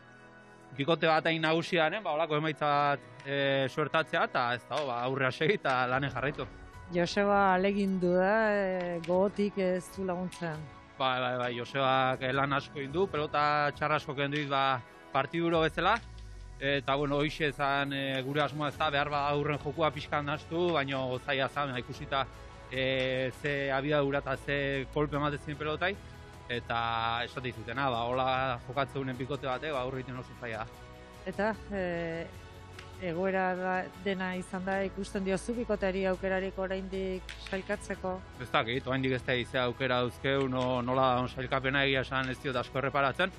bikote bat hain nagusian, ba, holako emaitza bat e, suertatzea, eta ez da, ba, aurrea segi eta lanen jarraitu. Joseba alegindu da, e, gogotik ez du laguntzen. Bai, bai, bai, Josebak lan asko indu, pelota txarra asko kenduiz, ba, partiduro bezala, eta, bueno, hoxe ezan e, gure asmoa ez da, behar ba aurren jokua pixkan nastu, baina zaila zan, ikusita e, ze abiadura eta ze kolpe ematezen pelotai, eta esate izutena, ba, hola jokatzen unen bikote bate, ba, aurreiten oso zaila. Eta, e, egoera da, dena izan da ikusten diozu bikoteari aukerarik oraindik sailkatzeko? Ez dakit, oraindik ez da izea aukera dauzkeu, no, nola on sailkapena egia esan ez diot asko erreparatzen.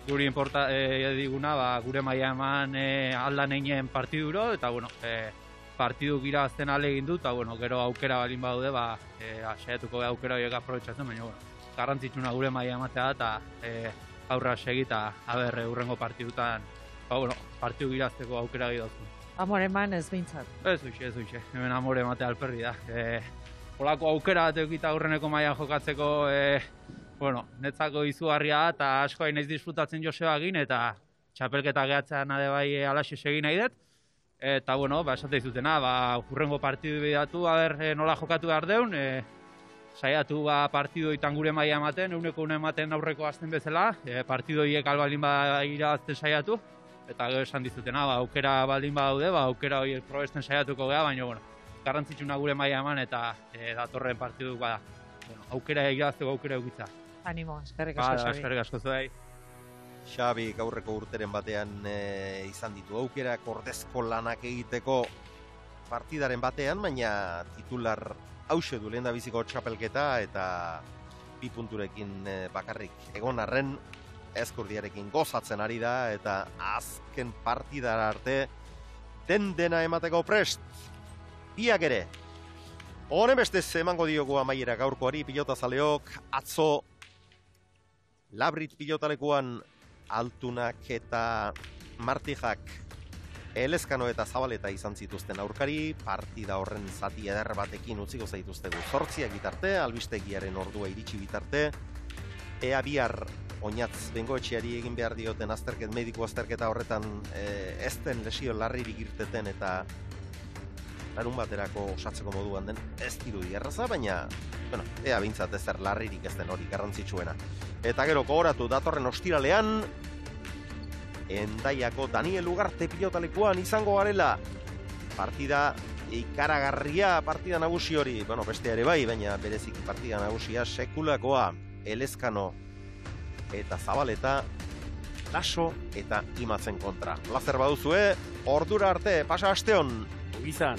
Guri importa e, diguna, ba, gure maila eman e, aldan einen partiduro, eta bueno, e, partidu gira azten alegin du, eta bueno, gero aukera balin baude, ba, e, saiatuko aukera horiek aprobetxatzen, baina bueno, garrantzitsuna gure maila ematea eta e, aurra segi eta aber hurrengo partidutan, ba, bueno, partidu girazteko aukera gidauzun. Amore eman ez behintzat? Ez duxe, ez duxe, hemen amore ematea alperri da. E, Olako aukera bat eukita aurreneko mailan jokatzeko, e, bueno, netzako izugarria eta asko hain ez disfrutatzen Joseba egin, eta txapelketa gehatzean ade bai alaxe segin nahi dut. Eta, bueno, ba, esate izutena, ba, hurrengo partidu bidatu, aber e, nola jokatu behar deun, e, saiatu ba, partidu itan gure maila ematen, euneko une ematen aurreko azten bezala, e, partidu hiek albalin ba irabazten saiatu, eta gero esan dizutena, ba, aukera baldin badaude, ba, aukera horiek probesten saiatuko geha, baina, bueno, garrantzitsuna gure maila eman eta e, datorren partidu ba, bueno, aukera irabazteko aukera eukitza. Animo, eskerrik asko, Xabi. Eskerrik asko zuei. Xabi gaurreko urteren batean e, izan ditu aukerak ordezko lanak egiteko partidaren batean, baina titular hause du lehen da biziko txapelketa eta bi punturekin e, bakarrik egon arren Ezkurdiarekin gozatzen ari da eta azken partidara arte den dena emateko prest. Biak ere. Honen bestez emango diogu amaiera gaurkoari pilotazaleok atzo Labrit pilotalekuan Altunak eta Martijak Elezkano eta Zabaleta izan zituzten aurkari, partida horren zati eder batekin utziko zaituztegu zortziak bitarte, albistegiaren ordua iritsi bitarte, ea bihar oinatz bengoetxeari egin behar dioten azterket, mediku azterketa horretan e, ez den lesio larririk irteten eta larun baterako osatzeko moduan den ez dirudi erraza, baina bueno, ea bintzat ezer larririk ez den hori garrantzitsuena. Eta gero gogoratu datorren ostiralean Endaiako Daniel Ugarte pilotalekuan izango garela. Partida ikaragarria, partida nagusi hori, bueno, beste ere bai, baina bereziki partida nagusia sekulakoa. Elezkano eta Zabaleta, Laso eta Imatzen kontra. Plazer baduzue, ordura arte, pasa asteon. Izan.